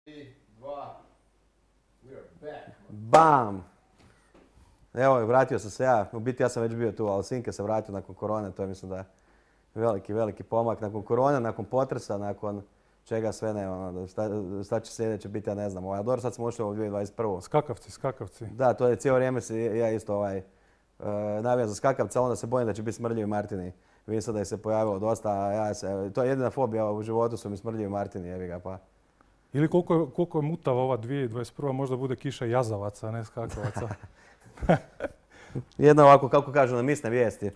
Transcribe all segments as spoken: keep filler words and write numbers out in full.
Tri, dva, we are back. Bam! Evo, vratio sam se ja. U biti ja sam već bio tu, ali Sinke se vratio nakon korone. To je mislim da je veliki, veliki pomak. Nakon korone, nakon potresa, nakon čega sve ne, ono, šta, šta će sljedeće biti, ja ne znam. Ovaj, dobro, sad smo ušli u dvije tisuće dvadeset prvu. Skakavci, skakavci. Da, to je cijelo vrijeme se ja isto ovaj, uh, navijam za skakavca, onda se bojim da će biti smrdljivi Martini. Vidim sad da je se pojavilo dosta, a ja se, to je jedina fobija u životu su mi smrdljivi Martini, jebi ga pa. Ili koliko je, koliko je mutava ova dvije tisuće dvadeset prva, možda bude kiša jazavaca, a ne skakavaca. Jedna ovako, kako kažu na misne vijesti.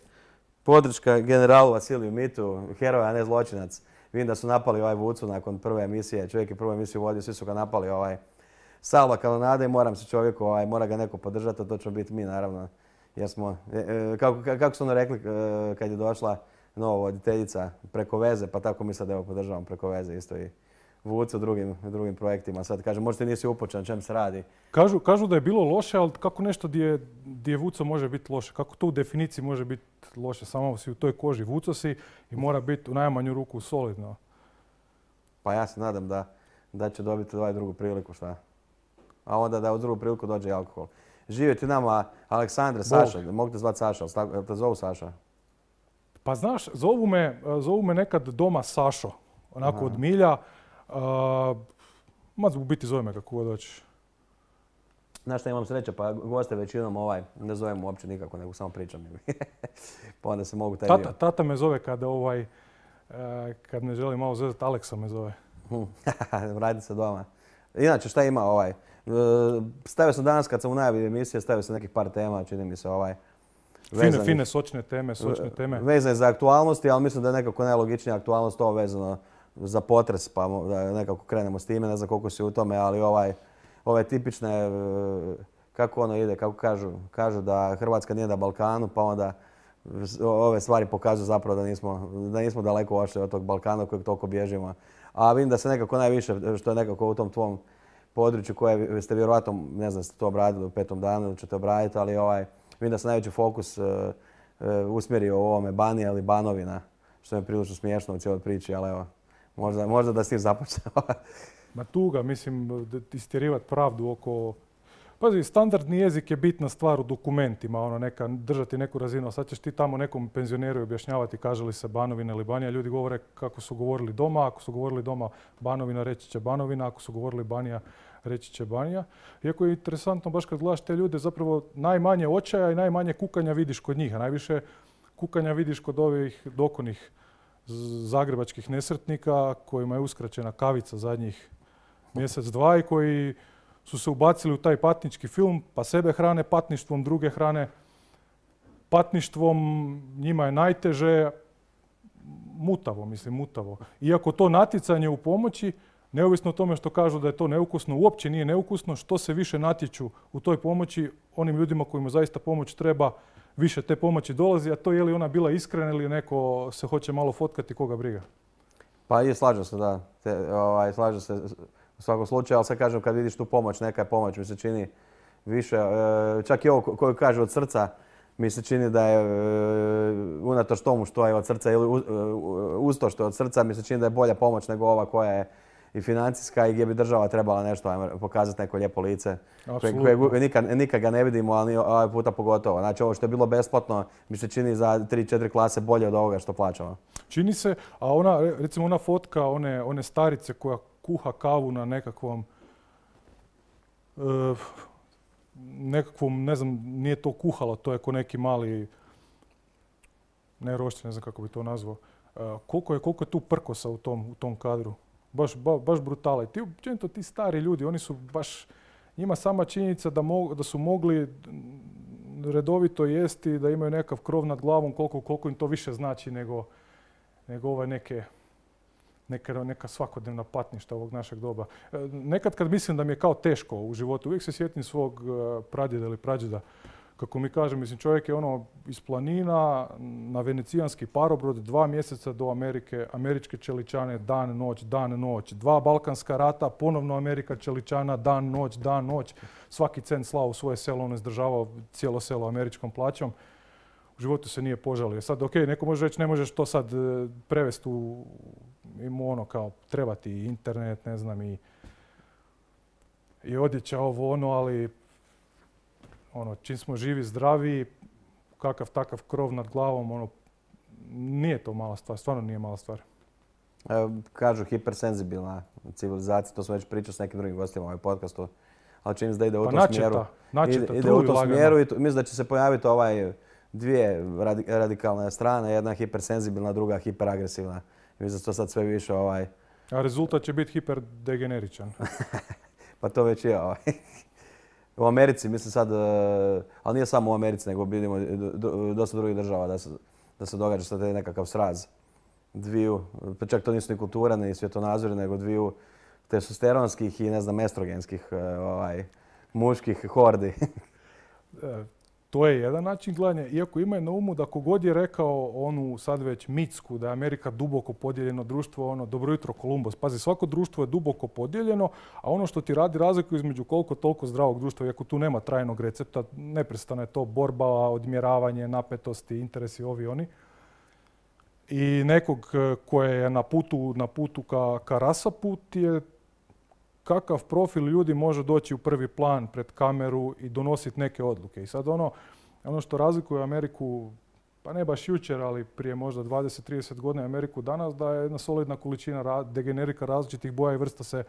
Podrška generalu Vasiliju Mitu, heroj, a ne zločinac. Vidim da su napali ovaj Vucu nakon prve emisije. Čovjek je prvu emisiju vodio, svi su ga napali. Ovaj, salva kanonade i moram se čovjeku, ovaj, mora ga neko podržati, a to ćemo biti mi naravno. Jer smo, e, e, kako, kako su ono rekli e, kad je došla nova voditeljica preko veze, pa tako mi sad evo podržavam preko veze isto i Vucu drugim, drugim projektima. Sad kaže, možda ti nisi upočen, čem se radi. Kažu, kažu da je bilo loše, ali kako nešto gdje, gdje Vuco može biti loše? Kako to u definiciji može biti loše? Samo si u toj koži Vuco si i mora biti u najmanju ruku solidno. Pa ja se nadam da, da će dobiti ovaj drugu priliku, šta? A onda da u drugu priliku dođe i alkohol. Živjeti nama Aleksandre, Saša, mogu te zvati Saša, ali te zovu Saša? Pa znaš, zovu me, zovu me nekad doma Sašo, onako Aha. od milja. Uh, ma u biti zove me kako god hoćeš. Znaš šta, imam sreće, pa goste većinom ovaj, ne zovem uopće nikako, nego samo pričam. Pa onda se mogu taj Tata, dio. tata me zove kada ovaj, uh, kad me želi malo zezati, Aleksa me zove. Vrati se doma. Inače, šta ima ovaj? Stavio sam danas kad sam u najavi emisije, stavio sam nekih par tema, čini mi se ovaj. Fine, fine, sočne teme, sočne teme. Vezane za aktualnosti, ali mislim da je nekako najlogičnija aktualnost ovo vezano za potres, pa da nekako krenemo s time, ne znam koliko si u tome, ali ovaj, ove tipične, kako ono ide, kako kažu, kažu da Hrvatska nije na Balkanu, pa onda ove stvari pokazuju zapravo da nismo, da nismo daleko ošli od tog Balkana od kojeg toliko bježimo. A vidim da se nekako najviše, što je nekako u tom tvom području koje ste vjerojatno, ne znam, ste to obradili u petom danu ili ćete obraditi, ali ovaj, vidim da se najveći fokus uh, uh, usmjerio u ovome Banija ili Banovina, što je prilično smiješno u cijeloj priči, ali evo, možda, možda da s tim započnemo. Ma tuga, mislim, istjerivati pravdu oko... Pazi, standardni jezik je bitna stvar u dokumentima, ono, neka, držati neku razinu. Sad ćeš ti tamo nekom penzioneru objašnjavati kaže li se Banovina ili Banija. Ljudi govore kako su govorili doma. Ako su govorili doma Banovina, reći će Banovina. Ako su govorili Banija, reći će Banija. Iako je interesantno, baš kad gledaš te ljude, zapravo najmanje očaja i najmanje kukanja vidiš kod njih. A najviše kukanja vidiš kod ovih dokonih zagrebačkih nesretnika kojima je uskraćena kavica zadnjih mjesec, dva i koji su se ubacili u taj patnički film, pa sebe hrane patništvom, druge hrane patništvom, njima je najteže, mutavo, mislim, mutavo. Iako to natjecanje u pomoći, neovisno o tome što kažu da je to neukusno, uopće nije neukusno, što se više natječu u toj pomoći, onim ljudima kojima zaista pomoć treba, više te pomoći dolazi, a to je li ona bila iskrena ili neko se hoće malo fotkati, koga briga. Pa i slažem se, da. Te, ovaj, slažem se u svakom slučaju, ali sad kažem kad vidiš tu pomoć, neka je pomoć mi se čini više, e, čak i ovo koju kaže od srca, mi se čini da je e, unatoč tomu što je od srca ili uz, uz to što je od srca, mi se čini da je bolja pomoć nego ova koja je i financijska i gdje bi država trebala nešto, ajmo, pokazati neko lijepo lice. Koje, koje nikad, nikad ga ne vidimo, ali ovaj puta pogotovo. Znači ovo što je bilo besplatno mi se čini za tri četiri klase bolje od ovoga što plaćamo. Čini se, a ona, recimo ona fotka one, one starice koja kuha kavu na nekakvom, e, nekakvom, ne znam, nije to kuhalo, to je ko neki mali, ne roštilj, ne znam kako bi to nazvao. E, koliko je, koliko je tu prkosa u tom, u tom kadru? Baš, ba, baš brutala. I ti, općenito, ti stari ljudi, oni su baš, njima sama činjenica da, mo, da su mogli redovito jesti, da imaju nekakav krov nad glavom, koliko, koliko im to više znači nego, nego ove neke, neka, neka svakodnevna patništa ovog našeg doba. E, nekad kad mislim da mi je kao teško u životu, uvijek se sjetim svog uh, pradjeda ili prađeda. Kako mi kaže, mislim, čovjek je ono iz planina na venecijanski parobrod, dva mjeseca do Amerike, američke čeličane, dan, noć, dan, noć. Dva balkanska rata, ponovno Amerika čeličana, dan, noć, dan, noć. Svaki cent slao u svoje selo, on je izdržavao cijelo selo američkom plaćom. U životu se nije požalio. Sad, ok, neko može reći, ne možeš to sad prevesti u, ima ono kao, treba ti internet, ne znam, i i odjeća ovo ono, ali ono, čim smo živi, zdravi, kakav takav krov nad glavom, ono, nije to mala stvar, stvarno nije mala stvar. Evo, kažu hipersenzibilna civilizacija, to smo već pričali s nekim drugim gostima u ovaj podcastu, ali čini se da ide u Pa tom načeta, smjeru. načeta, Ide, ide truju u tom lagano. smjeru i to, mislim da će se pojaviti ovaj dvije radi, radikalne strane, jedna hipersenzibilna, druga hiperagresivna. Mislim da to sad sve više ovaj... A rezultat će biti hiperdegeneričan. Pa to već je ovaj. U Americi, mislim sad, ali nije samo u Americi, nego vidimo dosta drugih država da se, da se događa sad nekakav sraz dviju, pa čak to nisu ni kultura, ni svjetonazori, nego dviju testosteronskih i ne znam, estrogenskih ovaj, muških hordi. To je jedan način gledanja, iako imaju na umu da kogod je rekao onu sad već mitsku da je Amerika duboko podijeljeno društvo, ono dobro jutro Kolumbus. Pazi, svako društvo je duboko podijeljeno, a ono što ti radi razliku između koliko toliko zdravog društva, iako tu nema trajnog recepta, neprestano je to borba, odmjeravanje, napetosti, interesi ovi oni. I nekog koje je na putu, na putu ka, ka rasaput je kakav profil ljudi može doći u prvi plan pred kameru i donositi neke odluke. I sad ono, ono što razlikuje Ameriku, pa ne baš jučer, ali prije možda dvadeset do trideset godina Ameriku danas, da je jedna solidna količina degenerika različitih boja i vrsta se,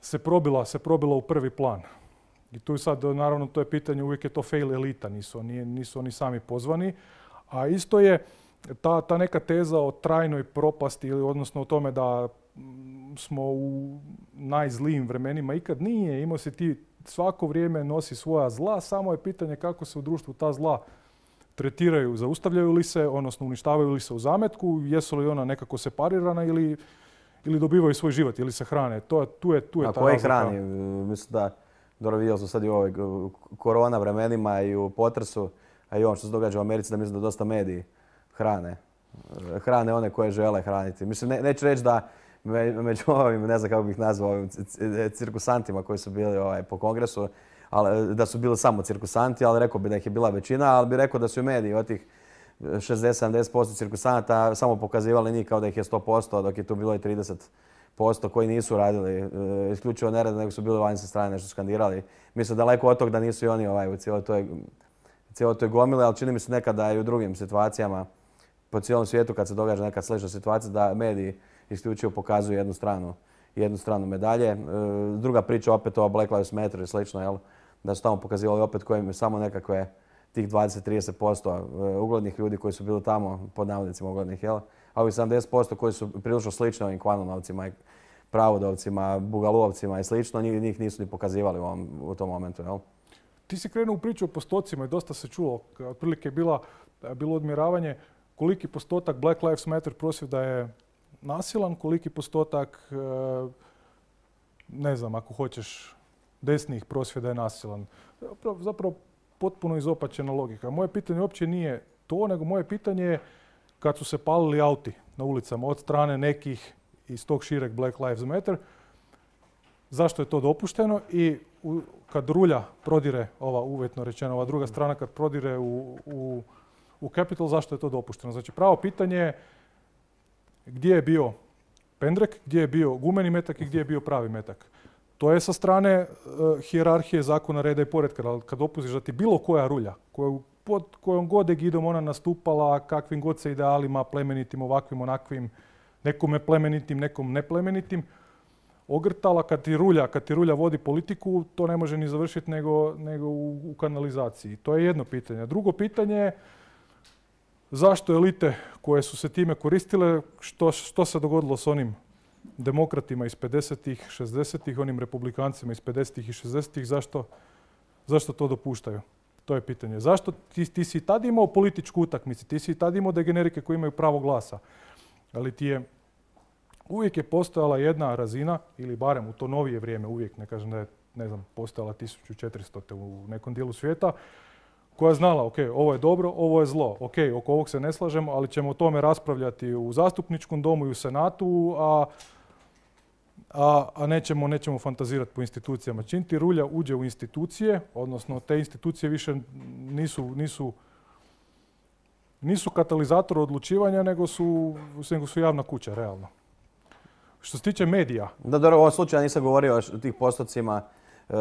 se, probila, se probila u prvi plan. I tu sad, naravno, to je pitanje, uvijek je to fail elita, nisu oni, nisu oni sami pozvani. A isto je ta, ta neka teza o trajnoj propasti, ili odnosno o tome da smo u najzlijim vremenima ikad nije. Imao si ti svako vrijeme nosi svoja zla, samo je pitanje kako se u društvu ta zla tretiraju, zaustavljaju li se, odnosno uništavaju li se u zametku, jesu li ona nekako separirana ili, ili dobivaju svoj život, ili se hrane. To, tu je, tu je A ta koji razlika. hrani? Mislim da, dobro vidio sam sad i u ovoj korona vremenima i u potresu, a i ono što se događa u Americi, da mislim da dosta mediji hrane. Hrane one koje žele hraniti. Mislim, ne, neću reći da među ovim, ne znam kako bih nazvao, ovim cirkusantima koji su bili ovaj, po kongresu, ali, da su bili samo cirkusanti, ali rekao bi da ih je bila većina, ali bi rekao da su i mediji od tih šezdeset do sedamdeset posto cirkusanata samo pokazivali njih kao da ih je sto posto, dok je tu bilo i trideset posto koji nisu radili isključivo nerad, nego su bili vani sa strane nešto skandirali. Mislim daleko od toga da nisu i oni ovaj, u cijeloj toj, cijeloj toj gomile, ali čini mi se nekada i u drugim situacijama po cijelom svijetu kad se događa neka slična situacija da mediji isključivo pokazuju jednu stranu, jednu stranu medalje. Druga priča opet o Black Lives Matter i slično, jel? Da su tamo pokazivali opet kojim samo nekakve tih dvadeset do trideset posto uglednih ljudi koji su bili tamo, pod navodnicima uglednih, jel? A ovih sedamdeset posto koji su prilično slični ovim Kvanunovcima i Pravodovcima, Bugalovcima i slično, njih, njih nisu ni pokazivali u, ovom, u tom momentu, jel? Ti si krenuo u priču o postocima i dosta se čulo. Otprilike je bila, bilo odmjeravanje koliki postotak Black Lives Matter prosvjeda je nasilan, koliki postotak, ne znam, ako hoćeš, desnih prosvjeda je nasilan. Zapravo, zapravo potpuno izopačena logika. Moje pitanje uopće nije to, nego moje pitanje je kad su se palili auti na ulicama od strane nekih iz tog šireg Black Lives Matter, zašto je to dopušteno i u, kad rulja prodire, ova uvjetno rečeno, ova druga strana kad prodire u, u, u Capitol, zašto je to dopušteno? Znači pravo pitanje je gdje je bio pendrek, gdje je bio gumeni metak i gdje je bio pravi metak. To je sa strane uh, hijerarhije zakona, reda i poretka. Ali kad opustiš da ti bilo koja rulja, koju, pod kojom god egidom ona nastupala, kakvim god se idealima, plemenitim, ovakvim, onakvim, nekome plemenitim, nekom neplemenitim, ogrtala, kad ti rulja, kad ti rulja vodi politiku, to ne može ni završiti nego, nego u, u kanalizaciji. To je jedno pitanje. Drugo pitanje je zašto elite koje su se time koristile, što, što se dogodilo s onim demokratima iz pedesetih, šezdesetih, onim republikancima iz pedesetih i šezdesetih, zašto, zašto to dopuštaju? To je pitanje. Zašto ti, ti si tad imao političku utakmicu, ti si tad imao degenerike koji imaju pravo glasa, ali ti je uvijek je postojala jedna razina, ili barem u to novije vrijeme, uvijek, ne kažem da je, ne znam, postojala tisuću četiristo u nekom dijelu svijeta, koja je znala, ok, ovo je dobro, ovo je zlo, ok, oko ovog se ne slažemo, ali ćemo o tome raspravljati u zastupničkom domu i u senatu, a, a, a nećemo, nećemo fantazirati po institucijama. Čim ti rulja uđe u institucije, odnosno te institucije više nisu, nisu, nisu katalizator odlučivanja, nego su, nego su javna kuća, realno. Što se tiče medija. Da, dobro, u ovom slučaju nisam govorio o tih postocima uh,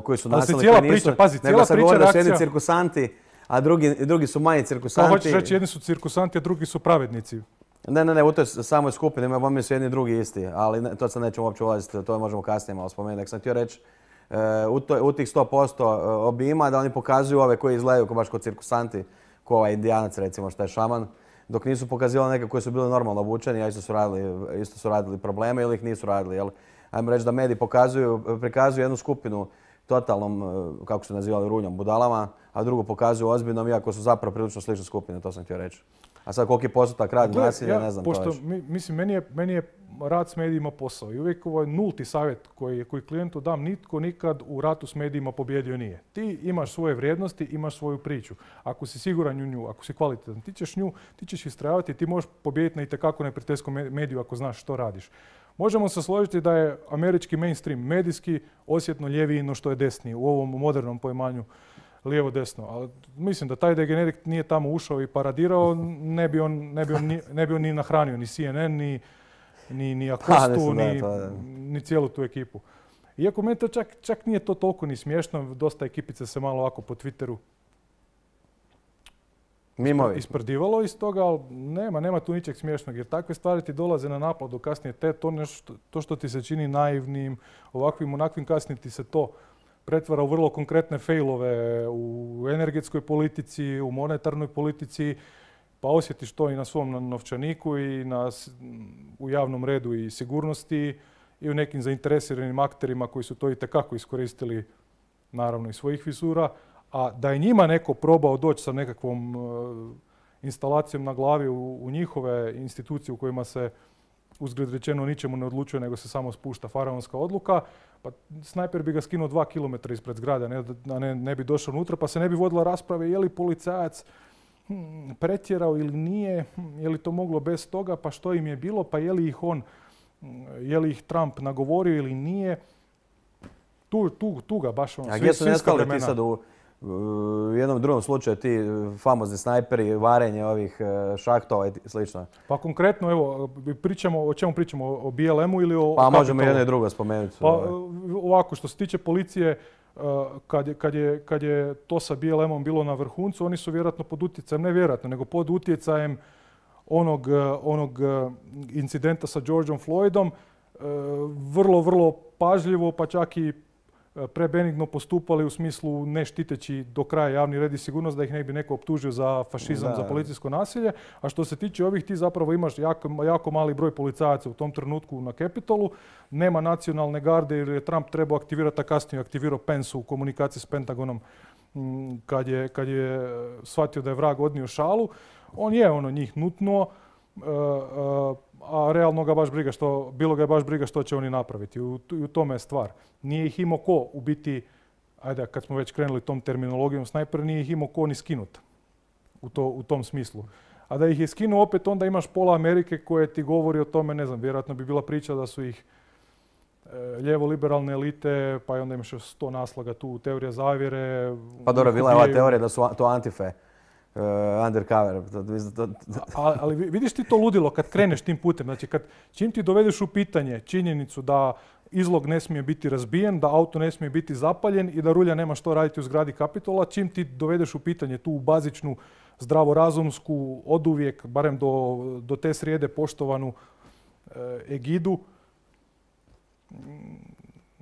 koji su nasilni. cijela koji nisu, priča, pazi, cijela nego sam priča, govorio da su jedni reakcija- cirkusanti, a drugi, drugi su manji Kao cirkusanti. hoćeš reći, jedni su cirkusanti, a drugi su pravednici. Ne, ne, ne, u toj samoj skupini, mi su jedni i drugi isti, ali ne, to sad nećemo uopće ulaziti, to možemo kasnije malo spomenuti. Nek sam htio reći, uh, u, to, u tih sto posto obima da oni pokazuju ove koji izgledaju kao baš kao cirkusanti, kao ovaj indijanac recimo što je šaman, dok nisu pokazivali neke koji su bili normalno obučeni, a isto su radili, isto su radili probleme ili ih nisu radili. Jel? Ajmo reći da mediji pokazuju, prikazuju jednu skupinu totalnom, kako su nazivali, runjom, budalama, a drugu pokazuju ozbiljnom, iako su zapravo prilično slične skupine, to sam htio reći. A sad koliki je postotak radi nasilja, ne znam. Pošto, to mi, mislim, meni je, meni je rad s medijima posao i uvijek ovaj nulti savjet koji, koji klijentu dam, nitko nikad u ratu s medijima pobjedio nije. Ti imaš svoje vrijednosti, imaš svoju priču. Ako si siguran u nju, ako si kvalitetan, ti ćeš nju, ti ćeš istrajavati, ti možeš pobijediti na itekako neprijateljskom mediju ako znaš što radiš. Možemo se složiti da je američki mainstream medijski osjetno ljeviji no što je desniji u ovom modernom poimanju lijevo-desno. Ali mislim da taj degenerik nije tamo ušao i paradirao, ne bi on, ne bi on, ni, ne bi on ni nahranio ni C N N, ni, ni, ni Acostu, ni, ni cijelu tu ekipu. Iako meni to čak, čak nije to toliko ni smiješno, dosta ekipice se malo ovako po Twitteru Mimovi. isprdivalo iz toga, ali nema, nema tu ničeg smiješnog, jer takve stvari ti dolaze na naplatu kasnije. Te, to, nešto, to što ti se čini naivnim, ovakvim, onakvim, kasnije ti se to pretvara u vrlo konkretne failove u energetskoj politici, u monetarnoj politici, pa osjetiš to i na svom novčaniku i na, u javnom redu i sigurnosti i u nekim zainteresiranim akterima koji su to itekako iskoristili, naravno iz svojih visura. A da je njima neko probao doći sa nekakvom uh, instalacijom na glavi u, u njihove institucije u kojima se uzgled rečeno ničemu ne odlučuje, nego se samo spušta faraonska odluka, pa snajper bi ga skinuo dva kilometra ispred zgrade, ne, ne, ne bi došao unutra, pa se ne bi vodila rasprave je li policajac hm, pretjerao ili nije, hm, je li to moglo bez toga, pa što im je bilo, pa je li ih on, je li ih Trump nagovorio ili nije. Tu, tu, tu ga baš ono, A gdje su nestali ti sad u, u jednom drugom slučaju ti famozni snajperi, varenje ovih šahtova i slično? Pa konkretno, evo, pričamo, o čemu pričamo? O B L M-u ili o Pa Capitolu? možemo jedno i drugo spomenuti. Pa ovako, što se tiče policije, kad je, kad je, kad je to sa B L M-om bilo na vrhuncu, oni su vjerojatno pod utjecajem, ne vjerojatno, nego pod utjecajem onog, onog incidenta sa Georgeom Floydom, vrlo, vrlo pažljivo, pa čak i prebenigno postupali u smislu ne štiteći do kraja javni red i sigurnost da ih ne bi neko optužio za fašizam, da. za policijsko nasilje. A što se tiče ovih, ti zapravo imaš jako, jako mali broj policajaca u tom trenutku na Capitolu. Nema nacionalne garde jer je Trump trebao aktivirati, a kasnije aktivirao Pence u komunikaciji s Pentagonom kad je, kad je shvatio da je vrag odnio šalu. On je ono njih nutnuo, a realno ga baš briga što, bilo ga je baš briga što će oni napraviti. U, u tome je stvar. Nije ih imao ko u biti, ajde kad smo već krenuli tom terminologijom snajper, nije ih imao ko ni skinut u, to, u tom smislu. A da ih je skinuo opet onda imaš pola Amerike koje ti govori o tome, ne znam, vjerojatno bi bila priča da su ih e, lijevo-liberalne elite, pa i onda imaš sto naslaga tu, teorija zavjere. Pa dobro, bila je ova teorija da su to antife. Uh, undercover. A, ali vidiš ti to ludilo kad kreneš tim putem. Znači, kad, čim ti dovedeš u pitanje činjenicu da izlog ne smije biti razbijen, da auto ne smije biti zapaljen i da rulja nema što raditi u zgradi Kapitola, čim ti dovedeš u pitanje tu bazičnu zdravorazumsku, oduvijek, barem do, do te srijede poštovanu e, egidu,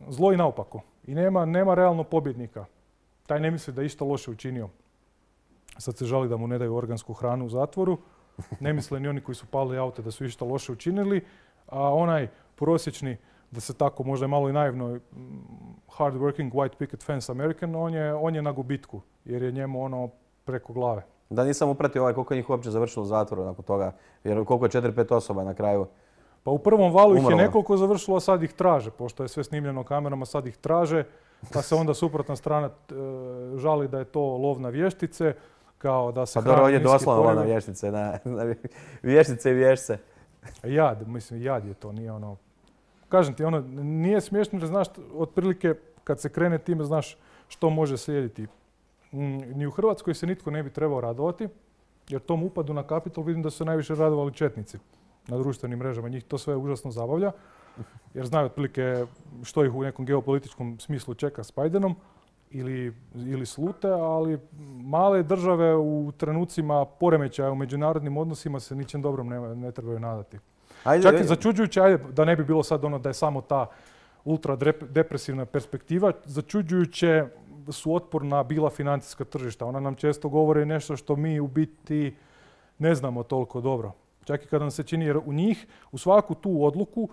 zlo i naopako. I nema, nema realno pobjednika. Taj ne misli da je išta loše učinio. Sad se žali da mu ne daju organsku hranu u zatvoru. Ne misle ni oni koji su palili aute da su išta loše učinili. A onaj prosječni, da se tako možda malo i naivno, hard working white picket fence American, on je, on je na gubitku jer je njemu ono preko glave. Da nisam upratio ovaj koliko je njih uopće završilo u zatvoru nakon toga, jer koliko je četiri pet osoba na kraju. Pa u prvom valu umrlo. Ih je nekoliko završilo, a sad ih traže, pošto je sve snimljeno kamerama, sad ih traže, pa se onda suprotna strana e, žali da je to lov na vještice, kao da se pa dobro, ovdje niski doslovno poriv. lov na vještice, na, na vještice i vješce. Jad, mislim, jad je to, nije ono... Kažem ti, ono, nije smiješno jer znaš, otprilike kad se krene time, znaš što može slijediti. Ni u Hrvatskoj se nitko ne bi trebao radovati, jer tom upadu na Kapitol vidim da su se najviše radovali četnici. na društvenim mrežama. Njih to sve užasno zabavlja, jer znaju otprilike što ih u nekom geopolitičkom smislu čeka s Bidenom ili, ili slute, ali male države u trenucima poremećaja u međunarodnim odnosima se ničem dobrom ne, ne trebaju nadati. Ajde, Čak i začuđujuće, ajde, da ne bi bilo sad ono da je samo ta ultra depresivna perspektiva, začuđujuće su otporna bila financijska tržišta. Ona nam često govore nešto što mi u biti ne znamo toliko dobro. Čak i kada nam se čini, jer u njih, u svaku tu odluku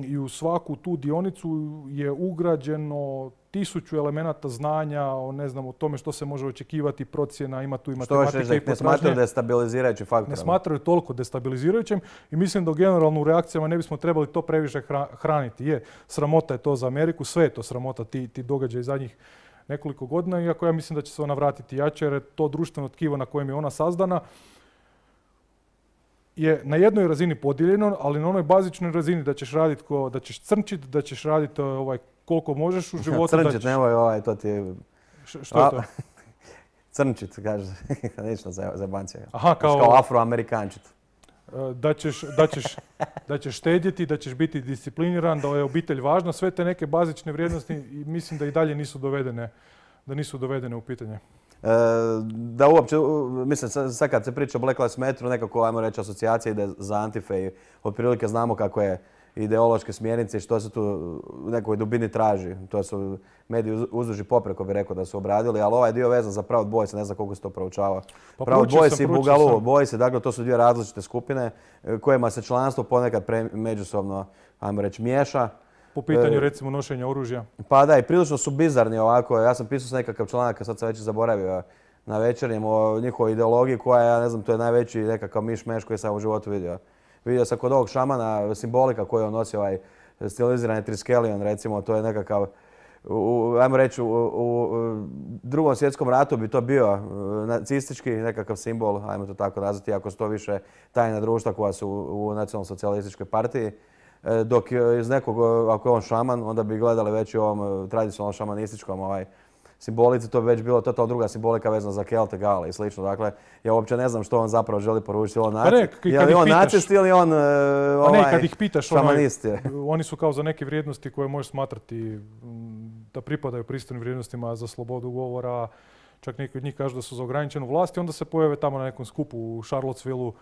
i u svaku tu dionicu je ugrađeno tisuću elemenata znanja o, ne znam, o tome što se može očekivati, procjena, ima tu i matematike i potražnje. Ne smatraju destabilizirajući faktor. Ne smatraju toliko destabilizirajućim i mislim da generalno u reakcijama ne bismo trebali to previše hraniti. Je, sramota je to za Ameriku, sve je to sramota, ti, ti događaji zadnjih nekoliko godina, iako ja mislim da će se ona vratiti jače, jer je to društveno tkivo na kojem je ona sazdana je na jednoj razini podijeljeno, ali na onoj bazičnoj razini da ćeš raditi, da ćeš crnčiti, da ćeš raditi ovaj, koliko možeš u životu. Crnčit, ćeš... nemoj ovaj, to ti je... Š, što je to? Crnčit, kaže, ništa za, za bancija. Aha, kao... Kao afroamerikančit. Da ćeš, da, ćeš, da ćeš štedjeti, da ćeš biti discipliniran, da je obitelj važna, sve te neke bazične vrijednosti i mislim da i dalje nisu dovedene, da nisu dovedene u pitanje. E, da uopće, mislim, sad kad se priča o Black Lives Matteru, nekako, ajmo reći, asocijacija ide za Antife i otprilike znamo kako je ideološke smjernice i što se tu u nekoj dubini traži. To su mediji uzduž i popreko, bi rekao da su obradili, ali ovaj dio vezan za Proud Boys, ne znam koliko se to proučava. Pa Proud Boys i Boogaloo Boys, dakle, to su dvije različite skupine kojima se članstvo ponekad pre, međusobno, ajmo reći, miješa. Po pitanju, recimo, nošenja oružja. Pa da, i prilično su bizarni ovako. Ja sam pisao s nekakav članak, sad sam već zaboravio na Večernjem, o njihovoj ideologiji koja, ja ne znam, to je najveći nekakav miš-meš koji sam u životu vidio. Vidio sam kod ovog šamana simbolika koju on nosi, ovaj stilizirani triskelion, recimo, to je nekakav, u, ajmo reći, u, u drugom svjetskom ratu bi to bio nacistički nekakav simbol, ajmo to tako nazvati, ako su to više tajna društva koja su u, u nacionalno-socijalističkoj partiji. Dok iz nekog, ako je on šaman, onda bi gledali već i ovom tradicionalnom šamanističkom ovaj, simbolici, to bi već bilo totalno druga simbolika vezana za Kelte, Gale i slično. Dakle, ja uopće ne znam što on zapravo želi poručiti. On naci, pa je li on nacist ili on uh, ovaj, ne, kad ih pitaš, šamanist je? Onaj, oni su kao za neke vrijednosti koje možeš smatrati da pripadaju pristojnim vrijednostima za slobodu govora. Čak neki od njih kažu da su za ograničenu vlast i onda se pojave tamo na nekom skupu u Charlottesvilleu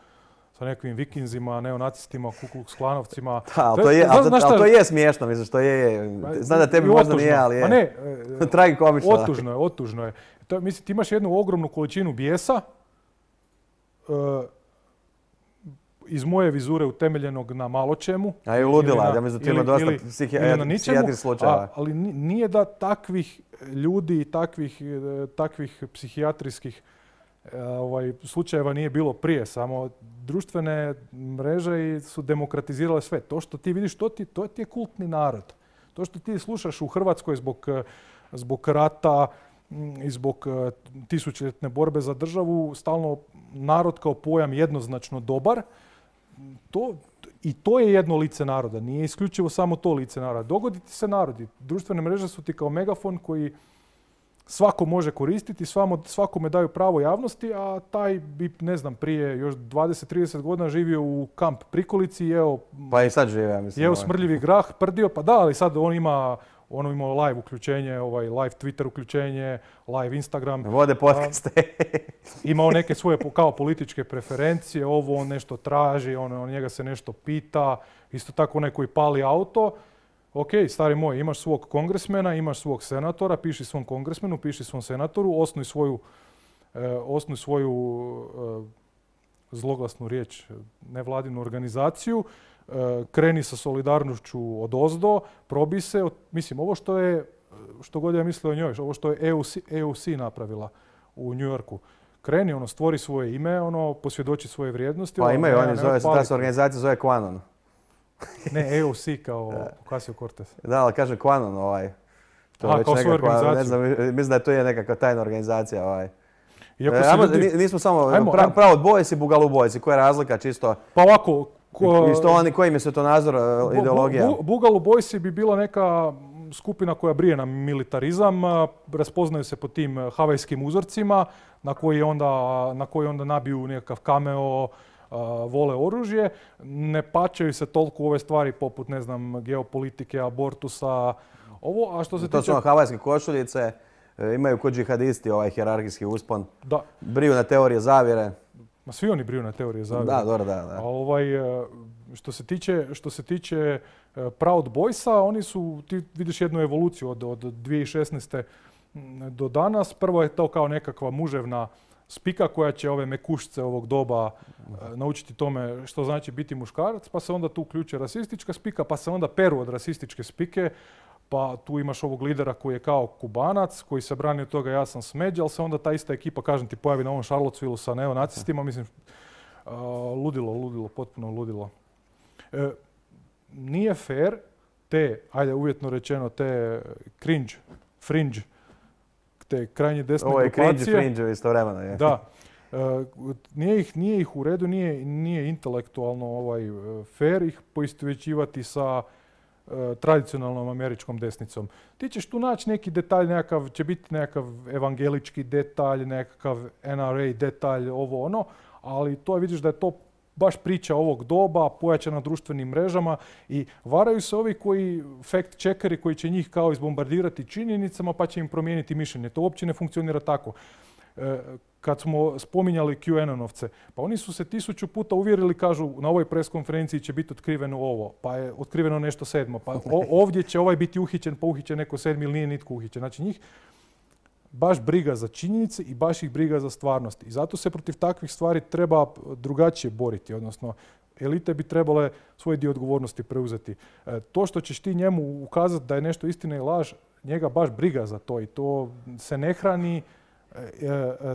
sa nekim vikinzima, neonacistima, Ku Klux Klanovcima. Da, ali to je, ali, ali to je smiješno, mislim, što je, znam da tebi možda nije, ali je. Pa ne, tragikomično. Otužno je, otužno je. To, mislim, ti imaš jednu ogromnu količinu bijesa, uh, iz moje vizure utemeljenog na malo čemu. A i ludila, ja mislim da ti ima dosta psihijatrijskih slučajeva. Ali nije da takvih ljudi i takvih, takvih psihijatrijskih Ovaj, slučajeva nije bilo prije, samo društvene mreže su demokratizirale sve. To što ti vidiš, to ti, to ti je kultni narod. To što ti slušaš u Hrvatskoj zbog, zbog rata i zbog tisućljetne borbe za državu, stalno narod kao pojam jednoznačno dobar, to, i to je jedno lice naroda. Nije isključivo samo to lice naroda. Dogodi ti se narodi. Društvene mreže su ti kao megafon koji svako može koristiti, svakome daju pravo javnosti, a taj bi, ne znam, prije još dvadeset trideset godina živio u kamp prikolici i jeo, pa i sad žive, ja mislim, jeo smrdljivi grah, prdio, pa da, ali sad on ima, ono ima live uključenje, ovaj live Twitter uključenje, live Instagram. Vode podcaste. Imao neke svoje kao političke preferencije, ovo on nešto traži, on, on njega se nešto pita, isto tako onaj koji pali auto. Ok, stari moj, imaš svog kongresmena, imaš svog senatora, piši svom kongresmenu, piši svom senatoru, osnuj svoju, eh, osnuj svoju eh, zloglasnu riječ, nevladinu organizaciju, eh, kreni sa solidarnošću odozdo, probi se, od, mislim, ovo što je, što god ja mislio o njoj, ovo što je E U C, E U C napravila u New Yorku. Kreni, ono, stvori svoje ime, ono, posvjedoči svoje vrijednosti. Pa ono, imaju, oni zove, ta se organizacija zove Quanon. Ne, E U C kao Ocasio-Cortez. Da, ali kaže Quanon ovaj. To Aha, kao svoju organizaciju. Ne znam, mislim da to je nekakva tajna organizacija ovaj. Iako se ljudi... Nismo samo ajmo, pra, ajmo. Proud Boys i Boogaloo Boys. Koja je razlika čisto? Pa ovako... Ko... I što oni, koji im je svjetonazor, ideologija? Bu, bu, Boogaloo Boys bi bila neka skupina koja brije na militarizam, raspoznaju se po tim havajskim uzorcima na koji onda, na koji onda nabiju nekakav cameo, uh, vole oružje, ne pačaju se toliko u ove stvari poput, ne znam, geopolitike, abortusa, ovo, a što se To tiče... su ono havajske košuljice, e, imaju kod džihadisti ovaj hijerarhijski uspon, Da. briju na teorije zavjere. Ma svi oni briju na teorije zavjere. Da, dobro, da, da. A ovaj, e, što se tiče, što se tiče e, Proud Boysa, oni su, ti vidiš jednu evoluciju od, od dvije tisuće šesnaeste do danas. Prvo je to kao nekakva muževna spika koja će ove mekušce ovog doba e, naučiti tome što znači biti muškarac, pa se onda tu uključuje rasistička spika, pa se onda peru od rasističke spike, pa tu imaš ovog lidera koji je kao Kubanac, koji se brani od toga ja sam smeđa, ali se onda ta ista ekipa, kažem ti, pojavi na ovom Charlottesvilleu sa neonacistima, mislim, uh, ludilo, ludilo, potpuno ludilo. E, nije fair te, ajde uvjetno rečeno, te cringe, fringe, te krajnje desne Ovo je grupacije. cringe i fringe istovremeno. Je. Da. E, nije, ih, nije ih u redu, nije, nije intelektualno ovaj, fair ih poistovjećivati sa e, tradicionalnom američkom desnicom. Ti ćeš tu naći neki detalj, nekakav, će biti nekakav evangelički detalj, nekakav N R A detalj, ovo ono, ali to je, vidiš da je to baš priča ovog doba, pojačana društvenim mrežama i varaju se ovi koji, fact checkeri koji će njih kao izbombardirati činjenicama pa će im promijeniti mišljenje. To uopće ne funkcionira tako. E, kad smo spominjali QAnonovce, pa oni su se tisuću puta uvjerili, kažu na ovoj pres konferenciji će biti otkriveno ovo, pa je otkriveno nešto sedmo, pa o, ovdje će ovaj biti uhićen, pa uhićen neko sedmi ili nije nitko uhićen. Znači njih baš briga za činjenice i baš ih briga za stvarnost. I zato se protiv takvih stvari treba drugačije boriti, odnosno elite bi trebale svoj dio odgovornosti preuzeti. E, to što ćeš ti njemu ukazati da je nešto istina i laž, njega baš briga za to i to se ne hrani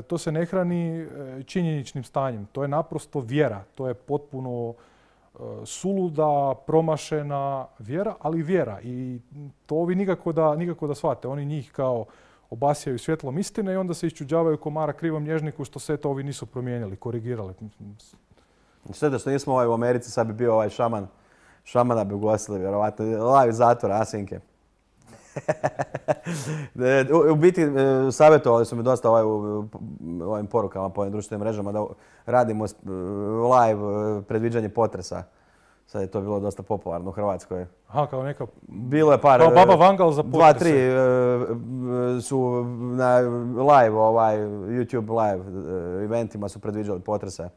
to se ne hrani činjeničnim stanjem. To je naprosto vjera. To je potpuno suluda, promašena vjera, ali vjera. I to ovi nikako da, nikako da shvate. Oni njih kao obasjaju svjetlom istine i onda se iščuđavaju komara krivom nježniku što se to ovi nisu promijenili, korigirali. Sve da što nismo ovaj u Americi, sad bi bio ovaj šaman. Šamana bi ugostili, vjerovatno. Live iz zatvora, Asinke. U biti savjetovali su mi dosta ovaj, u ovim porukama po ovim društvenim mrežama da radimo live predviđanje potresa. Sad je to bilo dosta popularno u Hrvatskoj. Aha, kao neka... Bilo je par... Kao baba Vangal za potrese. Dva, tri su na live, ovaj, YouTube live eventima su predviđali potrese.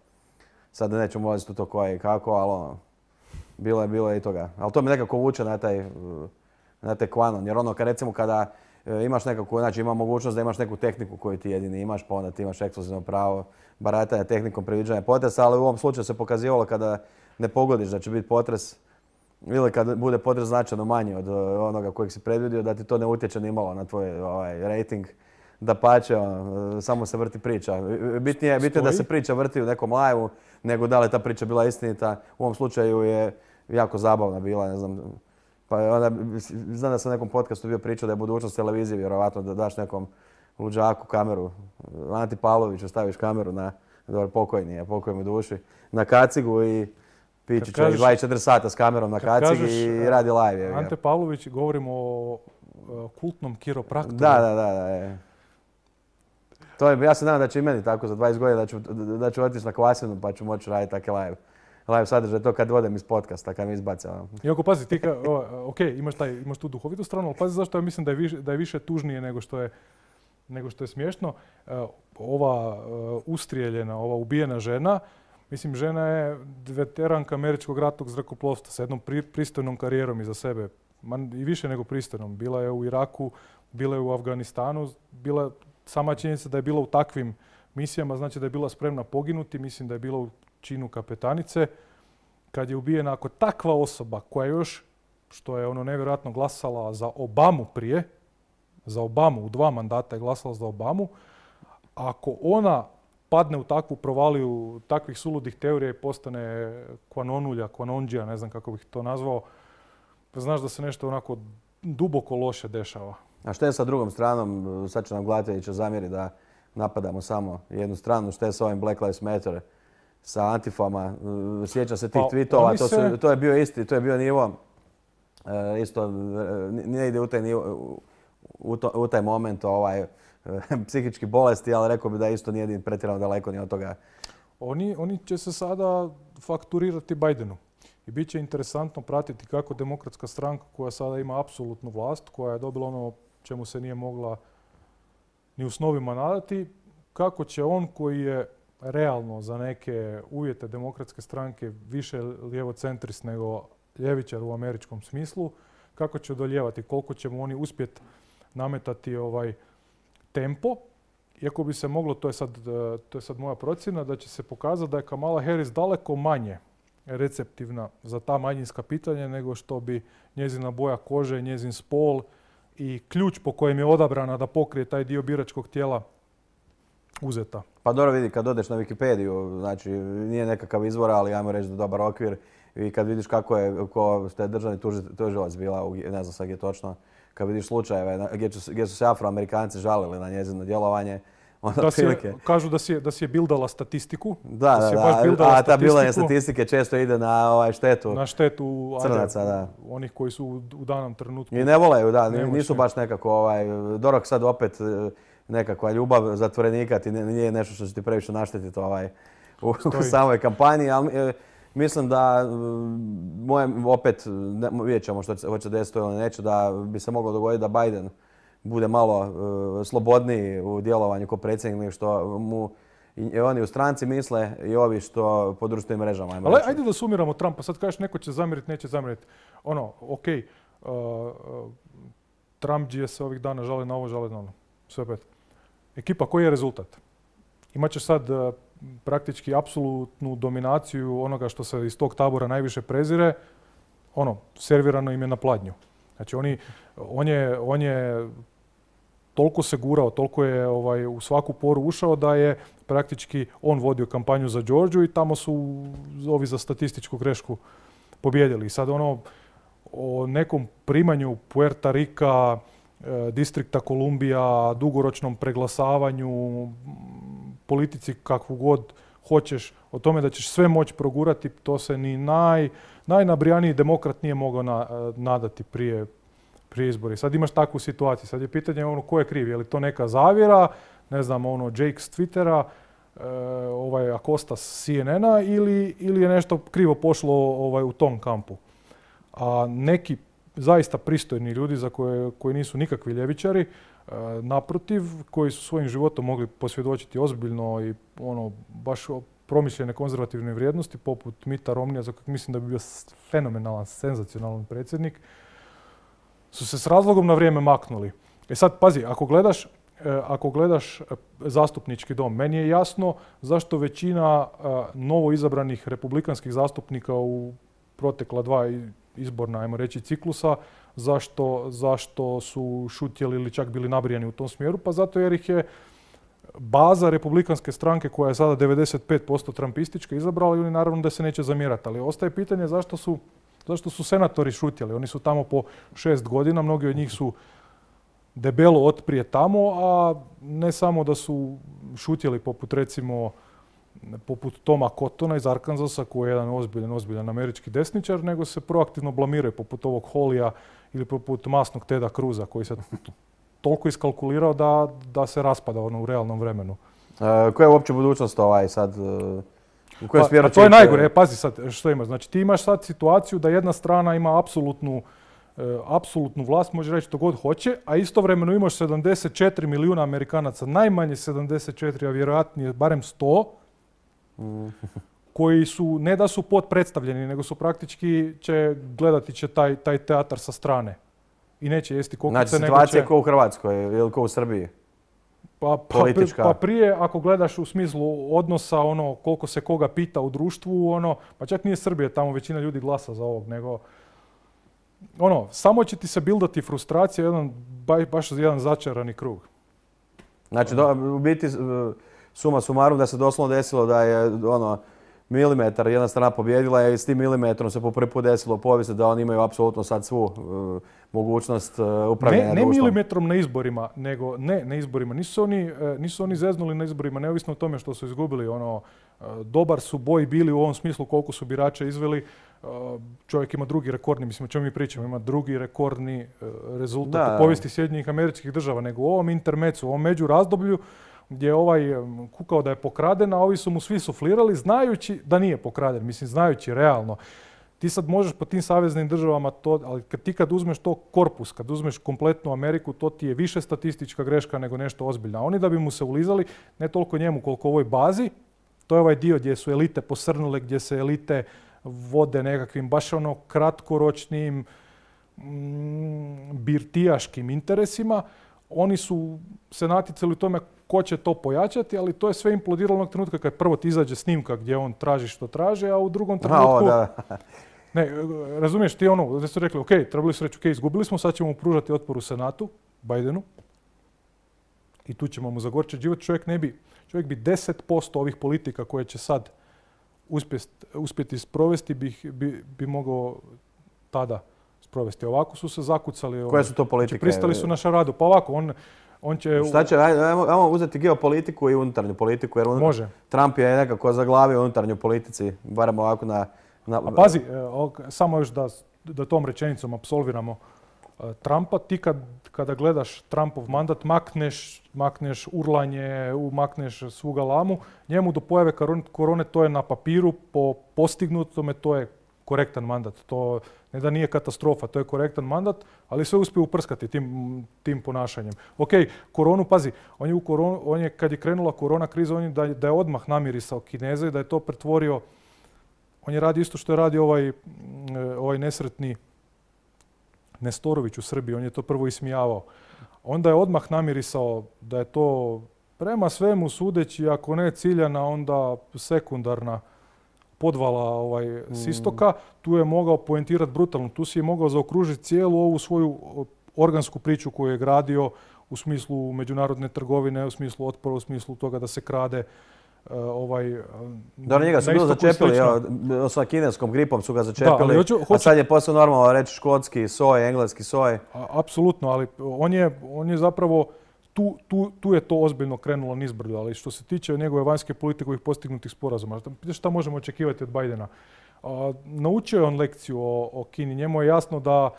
Sad nećemo ulaziti u to koje i kako, ali ono, bilo je, bilo je i toga. Ali to mi nekako vuče na taj... na te Quanon, jer ono kad recimo kada e, imaš nekako, znači ima mogućnost da imaš neku tehniku koju ti jedini imaš, pa onda ti imaš ekskluzivno pravo baratanja tehnikom predviđanja potresa, ali u ovom slučaju se pokazivalo kada ne pogodiš da će biti potres ili kad bude potres značajno manji od onoga kojeg si predvidio, da ti to ne utječe ni malo na tvoj ovaj, rating. Dapače, ono, samo se vrti priča. Bitnije, bitnije da se priča vrti u nekom live-u nego da li ta priča bila istinita. U ovom slučaju je jako zabavna bila, ne znam. Pa onda, znam da sam na nekom podcastu bio pričao da je budućnost televizije, vjerovatno da daš nekom luđaku kameru, Anti Pavloviću staviš kameru na, dobro, pokojni je, pokoj mu duši, na kacigu i pići će dvadeset četiri sata s kamerom na kacigi i radi live. Je, Ante Pavlović, govorimo o, o kultnom kiropraktoru. Da, da, da. da je. To je, ja se nadam da će i meni tako za dvadeset godina da ću, da ću otići na Kvasinu pa ću moći raditi takve live. Live sadržaj, to kad odem iz podcasta, kad mi izbace. Iako pazi, ti ka, o, ok, imaš, taj, imaš tu duhovitu stranu, ali pazi zašto ja mislim da je više, da je više tužnije nego što je, nego što je smiješno. Ova ustrijeljena, ova ubijena žena, mislim žena je veteranka američkog ratnog zrakoplovstva sa jednom pri, pristojnom karijerom iza sebe. Man, i više nego pristojnom. Bila je u Iraku, bila je u Afganistanu, bila, sama činjenica da je bila u takvim misijama, znači da je bila spremna poginuti, mislim da je bila u činu kapetanice. Kad je ubijena ako takva osoba koja još, što je ono nevjerojatno glasala za Obamu prije, za Obamu, u dva mandata je glasala za Obamu, ako ona padne u takvu provaliju takvih suludih teorija i postane kvanonulja, kvanonđija, ne znam kako bih to nazvao, znaš da se nešto onako duboko loše dešava. A što je sa drugom stranom? Sad će nam Glatjević zamjeriti da napadamo samo jednu stranu. Što je sa ovim Black Lives Matter, sa antifama? Sjećam se tih pa, tweetova, to, se... to je bio isti, to je bio nivo, e, isto ne ide u taj, nivo, u, to, u taj moment ovaj, psihički bolesti, ali rekao bi da isto nije pretjerano daleko ni od toga. oni, oni će se sada fakturirati Bidenu. I bit će interesantno pratiti kako demokratska stranka koja sada ima apsolutnu vlast, koja je dobila ono čemu se nije mogla ni u snovima nadati, kako će on koji je realno za neke uvjete demokratske stranke više lijevocentrist nego ljevičar u američkom smislu, kako će odoljevati, koliko će mu oni uspjeti nametati ovaj tempo. Iako bi se moglo, to je sad, to je sad moja procjena, da će se pokazati da je Kamala Harris daleko manje receptivna za ta manjinska pitanja nego što bi njezina boja kože, njezin spol i ključ po kojem je odabrana da pokrije taj dio biračkog tijela uzeta. Pa dobro vidi, kad odeš na Wikipediju, znači nije nekakav izvor, ali ajmo reći da je dobar okvir. I kad vidiš kako je, ko što je državni tužilac bila, ne znam sad je točno, kad vidiš slučajeve gdje, gdje su se Afroamerikanci žalili na njezino djelovanje, onda da si je, prilike... Kažu da si je, da si je bildala statistiku. Da, da, da, si je da, baš bildala a ta bildanje statistiku statistike često ide na ovaj štetu na štetu crnaca, ajde, da. Onih koji su u, u danom trenutku. I ne voleju, da, Nemoćni. nisu baš nekako, ovaj, Dorok sad opet nekakva ljubav zatvorenika, ti nije nešto što će ti previše naštetiti ovaj, u, u samoj kampanji, ali mislim da moje, opet, ne, vidjet ćemo što će, hoće desiti ili neće, da bi se moglo dogoditi da Biden bude malo uh, slobodniji u djelovanju kao predsjednik, što mu i oni u stranci misle i ovi što po društvenim mrežama. Ali ajde da sumiramo Trumpa. Sad kažeš neko će zamjeriti, neće zamjeriti. Ono, ok, uh, uh, Trump je se ovih dana žali na ovo, žali na ono. Sve opet. Ekipa, koji je rezultat? Imaćeš sad uh, praktički apsolutnu dominaciju onoga što se iz tog tabora najviše prezire. Ono, servirano im je na pladnju. Znači, oni, on je, on je toliko se gurao, toliko je ovaj, u svaku poru ušao da je praktički on vodio kampanju za Georgiju i tamo su ovi za statističku grešku pobjedili. I sad ono o nekom primanju Puerta Rika, e, distrikta Kolumbija, dugoročnom preglasavanju, politici kakvu god hoćeš, o tome da ćeš sve moći progurati, to se ni naj, najnabrijaniji demokrat nije mogao na, nadati prije prije izbori. Sad imaš takvu situaciju. Sad je pitanje ono ko je kriv. Je li to neka zavjera, ne znam, ono Jake s Twittera, e, ovaj Acosta s C N N-a ili, ili je nešto krivo pošlo ovaj, u tom kampu. A neki zaista pristojni ljudi za koje, koji nisu nikakvi ljevičari, e, naprotiv, koji su svojim životom mogli posvjedočiti ozbiljno i ono baš promišljene konzervativne vrijednosti, poput Mitta Romneya, za kojeg mislim da bi bio fenomenalan, senzacionalan predsjednik, su se s razlogom na vrijeme maknuli. E sad, pazi, ako gledaš, ako gledaš zastupnički dom, meni je jasno zašto većina novo izabranih republikanskih zastupnika u protekla dva izborna, ajmo reći, ciklusa, zašto, zašto su šutjeli ili čak bili nabrijani u tom smjeru, pa zato jer ih je baza republikanske stranke koja je sada devedeset pet posto trumpistička izabrala i oni naravno da se neće zamjerati. Ali ostaje pitanje zašto su Zašto su senatori šutjeli? Oni su tamo po šest godina, mnogi od njih su debelo otprije tamo, a ne samo da su šutjeli poput recimo poput Toma Cottona iz Arkansasa, koji je jedan ozbiljan, ozbiljan američki desničar, nego se proaktivno blamiraju poput ovog Hollija ili poput masnog Teda Cruza, koji se toliko iskalkulirao da, da se raspada ono u realnom vremenu. E, koja je uopće budućnost ovaj sad? U kojem pa, smjeru pa to je najgore. E, pazi sad što imaš. Znači ti imaš sad situaciju da jedna strana ima apsolutnu, e, apsolutnu vlast, može reći što god hoće, a istovremeno imaš sedamdeset četiri milijuna Amerikanaca, najmanje sedamdeset četiri, a vjerojatnije barem sto, mm. koji su, ne da su potpredstavljeni, nego su praktički će gledati će taj, taj teatar sa strane. I neće jesti kokice. Znači situacija će... kao u Hrvatskoj ili kao u Srbiji? Pa, pa, pa prije, ako gledaš u smislu odnosa, ono, koliko se koga pita u društvu, ono, pa čak nije Srbija, tamo većina ljudi glasa za ovog, nego, ono, samo će ti se bildati frustracija, jedan, baš jedan začarani krug. Znači, do, u biti, suma sumarum da se doslovno desilo da je, ono, milimetar jedna strana pobjedila i s tim milimetrom se po prvi put desilo u povijesti da oni imaju apsolutno sad svu uh, mogućnost uh, upravljanja ne, ne društvom. Ne milimetrom na izborima, nego ne na izborima. Nisu oni, uh, nisu oni zeznuli na izborima, neovisno o tome što su izgubili. Ono, uh, dobar su boj bili u ovom smislu koliko su birača izveli. Uh, čovjek ima drugi rekordni, mislim o čemu mi pričamo, ima drugi rekordni uh, rezultat da, u povijesti Sjedinjenih Američkih Država, nego u ovom intermecu, u ovom međurazdoblju, gdje je ovaj em, kukao da je pokraden, a ovi su mu svi suflirali znajući da nije pokraden, mislim znajući realno. Ti sad možeš po tim saveznim državama to, ali kad ti kad uzmeš to korpus, kad uzmeš kompletnu Ameriku, to ti je više statistička greška nego nešto ozbiljno. A oni da bi mu se ulizali, ne toliko njemu koliko ovoj bazi, to je ovaj dio gdje su elite posrnule, gdje se elite vode nekakvim baš ono kratkoročnim mm, birtijaškim interesima. Oni su se natjecali u tome ko će to pojačati, ali to je sve implodiralo onog trenutka kad prvo ti izađe snimka gdje on traži što traži, a u drugom trenutku... A, o, da. Ne, razumiješ ti ono, da su rekli, ok, trebali su reći, ok, izgubili smo, sad ćemo mu pružati otpor u Senatu, Bidenu, i tu ćemo mu zagorčati život. Čovjek ne bi, čovjek bi deset posto ovih politika koje će sad uspjeti, uspjeti sprovesti bi, bi, bi mogao tada sprovesti. Ovako su se zakucali. Koje su to politike? Znači, pristali su na šaradu. Pa ovako, on, on će... Šta će, ajmo, ajmo uzeti geopolitiku i unutarnju politiku, jer unutar, Može. Trump je nekako zaglavio u unutarnju politici, barem ovako na... na A pazi, samo još da, da tom rečenicom apsolviramo Trumpa, ti kad, kada gledaš Trumpov mandat, makneš, makneš urlanje, makneš svu galamu, njemu do pojave korone to je na papiru, po postignutome to je korektan mandat. To ne da nije katastrofa, to je korektan mandat, ali sve uspije uprskati tim, tim ponašanjem. Ok, koronu, pazi, on je, u koronu, on je kad je krenula korona kriza, on je da, da je odmah namirisao Kineze i da je to pretvorio, on je radio isto što je radio ovaj, ovaj nesretni Nestorović u Srbiji, on je to prvo ismijavao. Onda je odmah namirisao da je to prema svemu sudeći, ako ne ciljana, onda sekundarna podvala ovaj, mm. s istoka. Tu je mogao poentirati brutalno, tu si je mogao zaokružiti cijelu ovu svoju organsku priču koju je gradio u smislu međunarodne trgovine, u smislu otpora, u smislu toga da se krade. Uh, ovaj, Dobro, njega su bilo začepili, evo, sa kineskom gripom su ga začepili, da, hoću, hoću... a sad je posle normalno reći škotski soj, engleski soj. A, apsolutno, ali on je, on je zapravo, tu, tu, tu je to ozbiljno krenulo nizbrdo, ali što se tiče njegove vanjske politike ovih postignutih sporazuma, šta možemo očekivati od Bidena? A, naučio je on lekciju o, o Kini, njemu je jasno da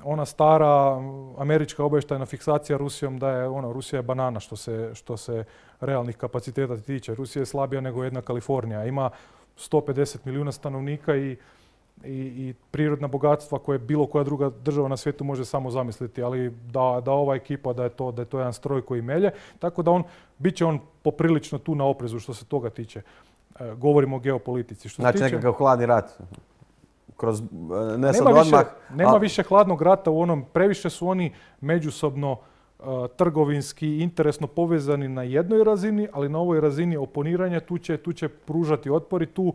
ona stara američka obavještajna fiksacija Rusijom da je ono, Rusija je banana što se, što se realnih kapaciteta tiče. Rusija je slabija nego jedna Kalifornija. Ima sto pedeset milijuna stanovnika i, i, i prirodna bogatstva koje bilo koja druga država na svijetu može samo zamisliti, ali da, da ova ekipa, da je, to, da je to jedan stroj koji melje. Tako da on, bit će on poprilično tu na oprezu što se toga tiče. E, govorimo o geopolitici. Što znači se tiče, nekakav hladni rat. Kroz, ne sad nema odmah, više, nema ali... više hladnog rata u onom, previše su oni međusobno uh, trgovinski, interesno povezani na jednoj razini, ali na ovoj razini oponiranja tu će, tu će pružati otpor i tu,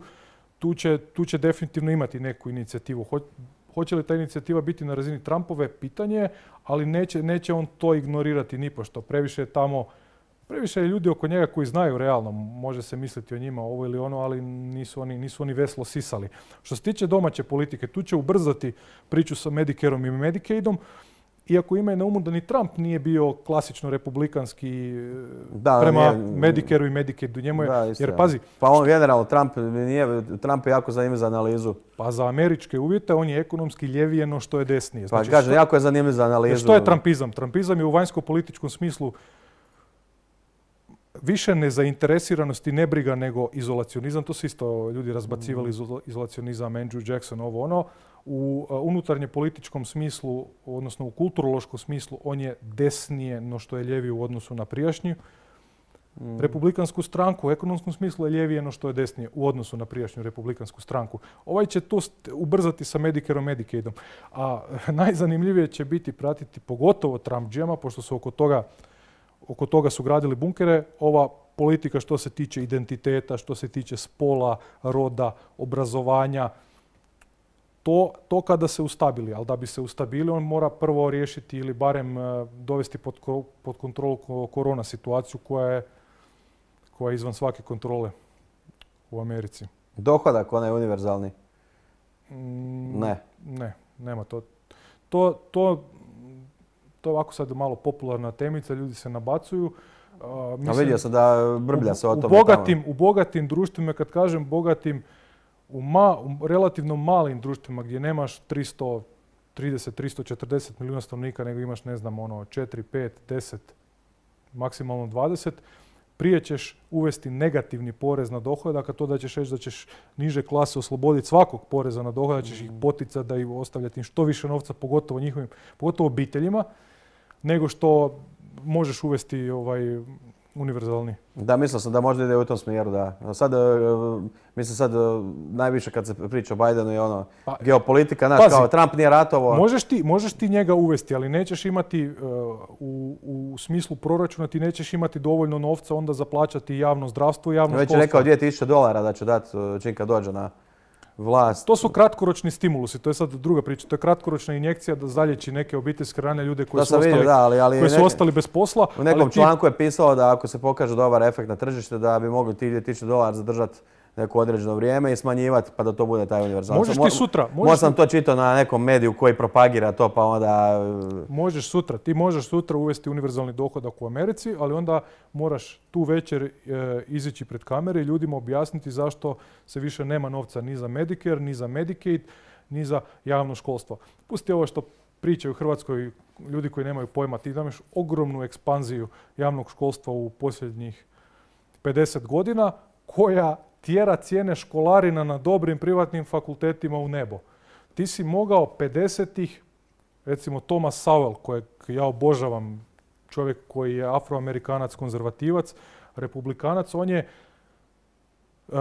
tu, će, tu će definitivno imati neku inicijativu. Ho, hoće li ta inicijativa biti na razini Trumpove, pitanje, ali neće, neće on to ignorirati nipošto. Previše je tamo Previše je ljudi oko njega koji znaju realno, može se misliti o njima ovo ili ono, ali nisu oni, nisu oni veslo sisali. Što se tiče domaće politike, tu će ubrzati priču sa Medicareom i Medicaidom, iako imaju na umu da ni Trump nije bio klasično republikanski da, prema nije, Medicareu i Medicaidu. Njemu je, da, jer pazi... Pa on generalno, Trump, nije, Trump je jako zanimljiv za analizu. Pa za američke uvjete on je ekonomski ljevije no što je desnije. Znači, pa kaže, jako je zanimljiv za analizu. Što je trumpizam? Trumpizam je u vanjsko-političkom smislu više nezainteresiranost i nebriga nego izolacionizam. To su isto ljudi razbacivali izolacionizam, Andrew Jackson, ovo ono. U unutarnje političkom smislu, odnosno u kulturološkom smislu, on je desnije no što je ljevije u odnosu na prijašnju mm. republikansku stranku. U ekonomskom smislu je ljevije no što je desnije u odnosu na prijašnju republikansku stranku. Ovaj će to ubrzati sa Medicareom, Medicaidom. A najzanimljivije će biti pratiti pogotovo Trumpdžijama, pošto su oko toga Oko toga su gradili bunkere. Ova politika što se tiče identiteta, što se tiče spola, roda, obrazovanja, to, to kada se ustabili. Ali da bi se ustabili, on mora prvo riješiti ili barem dovesti pod, pod kontrolu korona situaciju koja je, koja je izvan svake kontrole u Americi. Dohodak, onaj univerzalni? Mm, ne. Ne, nema to. To, to To je ovako sad malo popularna temica, ljudi se nabacuju. Uh, mislim, A vidio sam da brblja se o tome. U bogatim, u bogatim društvima, kad kažem bogatim, u, ma, u relativno malim društvima gdje nemaš tristo trideset, tristo četrdeset milijuna stanovnika, nego imaš, ne znam, ono, četiri, pet, deset, maksimalno dvadeset, prije ćeš uvesti negativni porez na dohodak, a to da ćeš reći da ćeš niže klase osloboditi svakog poreza na dohodak, da ćeš ih poticati da ih ostavljati im što više novca, pogotovo njihovim, pogotovo obiteljima, nego što možeš uvesti ovaj univerzalni. Da, mislio sam da možda ide u tom smjeru, da. Sad, mislim sad, najviše kad se priča o Bidenu je ono, pa, geopolitika, znaš, kao Trump nije ratovo. Možeš ti, možeš ti njega uvesti, ali nećeš imati, uh, u, u smislu proračuna, ti nećeš imati dovoljno novca onda za plaćati javno zdravstvo i javno školstvo. Već je rekao dvije tisuće dolara da će dati čim kad dođe na vlast. To su kratkoročni stimulusi, to je sad druga priča. To je kratkoročna injekcija da zalječi neke obiteljske rane ljude koji, su ostali, vidio, da, ali, ali koji su ostali bez posla. U nekom ali članku ti... je pisalo da ako se pokaže dobar efekt na tržište da bi mogli ti dvije tisuće dolara zadržati neko određeno vrijeme i smanjivati pa da to bude taj univerzalni. Možeš ti sutra. Možda sam to čitao na nekom mediju koji propagira to pa onda... Možeš sutra. Ti možeš sutra uvesti univerzalni dohodak u Americi, ali onda moraš tu večer e, izići pred kamere i ljudima objasniti zašto se više nema novca ni za Medicare, ni za Medicaid, ni za javno školstvo. Pusti ovo što pričaju u Hrvatskoj ljudi koji nemaju pojma. Ti imaš ogromnu ekspanziju javnog školstva u posljednjih pedeset godina koja tjera cijene školarina na dobrim privatnim fakultetima u nebo. Ti si mogao pedesetih, recimo Thomas Sowell, kojeg ja obožavam, čovjek koji je afroamerikanac, konzervativac, republikanac, on je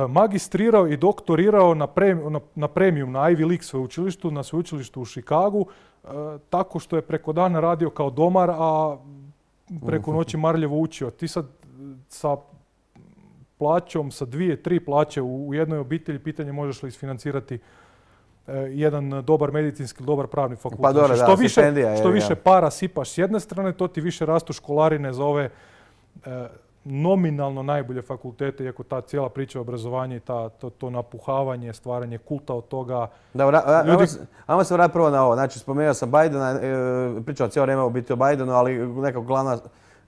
magistrirao i doktorirao na, premium, na, na premium, na Ivy League sveučilištu, na sveučilištu u Chicagu, tako što je preko dana radio kao domar, a preko noći marljivo učio. Ti sad sa plaćom, sa dvije, tri plaće u jednoj obitelji, pitanje možeš li isfinancirati eh, jedan dobar medicinski, dobar pravni fakultet. Pa dobro, što da, više, stipendija, što je, više ja. para sipaš s jedne strane, to ti više rastu školarine za ove eh, nominalno najbolje fakultete, iako ta cijela priča o obrazovanju i ta, to, to napuhavanje, stvaranje kulta od toga. Dobro, ljudi... ajmo se vratiti prvo na ovo. Znači, spomenuo sam Bidena, e, pričao cijelo vrijeme o biti o Bidenu, ali neka glavna,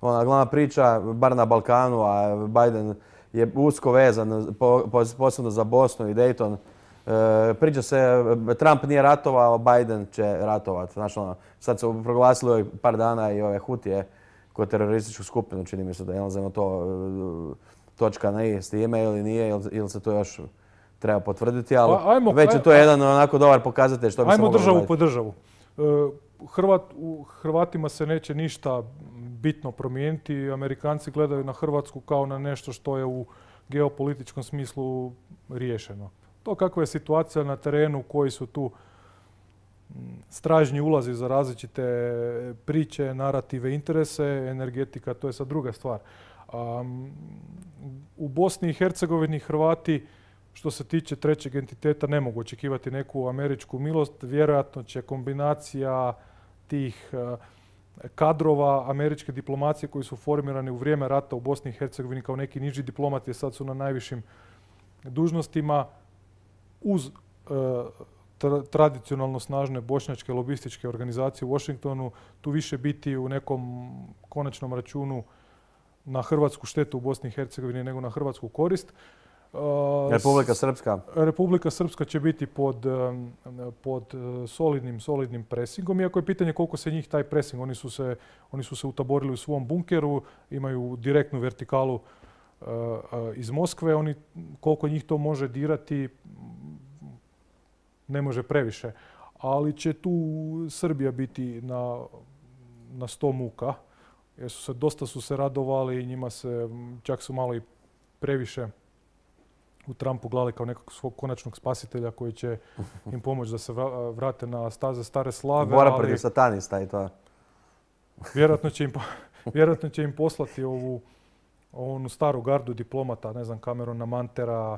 ona, glavna priča, bar na Balkanu, a Biden je usko vezan, po, posebno za Bosnu i Dayton. E, priča se, Trump nije ratovao, Biden će ratovati. Znači, ono, sad su proglasili par dana i ove Hutije kao terorističku skupinu, čini mi se da je jednostavno to točka na i s time ili nije, ili, ili se to još treba potvrditi, ali pa, ajmo, već je to aj, jedan onako dobar pokazatelj što bi se moglo Ajmo državu gledati. po državu. Hrvat, u Hrvatima se neće ništa bitno promijeniti. Amerikanci gledaju na Hrvatsku kao na nešto što je u geopolitičkom smislu riješeno. To kakva je situacija na terenu, koji su tu stražnji ulazi za različite priče, narative, interese, energetika, to je sad druga stvar. Um, u Bosni i Hercegovini Hrvati, što se tiče trećeg entiteta, ne mogu očekivati neku američku milost. Vjerojatno će kombinacija tih uh, kadrova američke diplomacije koji su formirani u vrijeme rata u Bosni i Hercegovini kao neki niži diplomati, sad su na najvišim dužnostima, uz uh, tradicionalno snažne bošnjačke lobističke organizacije u Washingtonu, tu više biti u nekom konačnom računu na hrvatsku štetu u Bosni i Hercegovini nego na hrvatsku korist. Republika Srpska? Republika Srpska će biti pod, pod solidnim, solidnim presingom, iako je pitanje koliko se njih taj presing. Oni su se, oni su se utaborili u svom bunkeru, imaju direktnu vertikalu iz Moskve. Oni, koliko njih to može dirati, ne može previše. Ali će tu Srbija biti na, na sto muka. Jer su se, dosta su se radovali i njima se, čak su malo i previše u Trumpu gledali kao nekog svog konačnog spasitelja koji će im pomoći da se vrate na staze stare slave. Bora protiv satanista i to. Vjerojatno će im, vjerojatno će im poslati ovu onu staru gardu diplomata, ne znam, Camerona Mantera,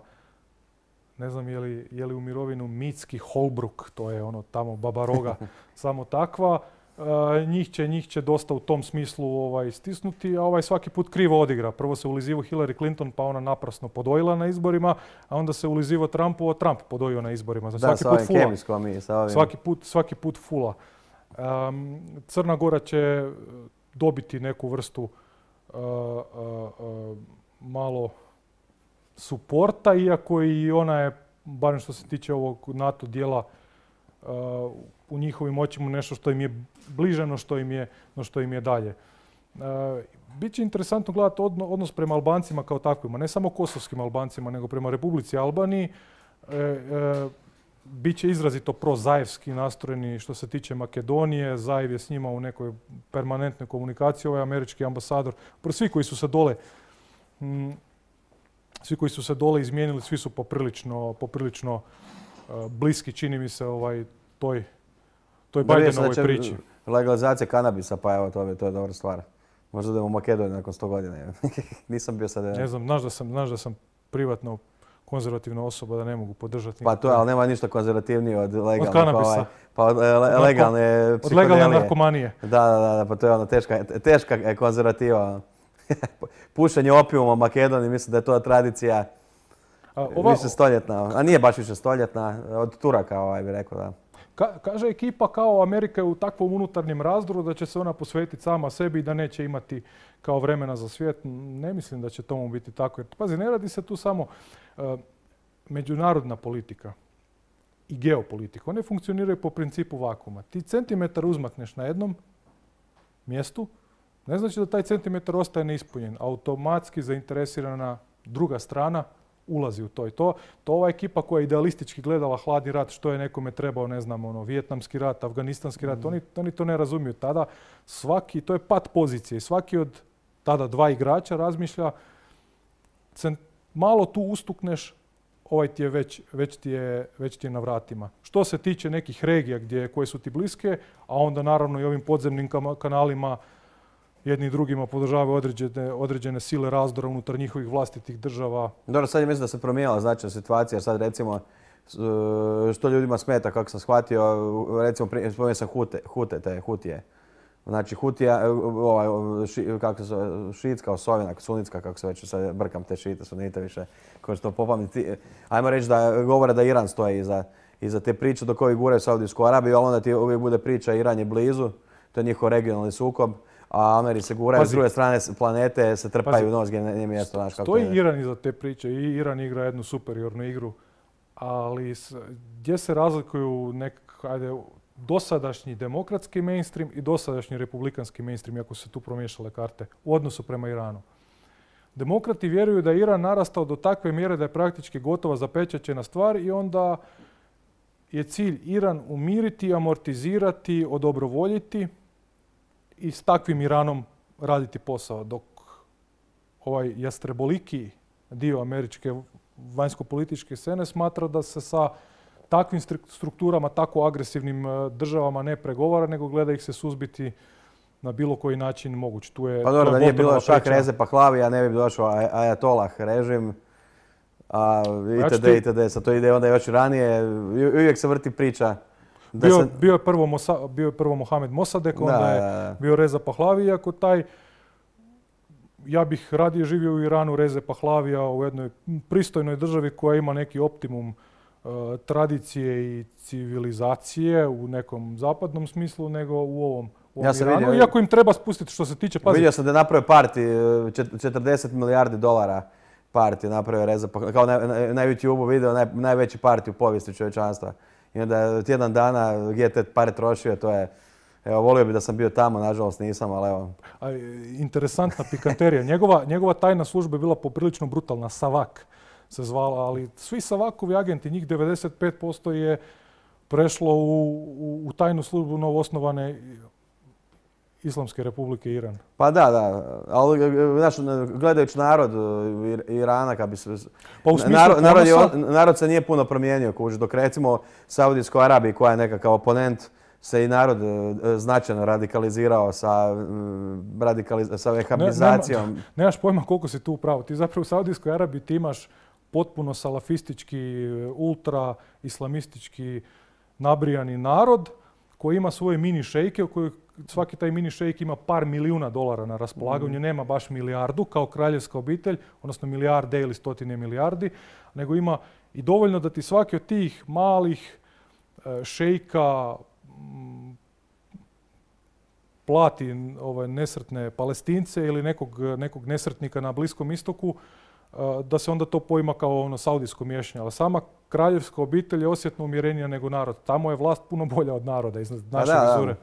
ne znam je li, je li u mirovinu Mitski Holbrook, to je ono tamo Baba Roga, samo takva. Uh, njih, će, njih će dosta u tom smislu ovaj, stisnuti, a ovaj svaki put krivo odigra. Prvo se ulizivo Hillary Clinton, pa ona naprasno podojila na izborima, a onda se ulizivo Trumpu, a Trump podojio na izborima. Da, svaki sa put ovim fula. kemijskom i sa ovim. Svaki put, svaki put fula. Um, Crna Gora će dobiti neku vrstu uh, uh, uh, malo suporta, iako i ona je, barem što se tiče ovog NATO dijela, uh, u njihovim očima nešto što im je bliže no što im je, no što im je dalje. Biće interesantno gledati odnos prema Albancima kao takvima, ne samo kosovskim Albancima, nego prema Republici Albaniji. E, e, Biće izrazito prozajevski nastrojeni što se tiče Makedonije. Zajev je s njima u nekoj permanentnoj komunikaciji. Ovaj američki ambasador, svi koji su se dole, m, svi koji su se dole izmijenili, svi su poprilično, poprilično uh, bliski, čini mi se, ovaj, toj, toj Bidenovoj priči. Legalizacija kanabisa, pa evo, to je, to je dobra stvar. Možda idemo u Makedoniju nakon sto godina. Nisam bio sad... Ne znam, znaš da sam, znaš da sam privatno konzervativna osoba, da ne mogu podržati. Pa to je, ali nema ništa konzervativnije od legalne. Od kanabisa. Pa, ovaj, pa od le, legalne od legalne narkomanije. Da, da, da, pa to je ono teška, teška konzervativa. Pušenje opijuma u Makedoniji, mislim da je to tradicija A, ova, više stoljetna. A nije baš više stoljetna, od Turaka ovaj bi rekao, da. Ka, kaže ekipa kao Amerika je u takvom unutarnjem razdoru da će se ona posvetiti sama sebi i da neće imati kao vremena za svijet. Ne mislim da će tomu biti tako. Jer, pazi, ne radi se tu samo uh, međunarodna politika i geopolitika. One funkcioniraju po principu vakuma. Ti centimetar uzmakneš na jednom mjestu, ne znači da taj centimetar ostaje neispunjen. Automatski zainteresirana druga strana ulazi u to i to. To ova ekipa koja je idealistički gledala hladni rat, što je nekome trebao, ne znam, ono, vijetnamski rat, afganistanski rat, mm. oni, oni to ne razumiju. Tada svaki, to je pat pozicije. Svaki od tada dva igrača razmišlja, cent, malo tu ustukneš, ovaj ti je već, već, ti je, već ti je na vratima. Što se tiče nekih regija gdje, koje su ti bliske, a onda naravno i ovim podzemnim kanalima jedni i drugima podržavaju određene, određene sile razdora unutar njihovih vlastitih država. Dobro, sad je mislim da se promijenila značajna situacija, jer sad recimo što ljudima smeta, kako sam shvatio, recimo spomenuo sam Hute, Hute, te Hutije. Znači Hutija, ovaj, ši, kako se šiitska osovina, sunitska, kako se već sad brkam te šite, sunite više, ko što popamti. Ajmo reći da govore da Iran stoji iza, iza te priče dok ovi guraju Saudijsku Arabiju, ali onda ti uvijek bude priča Iran je blizu, to je njihov regionalni sukob. A Ameri se guraju, s druge strane planete se trpaju u nos gdje nije mjesto. Znaš, kako stoji je. Iran iza te priče i Iran igra jednu superiornu igru, ali s, gdje se razlikuju nek, ajde, dosadašnji demokratski mainstream i dosadašnji republikanski mainstream, ako su se tu promiješale karte, u odnosu prema Iranu. Demokrati vjeruju da je Iran narastao do takve mjere da je praktički gotova zapečaćena stvar i onda je cilj Iran umiriti, amortizirati, odobrovoljiti i s takvim Iranom raditi posao, dok ovaj jastreboliki dio američke vanjsko-političke scene smatra da se sa takvim strukturama, tako agresivnim državama ne pregovara, nego gleda ih se suzbiti na bilo koji način moguć. Tu je, pa dobro, da nije bilo šak Reze Pahlavija, ne bi došao Ajatolah režim, a itd. Ja itd. Sad to ide onda još ranije, uvijek se vrti priča. Bio, se... bio, je prvo Mosa, bio je prvo Mohamed Mossadegh, onda da, je da. bio Reza Pahlavi, iako taj, ja bih radije živio u Iranu Reze Pahlavija u jednoj pristojnoj državi koja ima neki optimum uh, tradicije i civilizacije u nekom zapadnom smislu, nego u ovom, u ovom ja Iranu. Vidio, iako im treba spustiti što se tiče... Pazi, vidio sam da je napravio parti, četrdeset milijardi dolara parti napravio Reza Pahlavi, kao na, na, na YouTubeu video naj, najveći parti u povijesti čovječanstva. I onda tjedan dana gdje te pare trošio, to je... Evo, volio bi da sam bio tamo, nažalost nisam, ali evo... A, interesantna pikanterija. Njegova, njegova tajna služba je bila poprilično brutalna, Savak se zvala, ali svi Savakovi agenti, njih devedeset pet posto je prešlo u, u, u tajnu službu novoosnovane Islamske republike Iran. Pa da, da, ali znaš, gledajući narod Irana, kad bi se... Pa u smislu narod, narod, je, ponosa... narod se nije puno promijenio, kuži, dok recimo Saudijskoj Arabiji, koja je nekakav oponent, se i narod značajno radikalizirao sa, radikaliz sa vehabilizacijom. Ne, nema, nemaš pojma koliko si tu upravo. Ti zapravo u Saudijskoj Arabiji ti imaš potpuno salafistički, ultra islamistički nabrijani narod koji ima svoje mini šejke, u kojoj svaki taj mini šejk ima par milijuna dolara na raspolaganju, mm. nema baš milijardu kao kraljevska obitelj, odnosno milijarde ili stotine milijardi, nego ima i dovoljno da ti svaki od tih malih šejka plati ove nesretne Palestince ili nekog, nekog nesretnika na Bliskom istoku, da se onda to poima kao ono saudijsko miješanje. Ali sama kraljevska obitelj je osjetno umjerenija nego narod. Tamo je vlast puno bolja od naroda, iznad naše vizure.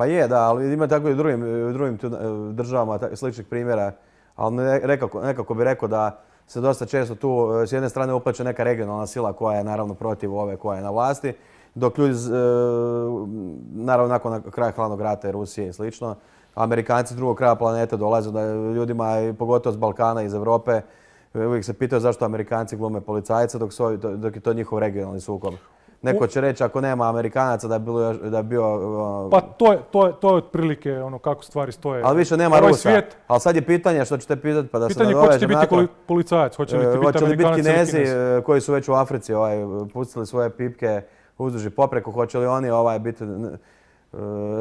Pa je, da, ali ima tako i u drugim, u drugim tu, e, državama ta- sličnih primjera. Ali ne- nekako, nekako bi rekao da se dosta često tu e, s jedne strane upleće neka regionalna sila koja je naravno protiv ove koja je na vlasti, dok ljudi, z- e, naravno nakon kraja hladnog rata i Rusije i slično, Amerikanci s drugog kraja planete dolaze da ljudima, i pogotovo s Balkana, iz Europe, e, uvijek se pitaju zašto Amerikanci glume policajce dok, su ovi- dok je to njihov regionalni sukob. Neko će reći ako nema Amerikanaca da je, bilo, još- da je bio... ono, Pa to je, to je, to je otprilike ono kako stvari stoje. ali više nema Ovaj Rusa. svijet, Ali sad je pitanje što ćete pitati pa da se pitanje ko će ti nadovežem biti na to. koli- policajac, hoće li ti E, biti Hoće li biti Amerikanac ili Kinezi Kinez? e, koji su već u Africi ovaj, pustili svoje pipke uzduž i popreko, hoće li oni ovaj, biti n-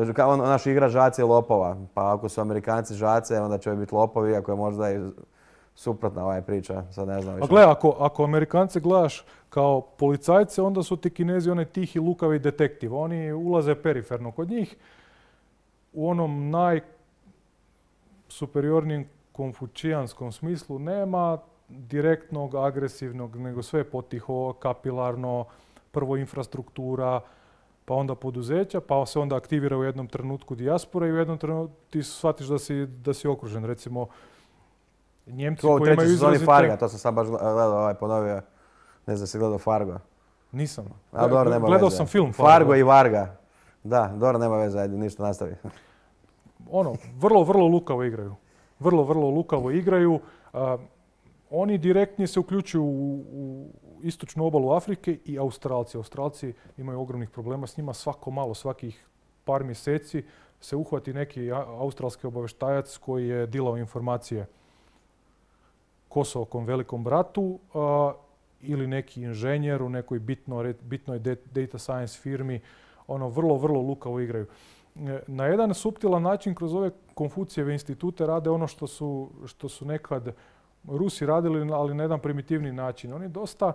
e, kao on, naš igra žace i lopova. Pa ako su Amerikanci žace, onda će biti lopovi, ako je možda i suprotna ovaj priča. Sad ne znam A više. gle, ako, ako Amerikance gledaš kao policajce, onda su ti Kinezi onaj tihi, lukavi detektiv. Oni ulaze periferno kod njih u onom najsuperiornijem konfučijanskom smislu. Nema direktnog, agresivnog, nego sve potiho, kapilarno, prvo infrastruktura, pa onda poduzeća, pa se onda aktivira u jednom trenutku dijaspora i u jednom trenutku ti shvatiš da si, da si okružen. Recimo, Njemci To u koji trećoj imaju sezoni izrazite... Farga, to sam sad baš gledao, ovaj, ponovio. Ne znam, si gledao Fargo. Nisam. A dobro, nema Gledao veze. sam film Fargo. Fargo. i Varga. Da, dobro, nema veze, ajde, ništa nastavi. Ono, vrlo, vrlo lukavo igraju. Vrlo, vrlo lukavo igraju. A, oni direktnije se uključuju u, u istočnu obalu Afrike i Australci. Australci imaju ogromnih problema s njima. Svako malo, svakih par mjeseci se uhvati neki a- australski obavještajac koji je dilao informacije Kosovokom velikom bratu a, ili neki inženjer u nekoj bitno, bitnoj de- data science firmi. Ono, vrlo, vrlo lukavo igraju. E, Na jedan suptilan način kroz ove Konfucijeve institute rade ono što su, što su nekad Rusi radili, ali na jedan primitivni način. Oni dosta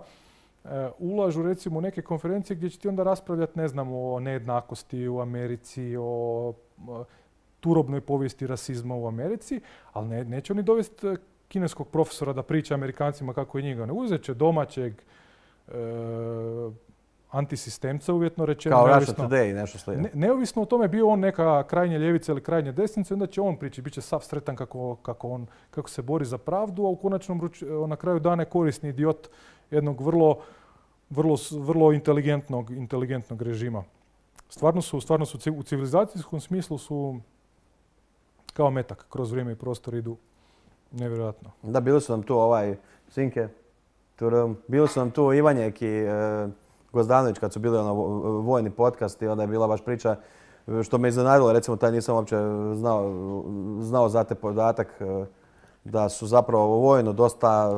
e, ulažu recimo u neke konferencije gdje će ti onda raspravljati, ne znam, o nejednakosti u Americi, o e, turobnoj povijesti rasizma u Americi, ali ne, neće oni dovesti e, kineskog profesora da priča Amerikancima kako je njega. Ne, uzet će domaćeg e, antisistemca, uvjetno rečeno. Kao Russia neovisno- Today, nešto slično. ne, neovisno o tome bio on neka krajnje ljevica ili krajnje desnica, onda će on prići, bit će sav sretan kako, kako, on, kako se bori za pravdu, a u konačnom ruč- na kraju dana je korisni idiot jednog vrlo, vrlo, s- vrlo inteligentnog, inteligentnog režima. Stvarno su, stvarno su ci- u civilizacijskom smislu su kao metak, kroz vrijeme i prostor idu nevjerojatno. Da, bili su nam tu ovaj Sinke, turum. Bili su nam tu Ivanjek i e, Gozdanović kad su bili ono vo- vojni podcast i onda je bila baš priča e, što me iznenadilo, recimo taj nisam uopće znao, znao za te podatak e, da su zapravo vojno dosta,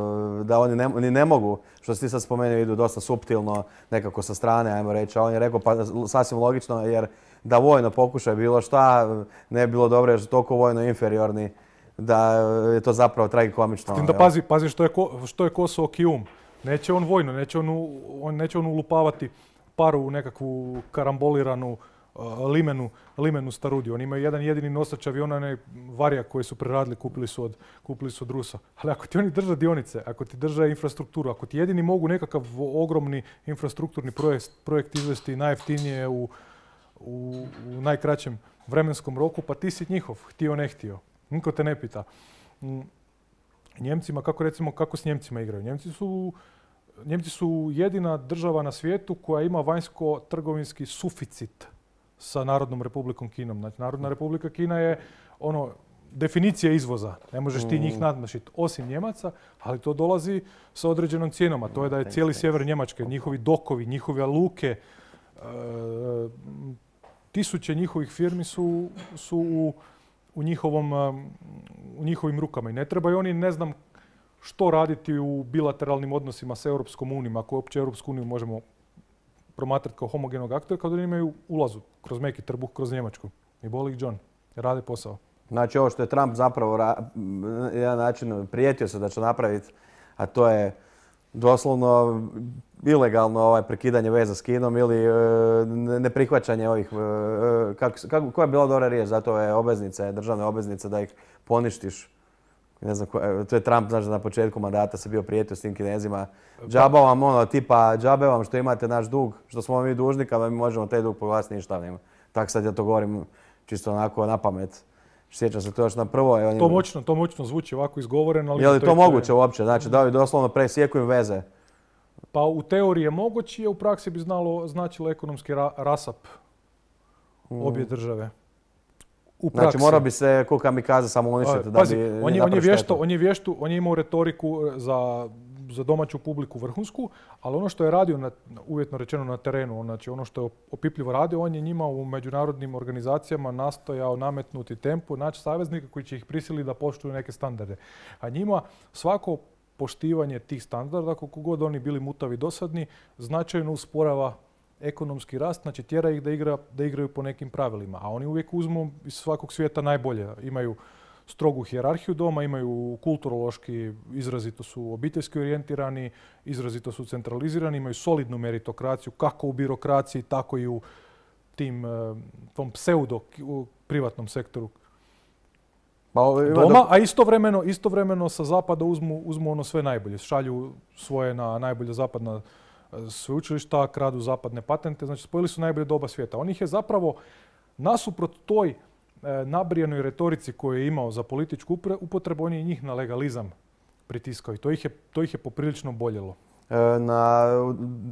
e, da oni ne, ni ne mogu, što si ti sad spomenuo, idu dosta suptilno, nekako sa strane, ajmo reći, a on je rekao pa sasvim logično jer da vojno pokušaju bilo šta, ne bi bilo dobro jer su toliko vojno inferiorni da je to zapravo tragikomično. S tim da jel? pazi, pazi što je, ko, što je Kosovo kijum. Neće on vojno, neće on, u- on, neće on ulupavati paru u nekakvu karamboliranu uh, limenu, limenu starudiju. Oni imaju jedan jedini nosač aviona, onaj Varijak koji su preradili, kupili su od, kupili su od Rusa. Ali ako ti oni drže dionice, ako ti drže infrastrukturu, ako ti jedini mogu nekakav ogromni infrastrukturni projekt, projekt izvesti najjeftinije u, u, u najkraćem vremenskom roku, pa ti si njihov, htio ne htio. Niko te ne pita. Mm, Njemcima, kako recimo, kako s Njemcima igraju? Njemci su, Njemci su jedina država na svijetu koja ima vanjsko-trgovinski suficit sa Narodnom republikom Kinom. Znači, Narodna republika Kina je ono, definicija izvoza. Ne možeš ti njih nadmašiti, osim Njemaca, ali to dolazi sa određenom cijenom, a to je da je cijeli sjever Njemačke, njihovi dokovi, njihove luke, e, tisuće njihovih firmi su, su u, u, njihovom, um, u njihovim rukama. I ne trebaju oni, ne znam, što raditi u bilateralnim odnosima sa Europskom unijom, ako uopće Europsku uniju možemo promatrati kao homogenog aktora, kad oni imaju ulazu kroz meki trbuh, kroz Njemačku. I boli ih John, rade posao. Znači ovo što je Trump zapravo ra- na jedan način prijetio se da će napraviti, a to je doslovno ilegalno ovaj prekidanje veza s Kinom ili e, ne- neprihvaćanje ovih, e, kako, se- kako, koja je bila dobra riječ za to je obveznice, državne obveznice da ih poništiš. Ne znam, ko- e, to je Trump, znači na početku mandata se bio prijetio s tim Kinezima. Džaba vam ono, tipa džabe vam što imate naš dug, što smo mi dužni, kada mi možemo taj dug proglasiti ništavnim. Tako sad ja to govorim čisto onako na pamet. Sjećam se to još na prvo. Je, to moćno, to moćno zvuči ovako izgovoreno. Ali je li to, to moguće uopće? Znači da li doslovno presjeku im veze? Pa u teoriji je moguće, a u praksi bi znalo, značilo ekonomski ra, rasap mm. obje države. U praksi. Znači morao bi se ko kamikaze samo uništiti da Pazi, bi on je, on je vješto, on je vještu, on je imao retoriku za, za domaću publiku vrhunsku, ali ono što je radio, na, uvjetno rečeno na terenu, znači ono što je opipljivo radio, on je njima u međunarodnim organizacijama nastojao nametnuti tempo, naći saveznika koji će ih prisiliti da poštuju neke standarde. A njima svako poštivanje tih standarda, koliko god oni bili mutavi dosadni, značajno usporava ekonomski rast, znači tjera ih da, igra, da igraju po nekim pravilima. A oni uvijek uzmu iz svakog svijeta najbolje. Imaju strogu hijerarhiju doma, imaju kulturološki, izrazito su obiteljski orijentirani, izrazito su centralizirani, imaju solidnu meritokraciju, kako u birokraciji, tako i u tim, tom pseudo privatnom sektoru doma, a istovremeno, istovremeno sa zapada uzmu, uzmu ono sve najbolje. Šalju svoje na najbolje zapadna sveučilišta, kradu zapadne patente, znači spojili su najbolje doba svijeta. On ih je zapravo nasuprot toj e, nabrijanoj retorici koju je imao za političku upotrebu, on je njih na legalizam pritiskao i to ih je, to ih je poprilično boljelo. E, na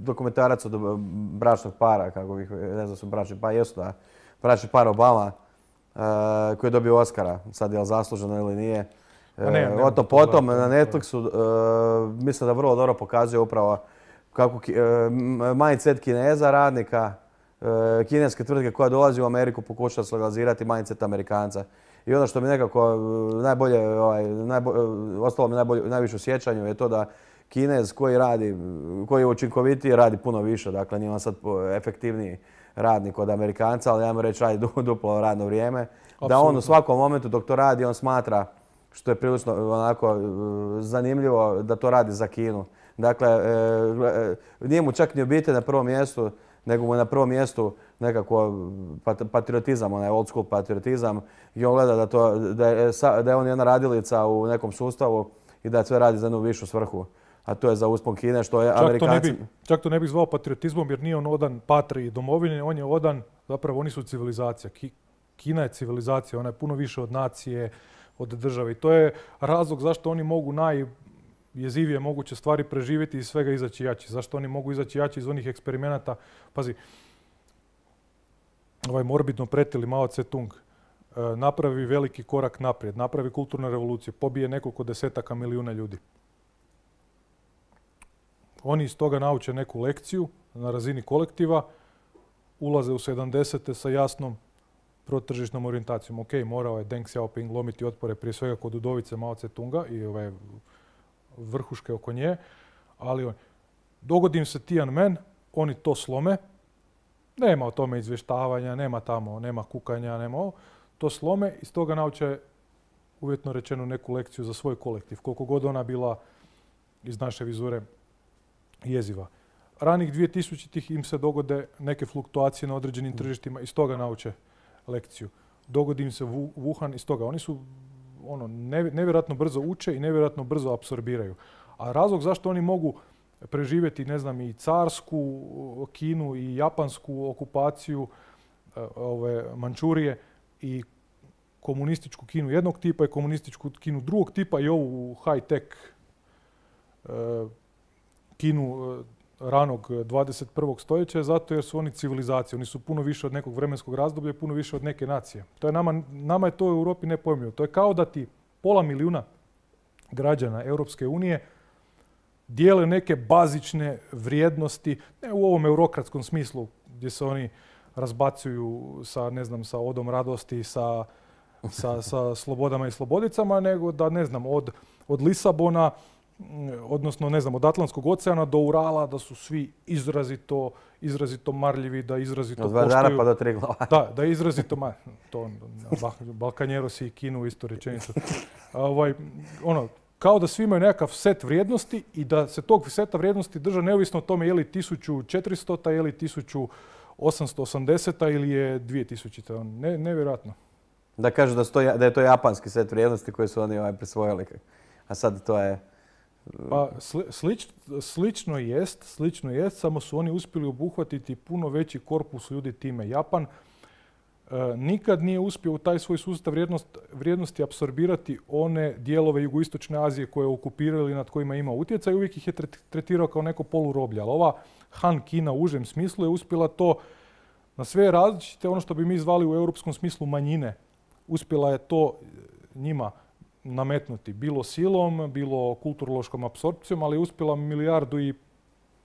dokumentarac od bračnog para, kako bih, ne znam su bračni pa jesu da, bračni par Obama, e, koji je dobio Oscara, sad je li zasluženo ili nije. E, ne, ne, o to potom na Netflixu, e, mislim da vrlo dobro pokazuje upravo kako mindset Kineza, radnika, kineske tvrtke koja dolazi u Ameriku pokušava se legalizirati mindset Amerikanca. I ono što mi nekako najbolje, ovaj, najbolje, ostalo mi najbolje, najviše u sjećanju je to da Kinez koji radi, koji je učinkovitiji radi puno više, dakle nije on sad efektivniji radnik od Amerikanca, ali ajmo reći radi duplo radno vrijeme. Absolutno. Da on u svakom momentu dok to radi, on smatra, što je prilično onako zanimljivo, da to radi za Kinu. Dakle, e, nije mu čak ni obitelj na prvom mjestu, nego mu je na prvom mjestu nekako patriotizam, onaj old school patriotizam. I on gleda da, to, da, je, da je on jedna radilica u nekom sustavu i da sve radi za jednu višu svrhu. A to je za uspon Kine, što je čak Amerikanci... To ne bi, čak to ne bih zvao patriotizmom jer nije on odan patriji domovine, on je odan, zapravo oni su civilizacija. Ki, Kina je civilizacija, ona je puno više od nacije, od države. I to je razlog zašto oni mogu naj... jezivije moguće stvari preživjeti i svega izaći jači. Zašto oni mogu izaći jači iz onih eksperimenata? Pazi, ovaj morbidno pretili Mao Tse-tung napravi veliki korak naprijed, napravi kulturnu revoluciju, pobije nekoliko desetaka milijuna ljudi. Oni iz toga nauče neku lekciju na razini kolektiva, ulaze u sedamdesete sa jasnom protržišnom orijentacijom. Ok, morao je Deng Xiaoping lomiti otpore prije svega kod udovice Mao Tse-tunga i ove vrhuške oko nje, ali on, dogodi im se Tiananmen, oni to slome, nema o tome izvještavanja, nema tamo, nema kukanja, nema ovo, to slome i iz toga nauče uvjetno rečeno neku lekciju za svoj kolektiv, koliko god ona bila iz naše vizure jeziva. Ranih dvije tisućitih im se dogode neke fluktuacije na određenim tržištima, iz toga nauče lekciju. Dogodi im se Wuhan, iz toga. Oni su ono, nevjerojatno brzo uče i nevjerojatno brzo apsorbiraju. A razlog zašto oni mogu preživjeti, ne znam, i carsku Kinu i japansku okupaciju ove, Mančurije i komunističku Kinu jednog tipa i komunističku Kinu drugog tipa i ovu high-tech e, Kinu ranog dvadeset prvog stoljeća, zato jer su oni civilizacije. Oni su puno više od nekog vremenskog razdoblja i puno više od neke nacije. To je nama, nama je to u Europi nepojmljivo. To je kao da ti pola milijuna građana Europske unije dijele neke bazične vrijednosti, ne u ovom eurokratskom smislu gdje se oni razbacuju sa, ne znam, sa odom radosti, sa, sa, sa slobodama i slobodicama, nego da, ne znam, od, od Lisabona, odnosno, ne znam, od Atlantskog oceana do Urala, da su svi izrazito, izrazito marljivi, da izrazito poštuju. Od Vardara pa do Triglava. Da, da izrazito, ma, to, Balkanjerosi i Kinu isto rečenicu. Ovaj, ono, kao da svi imaju nekakav set vrijednosti i da se tog seta vrijednosti drže neovisno o tome je li tisuću četiristo, je li tisuću osamsto osamdeset ili je dvije tisuće. Ne, nevjerojatno. Da kažu da, sto, da je to japanski set vrijednosti koje su oni ovaj prisvojili. A sad to je... Pa slič, slično jest, slično jest, samo su oni uspjeli obuhvatiti puno veći korpus ljudi time. Japan nikad nije uspio u taj svoj sustav vrijednost, vrijednosti apsorbirati one dijelove jugoistočne Azije koje je okupirali i nad kojima ima utjecaj. Uvijek ih je tretirao kao neko poluroblje. Ali ova Han Kina u užem smislu je uspjela to na sve različite, ono što bi mi zvali u europskom smislu manjine. Uspjela je to njima nametnuti. Bilo silom, bilo kulturološkom apsorpcijom, ali je uspjela milijardu i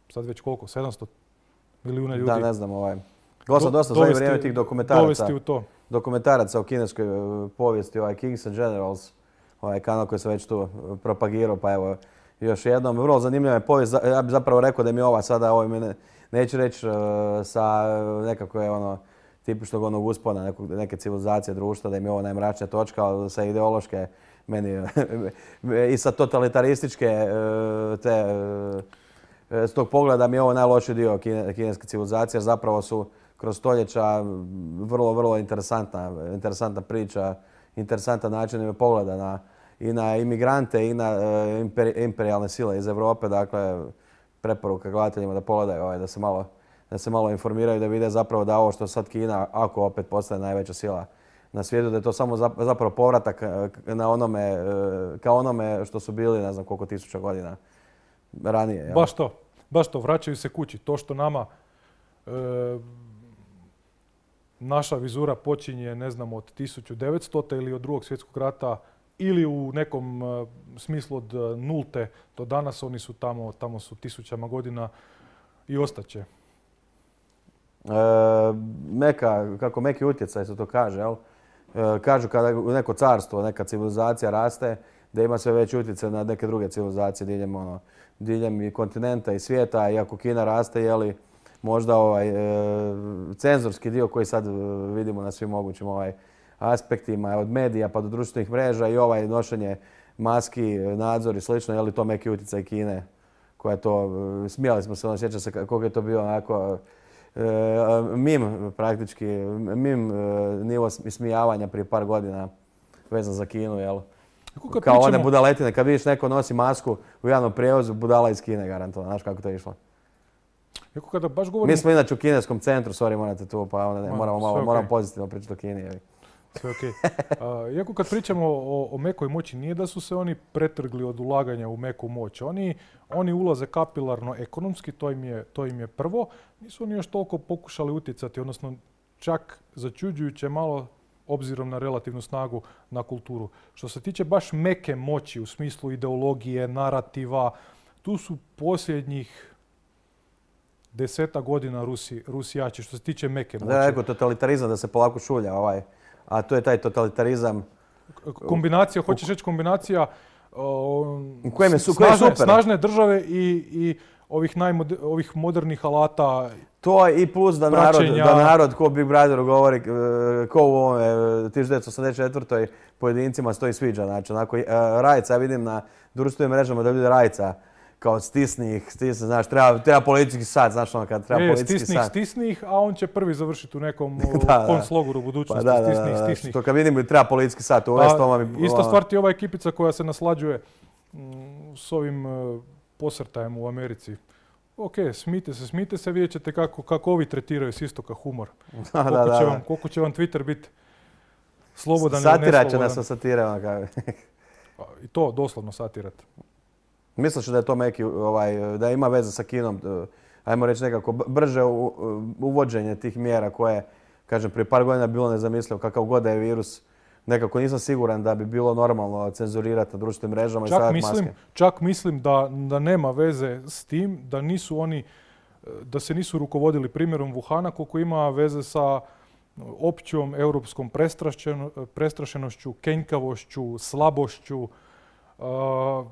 sad već koliko, sedamsto milijuna ljudi. Da, ne znam, ovaj. Gledao dosta za vrijeme tih dokumentaraca. U to. Dokumentaraca o kineskoj povijesti, ovaj Kings and Generals, ovaj kanal koji sam već tu propagirao, pa evo još jednom. Vrlo zanimljiva je povijest. Ja bih zapravo rekao da mi je ova sada, ovaj, mene, neću reći sa nekako je ono tipičnog onog uspona nekog, neke civilizacije društva, da im je ovo najmračnija točka, ali sa ideološke meni i sa totalitarističke te s tog pogleda mi je ovo najlošiji dio kineske civilizacije, jer zapravo su kroz stoljeća vrlo, vrlo interesantna, interesantna priča, interesantan način pogleda na, i na imigrante i na uh, imperijalne sile iz Europe. Dakle, preporuka gledateljima da pogledaju, ovaj, da se malo da se malo informiraju, da vide zapravo da ovo što sad Kina, ako opet postane najveća sila na svijetu, da je to samo zapravo povratak na onome, kao onome što su bili, ne znam koliko tisuća godina ranije. Jel? Baš to, baš to, vraćaju se kući. To što nama e, naša vizura počinje, ne znam, od tisuću devetstotog ili od drugog svjetskog rata ili u nekom e, smislu od nulte do danas, oni su tamo, tamo su tisućama godina i ostaće. E, meka, kako meki utjecaj se to kaže, jel? E, kažu kada neko carstvo, neka civilizacija raste, da ima sve veći utjecaj na neke druge civilizacije diljem, ono, diljem i kontinenta i svijeta. Iako Kina raste, jeli, možda ovaj e, cenzorski dio koji sad vidimo na svim mogućim ovaj, aspektima, od medija pa do društvenih mreža i ovaj nošenje maski, nadzor i slično, je li to meki utjecaj Kine koja to, smijali smo se, ono, sjeća se koliko je to bio onako e, mim praktički, mim e, nivo ismijavanja prije par godina vezan za Kinu, jel? Kao pričamo... one budaletine, kad vidiš neko nosi masku u javnom prijevozu, budala iz Kine garantovano, znaš kako to je išlo. Iako kada baš govorim... Mi smo inače u kineskom centru, sorry, morate tu, pa onda ne, moramo, malo, okay. moramo pozitivno pričati o Kini. Jel? Sve okej. Okay. Uh, iako kad pričamo o, o mekoj moći, nije da su se oni pretrgli od ulaganja u meku moć. Oni, oni ulaze kapilarno ekonomski, to im, je, to im je prvo. Nisu oni još toliko pokušali utjecati, odnosno čak začuđujuće malo obzirom na relativnu snagu na kulturu. Što se tiče baš meke moći u smislu ideologije, narativa, tu su posljednjih deseta godina Rusi, Rusijači što se tiče meke moći. Da, neko totalitarizam da se polako šulja, ovaj. A to je taj totalitarizam. Kombinacija, hoćeš reći kombinacija u kojem je, su, snažne, je super. snažne države i, i ovih, najmoder, ovih modernih alata. To i plus da narod, da narod, ko Big Brother govori, ko u ovome tisuću devetsto osamdeset četvrtoj pojedincima stoji sviđa. Znači, onako, Rajca, ja vidim na društvenim mrežama da ljudi Rajca kao stisni ih, stisni, znaš, treba, treba policijski sat, znaš ono kad treba e, policijski stisni sat. Stisni ih, a on će prvi završiti u nekom da, konclogoru u budućnosti. Pa da, stisni ih, da, da, stisni ih. To kad vidim treba policijski sat uvesti, to vam je... Ista stvar ti je ova ekipica koja se naslađuje m, s ovim uh, posrtajem u Americi. Ok, smijte se, smijte se, vidjet ćete kako, kako ovi tretiraju s istoka humor. Da, koliko, da, će da. vam, koliko će vam Twitter biti slobodan ili neslobodan. Satira će nas sa satire. I to doslovno satirati. Misliš da je to meki, ovaj, da ima veze sa Kinom, ajmo reći nekako brže uvođenje tih mjera koje, kažem, prije par godina bilo nezamislivo, kakav god da je virus, nekako nisam siguran da bi bilo normalno cenzurirati na društvenim mrežama čak i stavljati mislim, maske. Čak mislim da, da nema veze s tim, da nisu oni, da se nisu rukovodili primjerom Wuhana, koliko ima veze sa općom europskom prestrašenošću, kenjkavošću, slabošću, uh,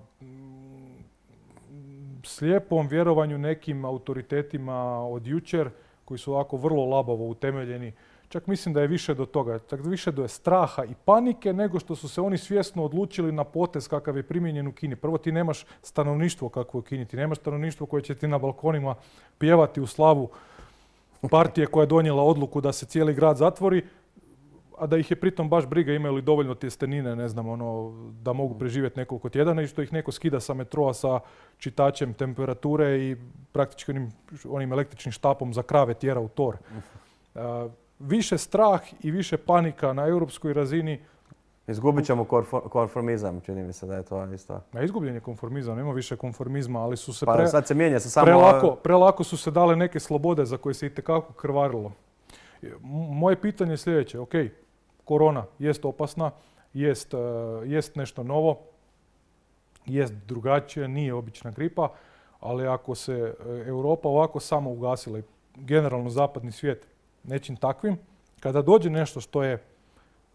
slijepom vjerovanju nekim autoritetima od jučer koji su ovako vrlo labavo utemeljeni. Čak mislim da je više do toga, čak više do straha i panike nego što su se oni svjesno odlučili na potez kakav je primijenjen u Kini. Prvo, ti nemaš stanovništvo kakvo je u Kini, ti nemaš stanovništvo koje će ti na balkonima pjevati u slavu partije koja je donijela odluku da se cijeli grad zatvori, a da ih je pritom baš briga imaju li dovoljno tjestenine, ne znam, ono, da mogu preživjeti nekoliko tjedana i što ih neko skida sa metroa sa čitačem temperature i praktički onim, onim električnim štapom za krave tjera u tor. Uh, više strah i više panika na europskoj razini. Izgubit ćemo konfor- konformizam, čini mi se da je to isto. Na izgubljen je konformizam, nema više konformizma, ali su se Pa pre, sad se mijenja se samo... prelako, prelako su se dale neke slobode za koje se itekako krvarilo. M- Moje pitanje je sljedeće, ok, korona jest opasna, jest, uh, jest nešto novo, jest drugačije, nije obična gripa, ali ako se uh, Europa ovako samo ugasila i generalno zapadni svijet nečim takvim, kada dođe nešto što je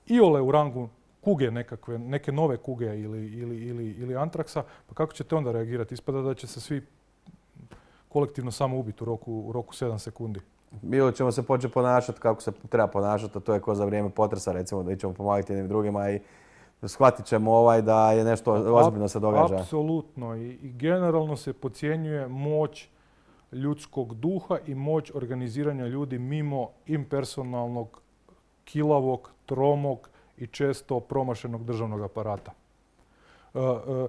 iole u rangu kuge nekakve, neke nove kuge ili, ili, ili, ili antraksa, pa kako ćete onda reagirati? Ispada da će se svi kolektivno samo ubiti u roku, u roku sedam sekundi. Ili ćemo se početi ponašati kako se treba ponašati, a to je ko za vrijeme potresa, recimo, da ćemo pomagati jednim drugima i shvatit ćemo ovaj da je nešto ozbiljno se događa. Apsolutno. I, I generalno se podcjenjuje moć ljudskog duha i moć organiziranja ljudi mimo impersonalnog, kilavog, tromog i često promašenog državnog aparata. E, e,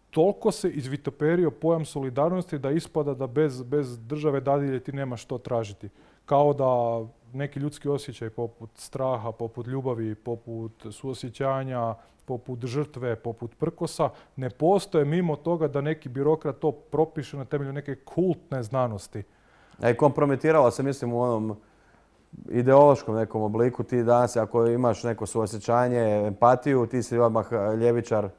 toliko se izvitoperio pojam solidarnosti da ispada da bez, bez države dadilje ti nema što tražiti. Kao da neki ljudski osjećaj poput straha, poput ljubavi, poput suosjećanja, poput žrtve, poput prkosa, ne postoje mimo toga da neki birokrat to propiše na temelju neke kultne znanosti. A i kompromitiralo se, mislim, u onom ideološkom nekom obliku. Ti danas, ako imaš neko suosjećanje, empatiju, ti si odmah ljevičar,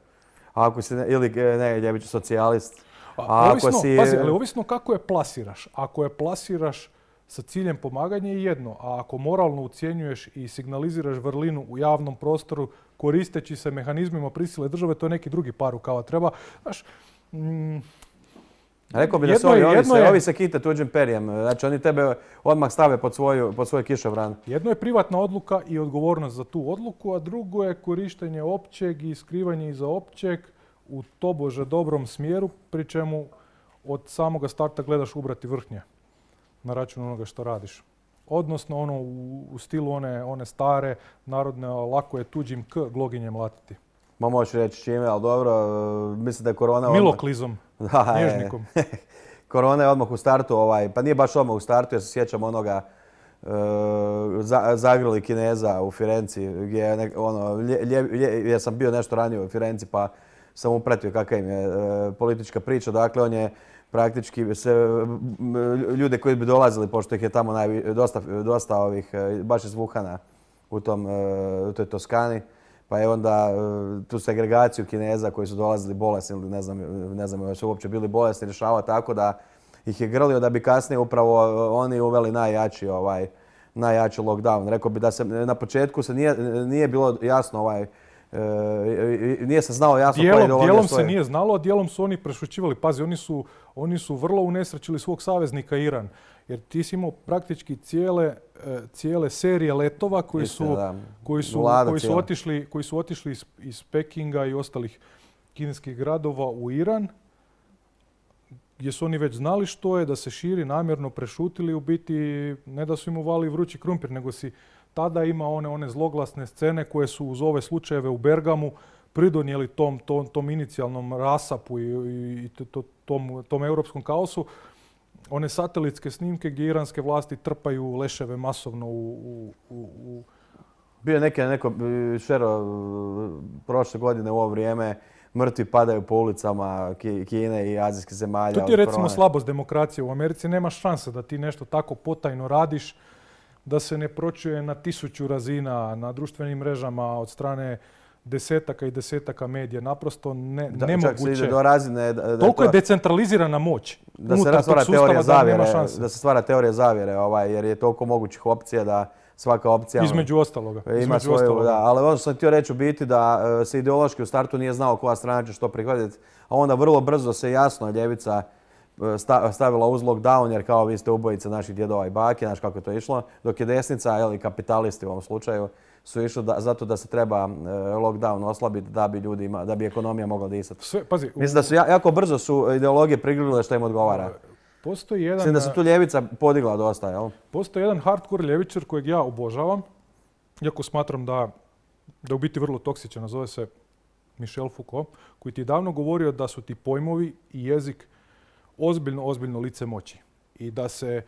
ako si ne, ili ne ljevičar, socijalist. A ovisno, ako si... Pazi, ali ovisno kako je plasiraš. Ako je plasiraš sa ciljem pomaganja je jedno, a ako moralno ucjenjuješ i signaliziraš vrlinu u javnom prostoru koristeći se mehanizmima prisile države, to je neki drugi par rukava. Treba, znaš, mm, rekao bi da se ovi, ovi, se, ovi se kite tuđim perijem. Znači oni tebe odmah stave pod, svoju, pod svoj kišobran. Jedno je privatna odluka i odgovornost za tu odluku, a drugo je korištenje općeg i skrivanje iza općeg u tobože dobrom smjeru, pri čemu od samoga starta gledaš ubrati vrhnje na račun onoga što radiš. Odnosno ono u, u stilu one, one stare narodne, lako je tuđim k gloginjem latiti. Ma možeš reći čime, ali dobro, mislim da je korona... Miloklizom, da, nježnikom. Korona je odmah u startu, ovaj, pa nije baš odmah u startu, jer se sjećam onoga uh, za, zagrli Kineza u Firenci, gdje je nek, ono, lje, lje, lje, ja sam bio nešto ranije u Firenci, pa sam upratio kakva im je uh, politička priča. Dakle, on je praktički se, ljude koji bi dolazili, pošto ih je tamo najvi, dosta, dosta ovih, baš iz Wuhana u, tom, u toj Toskani, pa je onda tu segregaciju Kineza koji su dolazili bolesni ili ne znam, ne znam ili su uopće bili bolesni rješavao tako da ih je grlio da bi kasnije upravo oni uveli najjači, ovaj, najjači lockdown. Rekao bi da se na početku se nije, nije bilo jasno ovaj, E, nije se znalo jasno dijelom, koja ideologija dijelom stoji. se nije znalo, a dijelom su oni prešućivali. Pazi, oni su, oni su vrlo unesrećili svog saveznika Iran. Jer ti si imao praktički cijele, cijele serije letova koji su, Istina, koji su, koji su otišli, koji su otišli iz, iz Pekinga i ostalih kineskih gradova u Iran, gdje su oni već znali što je, da se širi, namjerno prešutili, u biti ne da su im uvali vrući krumpir, nego si tada ima one, one zloglasne scene koje su uz ove slučajeve u Bergamu pridonijeli tom, tom, tom inicijalnom rasapu i, i to, tom, tom europskom kaosu. One satelitske snimke gdje iranske vlasti trpaju leševe masovno u... u, u, u... Bio je neke, neko šero prošle godine u ovo vrijeme, mrtvi padaju po ulicama Kine i azijskih zemalja. To ti je recimo slabost demokracije. U Americi nema šanse da ti nešto tako potajno radiš, da se ne pročuje na tisuću razina na društvenim mrežama od strane desetaka i desetaka medija. Naprosto ne, da, nemoguće. Čak se ide do razine... Da, da Toliko je to, je decentralizirana moć. Da se stvara teorija zavjere, da se stvara teorija zavjere, ovaj, jer je toliko mogućih opcija da svaka opcija... Između ostaloga. Ima između svoju, ostaloga. Da, ali ono što sam htio reći u biti da se ideološki u startu nije znao koja strana će što prihvatiti, a onda vrlo brzo se jasno ljevica stavila uz lockdown, jer kao vi ste ubojice naših djedova i bake, znaš kako je to išlo, dok je desnica, ili kapitalisti u ovom slučaju, su išli da, zato da se treba lockdown oslabiti da bi ljudi ima, da bi ekonomija mogla disati. Sve, pazi, mislim da su jako brzo su ideologije prigrlile što im odgovara. Postoji jedan... Mislim da se tu ljevica podigla dosta, jel? Postoji jedan hardcore ljevičar kojeg ja obožavam, iako smatram da, da u biti vrlo toksičan, zove se Michel Foucault, koji ti je davno govorio da su ti pojmovi i jezik ozbiljno, ozbiljno lice moći. I da se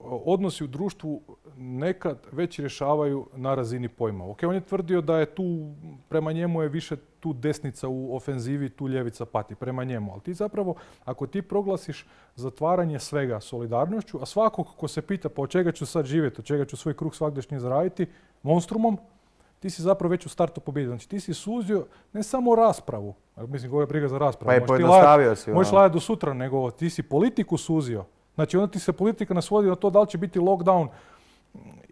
odnosi u društvu nekad već rješavaju na razini pojma. Ok, on je tvrdio da je tu, prema njemu je više tu desnica u ofenzivi, tu ljevica pati, prema njemu. Ali ti zapravo, ako ti proglasiš zatvaranje svega solidarnošću, a svakog ko se pita pa od čega ću sad živjeti, od čega ću svoj kruh svagdašnji zaraditi, monstrumom, ti si zapravo već u startu pobjedio. Znači ti si suzio ne samo raspravu, mislim, ovo je briga za raspravu. Pa i pojednostavio si. Možeš lajati do sutra, nego ti si politiku suzio. Znači onda ti se politika nasvodi na to da li će biti lockdown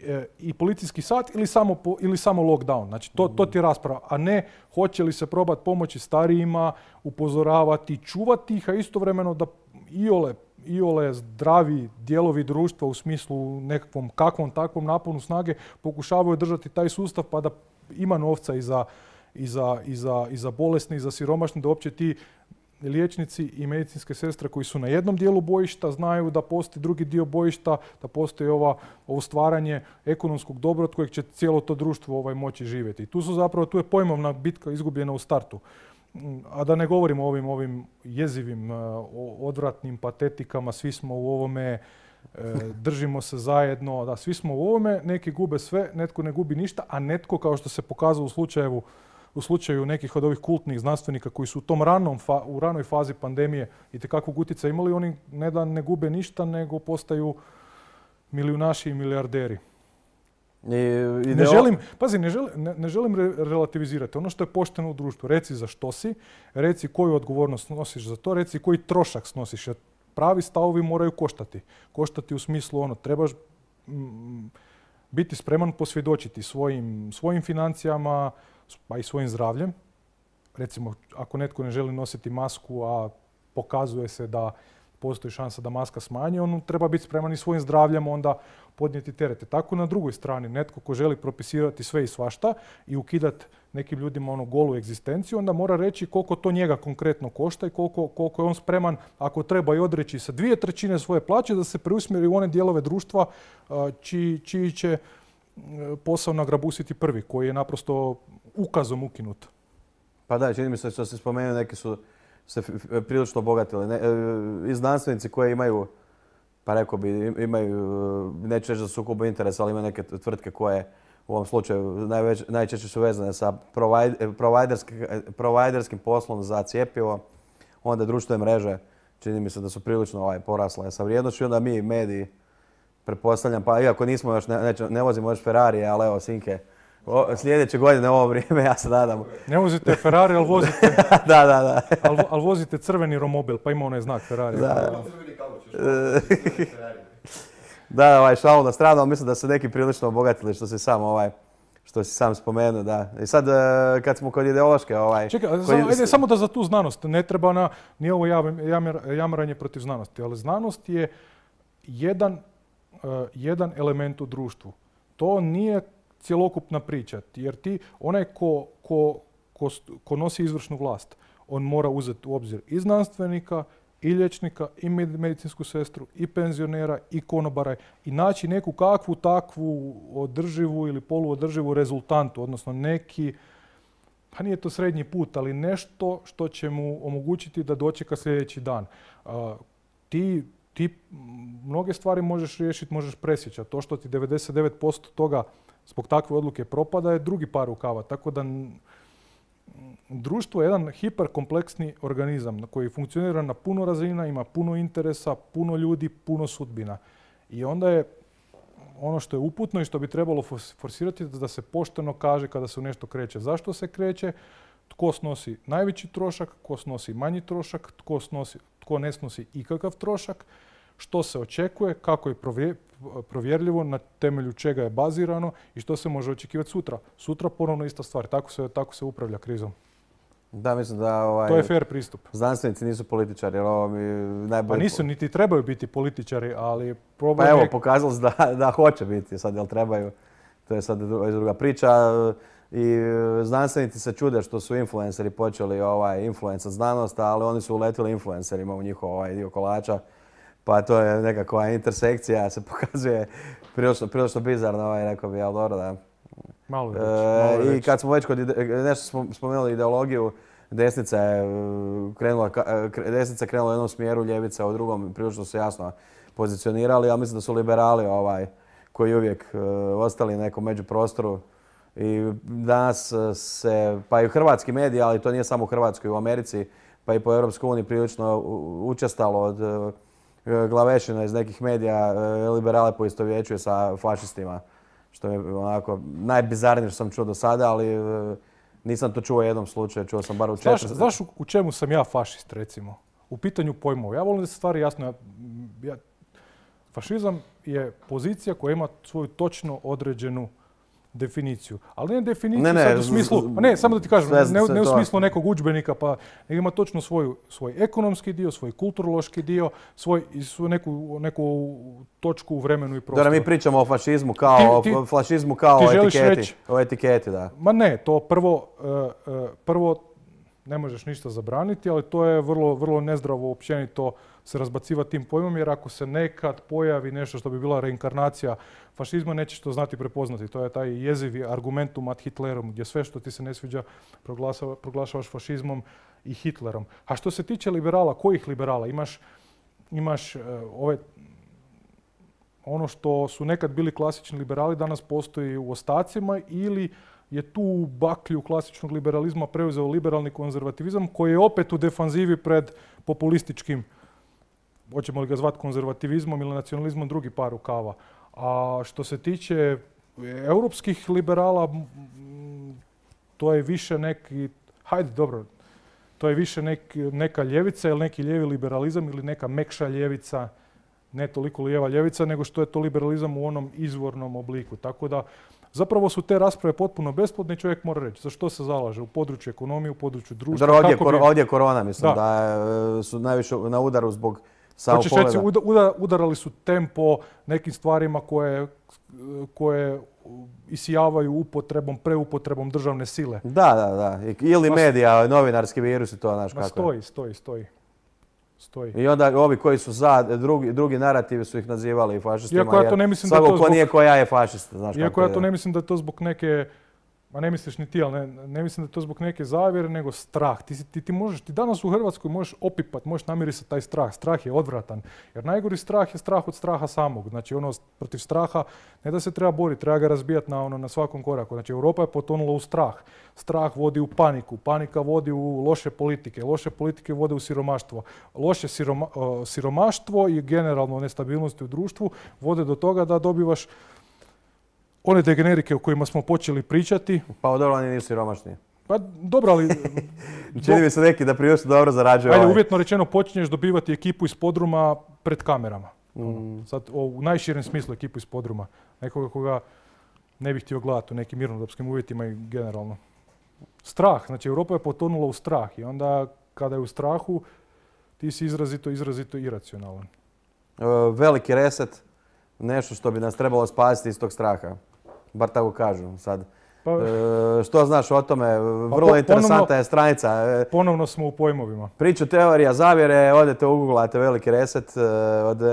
e, i policijski sat ili samo, po, ili samo lockdown. Znači to, to ti je rasprava, a ne hoće li se probati pomoći starijima, upozoravati, čuvati ih, a istovremeno da iole, iole zdravi dijelovi društva u smislu nekakvom kakvom takvom naponu snage pokušavaju držati taj sustav pa da ima novca i za, i za, i za, i za bolesne i za siromašne, da uopće ti liječnici i medicinske sestre koji su na jednom dijelu bojišta znaju da postoji drugi dio bojišta, da postoji ova, ovo stvaranje ekonomskog dobra od kojeg će cijelo to društvo ovaj, moći živjeti. I tu su zapravo, tu je pojmovna bitka izgubljena u startu. A da ne govorimo o ovim, ovim jezivim, odvratnim patetikama, svi smo u ovome, držimo se zajedno, da svi smo u ovome, neki gube sve, netko ne gubi ništa, a netko, kao što se pokazalo u slučaju u slučaju nekih od ovih kultnih znanstvenika koji su u tom ranom fa, u ranoj fazi pandemije itekakvog utjecaja imali, oni ne da ne gube ništa, nego postaju milijunaši i milijarderi. I, i ne želim, pazi, ne želim, ne, ne želim re, relativizirati. Ono što je pošteno u društvu, reci za što si, reci koju odgovornost nosiš za to, reci koji trošak snosiš. Jer pravi stavovi moraju koštati. Koštati u smislu ono, trebaš mm, biti spreman posvjedočiti svojim, svojim financijama, pa i svojim zdravljem. Recimo, ako netko ne želi nositi masku, a pokazuje se da postoji šansa da maska smanji, on treba biti spreman i svojim zdravljem onda podnijeti terete. Tako na drugoj strani, netko ko želi propisivati sve i svašta i ukidati nekim ljudima ono golu egzistenciju, onda mora reći koliko to njega konkretno košta i koliko, koliko je on spreman, ako treba i odreći sa dvije trećine svoje plaće, da se preusmjeri u one dijelove društva čiji, čiji će posao nagrabusiti prvi, koji je naprosto ukazom ukinut. Pa da, čini mi se što se spomenuo, neki su se prilično obogatili. Ne, i znanstvenici koji imaju, pa rekao bi, imaju, neću reći za sukobu interesa, ali imaju neke tvrtke koje u ovom slučaju najveć, najčešće su vezane sa providerskim, providerskim poslom za cjepivo, onda društvene mreže, čini mi se da su prilično ovaj, porasle sa vrijednošću, onda mi mediji, pretpostavljam, pa iako nismo još, ne, neće, ne vozimo još Ferrari, ali evo, sinke, o, sljedeće godine u ovo vrijeme, ja se nadam. Ne vozite Ferrari, ali vozite, da, da, da. ali, ali vozite crveni romobil, pa ima onaj znak Ferrari. Da, da, ovaj, šalu na stranu, ali mislim da su neki prilično obogatili što si sam, ovaj, što si sam spomenuo, da. I sad, kad smo kod ideološke, ovaj... Čekaj, kod... samo, ajde, samo da za tu znanost, ne treba na, nije ovo jamranje protiv znanosti, ali znanost je jedan Uh, jedan element u društvu. To nije cjelokupna priča, jer ti, onaj ko, ko, ko, ko nosi izvršnu vlast, on mora uzeti u obzir i znanstvenika, i liječnika, i medicinsku sestru, i penzionera, i konobara, i naći neku kakvu takvu održivu ili poluodrživu rezultantu, odnosno neki, pa nije to srednji put, ali nešto što će mu omogućiti da dočeka sljedeći dan. Uh, ti Ti mnoge stvari možeš riješiti, možeš presjećati. To što ti devedeset devet posto toga zbog takve odluke propada je drugi par rukava. Tako da društvo je jedan hiperkompleksni organizam koji funkcionira na puno razina, ima puno interesa, puno ljudi, puno sudbina. I onda je ono što je uputno i što bi trebalo forsirati da se pošteno kaže kada se u nešto kreće. Zašto se kreće? Tko snosi najveći trošak, tko snosi manji trošak, tko, snosi, tko ne snosi ikakav trošak, što se očekuje, kako je provjerljivo, na temelju čega je bazirano i što se može očekivati sutra. Sutra ponovno ista stvar. Tako se, tako se upravlja krizom. Da, mislim da... Ovaj, to je fair pristup. Znanstvenici nisu političari, jer ovo mi najbolje... Pa nisu, niti trebaju biti političari, ali problem Pa evo, je... pokazalo se da, da hoće biti. Sad, jel trebaju? To je sad druga priča. I znanstvenici se čude što su influenceri počeli ovaj, influencat znanost, ali oni su uletili influencerima u njihov ovaj, dio kolača. Pa to je nekakva intersekcija, se pokazuje prilično, prilično bizarno, ovaj, rekao bi, ali dobro da... Malo reći, malo e, I kad smo već kod ide, nešto smo spomenuli ideologiju, desnica je uh, krenula, ka- uh, desnica je krenula u jednom smjeru, ljevica u drugom, prilično su jasno pozicionirali, ali mislim da su liberali ovaj, koji uvijek uh, ostali na nekom međuprostoru. I danas se, pa i hrvatski mediji, ali to nije samo u Hrvatskoj, u Americi, pa i po Europskoj uniji prilično učestalo od uh, glavešina iz nekih medija uh, liberale poistovjećuje sa fašistima. Što je onako najbizarnije što sam čuo do sada, ali uh, nisam to čuo u jednom slučaju, čuo sam bar u četiri. Znaš, znaš u, u čemu sam ja fašist, recimo? U pitanju pojmova. Ja volim da se stvari jasno... Ja, ja, fašizam je pozicija koja ima svoju točno određenu definiciju. Ali ne definiciju ne, ne, sad u smislu... Pa ne, samo da ti kažem, sve, ne, sve ne u to. smislu nekog udžbenika, pa nego ima točno svoju, svoj ekonomski dio, svoj kulturološki dio, svoj, svoj neku, neku točku u vremenu i prostoru. Dobro, mi pričamo o fašizmu kao, Ti- ti- o fašizmu kao ti o želiš etiketi. reći- O etiketi, da. Ma ne, to prvo, uh, uh, prvo ne možeš ništa zabraniti, ali to je vrlo, vrlo nezdravo općenito se razbacivati tim pojmom, jer ako se nekad pojavi nešto što bi bila reinkarnacija fašizma, nećeš to znati prepoznati. To je taj jezivi argumentum ad Hitlerom, gdje sve što ti se ne sviđa proglasava- proglašavaš fašizmom i Hitlerom. A što se tiče liberala, kojih liberala? Imaš, imaš uh, ove ono što su nekad bili klasični liberali, danas postoji u ostacima, ili je tu baklju klasičnog liberalizma preuzeo liberalni konzervativizam koji je opet u defanzivi pred populističkim, hoćemo li ga zvati konzervativizmom ili nacionalizmom, drugi par rukava. A što se tiče europskih liberala, m, to je više neki, hajde dobro, to je više nek, neka ljevica ili neki lijevi liberalizam ili neka mekša ljevica, ne toliko lijeva ljevica, nego što je to liberalizam u onom izvornom obliku. Tako da zapravo su te rasprave potpuno besplodne i čovjek mora reći za što se zalaže u području ekonomije, u području društva. Dobro, ovdje, kako kor- bi- ovdje je korona, mislim, Da. da, e, su najviše na udaru zbog samog Hoćeš reći, pogleda. uda- uda- udarali su tempo nekim stvarima koje, koje isijavaju upotrebom, preupotrebom državne sile. Da, da, da. I- Ili Ma- medija, novinarski virus i to, znaš Ma kako je. stoji, stoji, stoji. Stoji. I onda ovi koji su za, drugi, drugi narativi su ih nazivali fašistima. Iako ja to jer ne mislim da je svako to ko zbog- nije ko ja je fašist, znaš Iako kako ja je. to ne mislim da je to zbog neke, ma ne misliš ni ti, ali ne, ne mislim da je to zbog neke zavjere, nego strah. Ti, si- ti, ti, možeš, ti danas u Hrvatskoj možeš opipat, možeš namirisati taj strah. Strah je odvratan. Jer najgori strah je strah od straha samog. Znači ono protiv straha ne da se treba boriti, treba ga razbijati na, ono, na svakom koraku. Znači Europa je potonula u strah. Strah vodi u paniku, panika vodi u loše politike, loše politike vode u siromaštvo. Loše siroma, uh, siromaštvo i generalno nestabilnosti u društvu vode do toga da dobivaš one degenerike o kojima smo počeli pričati. Pa dobro, oni nisu siromašni. Pa dobro, ali Čini mi se neki da prilično dobro zarađuju. ajde, ovaj. uvjetno rečeno počinješ dobivati ekipu iz podruma pred kamerama. Mm. Sad, o, u najširem smislu ekipu iz podruma. Nekoga koga ne bih htio gledati u nekim mirnodopskim uvjetima i generalno. Strah, znači Europa je potonula u strah i onda kada je u strahu ti si izrazito, izrazito iracionalan. E, veliki reset, nešto što bi nas trebalo spasiti iz tog straha. Bar tako kažu sad. Pa, E, što znaš o tome? Vrlo po- interesantna ponovno- je stranica. E, ponovno smo u pojmovima. Priču teorija zavjere, odete uguglate veliki reset e, od e,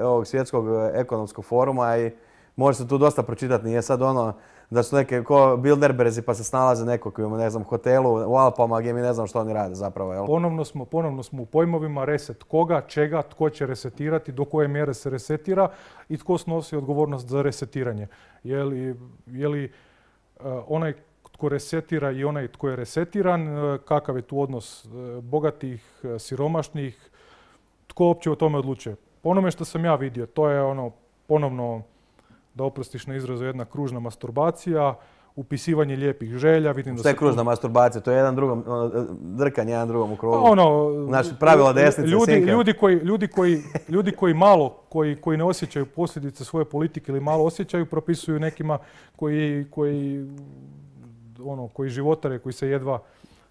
ovog svjetskog ekonomskog foruma i može se tu dosta pročitati. Nije sad ono da su neke ko Bilderberzi pa se snalaze neko koji ima, ne znam, hotelu u Alpama gdje mi ne znam što oni rade zapravo. Jel? Ponovno smo, ponovno smo u pojmovima reset koga, čega, tko će resetirati, do koje mjere se resetira i tko snosi odgovornost za resetiranje. Je li, je li uh, onaj tko resetira i onaj tko je resetiran, uh, kakav je tu odnos uh, bogatih, uh, siromašnih, tko uopće o tome odlučuje. Po onome što sam ja vidio, to je ono ponovno, da oprostiš na izrazu, jedna kružna masturbacija, upisivanje lijepih želja. Vidim da Što je se kružna masturbacija? To je jedan drugom, ono, drkanje jedan drugom u Pa krugu. ono, Znači, pravila desnice, ljudi, sinke. ljudi, koji, ljudi, koji, ljudi koji malo, koji, koji ne osjećaju posljedice svoje politike ili malo osjećaju, propisuju nekima koji, koji, ono, koji životare, koji se jedva,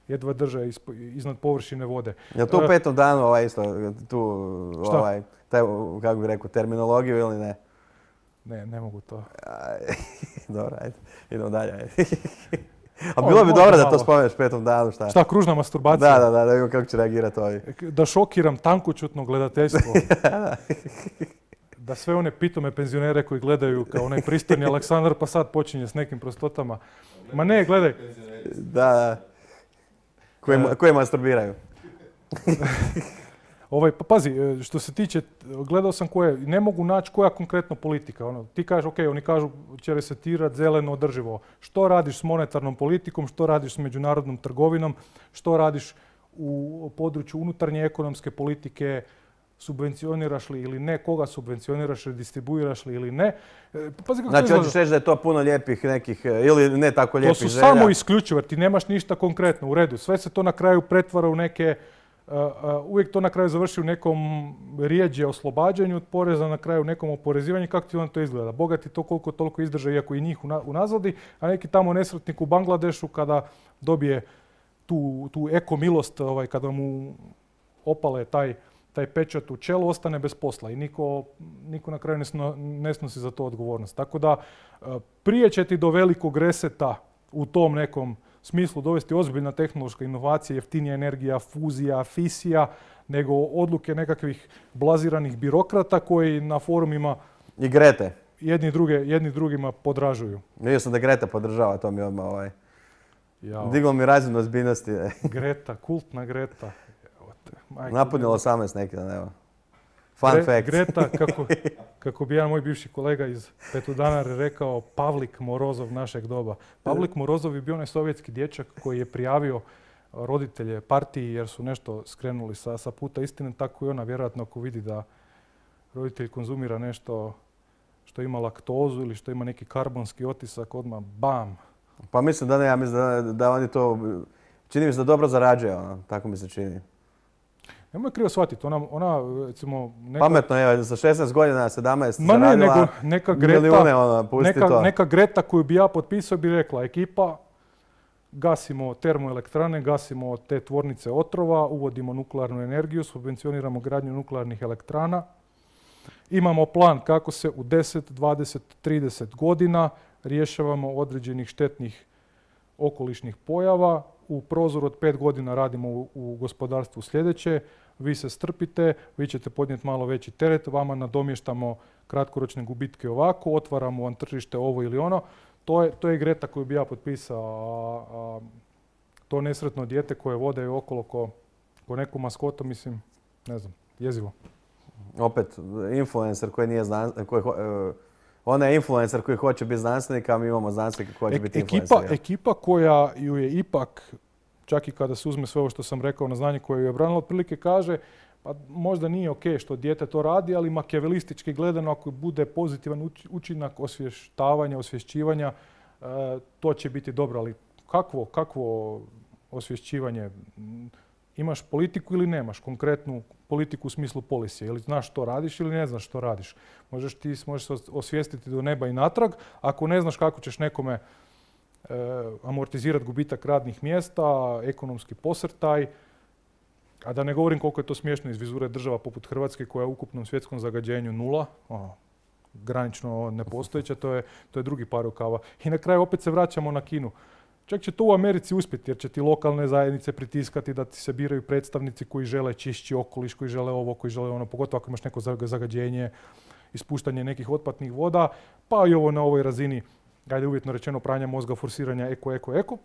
jedva drže isp- iznad površine vode. Jel to u E, petom danu ovaj isto, tu, Šta? ovaj, taj, kako bih rekao, terminologiju ili ne? Ne, ne mogu to. Aj, dobro, ajde, idemo dalje. Ajde. A O, bilo bi možda dobro da to malo. spomeneš petom danu, šta? Šta, kružna masturbacija? Da, da, da, da vidimo kako će reagirati ovi. Da šokiram tankoćutno gledateljstvo. Da sve one pitome penzionere koji gledaju kao onaj pristojni Aleksandar pa sad počinje s nekim prostotama. Ma ne, gledaj, Da, da. koji, koji masturbiraju. Ovaj, pa pazi, što se tiče, gledao sam koje, ne mogu naći koja konkretno politika. Ono, ti kažeš, ok, oni kažu će resetirati zeleno održivo. Što radiš s monetarnom politikom, što radiš s međunarodnom trgovinom, što radiš u području unutarnje ekonomske politike, subvencioniraš li ili ne, koga subvencioniraš, redistribuiraš li ili ne. Pazi kako Znači, to hoćeš reći da je to puno lijepih nekih, ili ne tako lijepih želja? To su samo isključivo, jer ti nemaš ništa konkretno u redu. Sve se to na kraju pretvara u neke, uh, uh, uvijek to na kraju završi u nekom rijeđe oslobađanju od poreza, na kraju nekom oporezivanju. Kako ti onda to izgleda? Bogati to koliko toliko izdrže, iako i njih unazadi, a neki tamo nesretnik u Bangladešu kada dobije tu, tu eko milost, ovaj, kada mu opale taj taj pečat u čelu, ostane bez posla i niko, niko na kraju ne, sno, ne snosi za to odgovornost. Tako da prije će ti do velikog reseta u tom nekom smislu dovesti ozbiljna tehnološka inovacija, jeftinija energija, fuzija, fisija, nego odluke nekakvih blaziranih birokrata koji na forumima i Grete. Jedni, druge, jedni drugima podražuju. Vidio sam da Greta podržava, to mi odmah ovaj, Jao. diglo mi razinu ozbiljnosti. Greta, kultna Greta. Napunilo osamnaest neki dan, evo. Fun Gre, fact. Greta, kako, kako bi jedan moj bivši kolega iz Petudanare rekao, Pavlik Morozov našeg doba. Pavlik Morozov je bio onaj sovjetski dječak koji je prijavio roditelje partiji jer su nešto skrenuli sa, sa puta istine, tako i ona vjerojatno ako vidi da roditelj konzumira nešto što ima laktozu ili što ima neki karbonski otisak, odmah bam. Pa mislim da ne, ja mislim da, da oni to, čini mi se da dobro zarađuje, ono, tako mi se čini. Nemoj krivo shvatiti, ona, ona recimo... Neka... Pametno je, za šesnaest godina, sedamnaest Ma ne, zaradila nego neka Greta, milijune, ono, pusti neka, to. neka Greta koju bi ja potpisao bi rekla, ekipa, gasimo termoelektrane, gasimo te tvornice otrova, uvodimo nuklearnu energiju, subvencioniramo gradnju nuklearnih elektrana. Imamo plan kako se u deset, dvadeset, trideset godina rješavamo određenih štetnih okolišnih pojava. U prozoru od pet godina radimo u, u gospodarstvu sljedeće. Vi se strpite, vi ćete podnijeti malo veći teret, vama nadomještamo kratkoročne gubitke ovako, otvaramo vam tržište ovo ili ono. To je, to je Greta koju bi ja potpisao. A, a, to nesretno dijete koje vode okolo ko, ko neku maskotu, mislim, ne znam, jezivo. Opet, influencer koji nije znanstvenik, koji, uh, ona je influencer koji hoće biti znanstvenik, a mi imamo znanstvenika koji hoće biti influencer. Ekipa, ekipa koja ju je ipak, čak i kada se uzme sve ovo što sam rekao na znanje koje ju je branilo, otprilike kaže pa možda nije ok što dijete to radi, ali makijavelistički gledano ako bude pozitivan učinak osvještavanja, osvješćivanja, e, to će biti dobro. Ali kakvo, kakvo osvješćivanje? Imaš politiku ili nemaš konkretnu politiku u smislu policije? Ili znaš što radiš ili ne znaš što radiš? Možeš ti možeš se osvijestiti do neba i natrag. Ako ne znaš kako ćeš nekome e, amortizirati gubitak radnih mjesta, ekonomski posrtaj, a da ne govorim koliko je to smiješno iz vizure država poput Hrvatske koja je u ukupnom svjetskom zagađenju nula, ono, granično nepostojeća, to je, to je drugi par rukava. I na kraju opet se vraćamo na Kinu. Čak će to u Americi uspjeti jer će ti lokalne zajednice pritiskati da ti se biraju predstavnici koji žele čišći okoliš, koji žele ovo, koji žele ono, pogotovo ako imaš neko zagađenje, ispuštanje nekih otpadnih voda, pa i ovo na ovoj razini, ajde uvjetno rečeno, pranja mozga, forsiranja eko, eko, eko.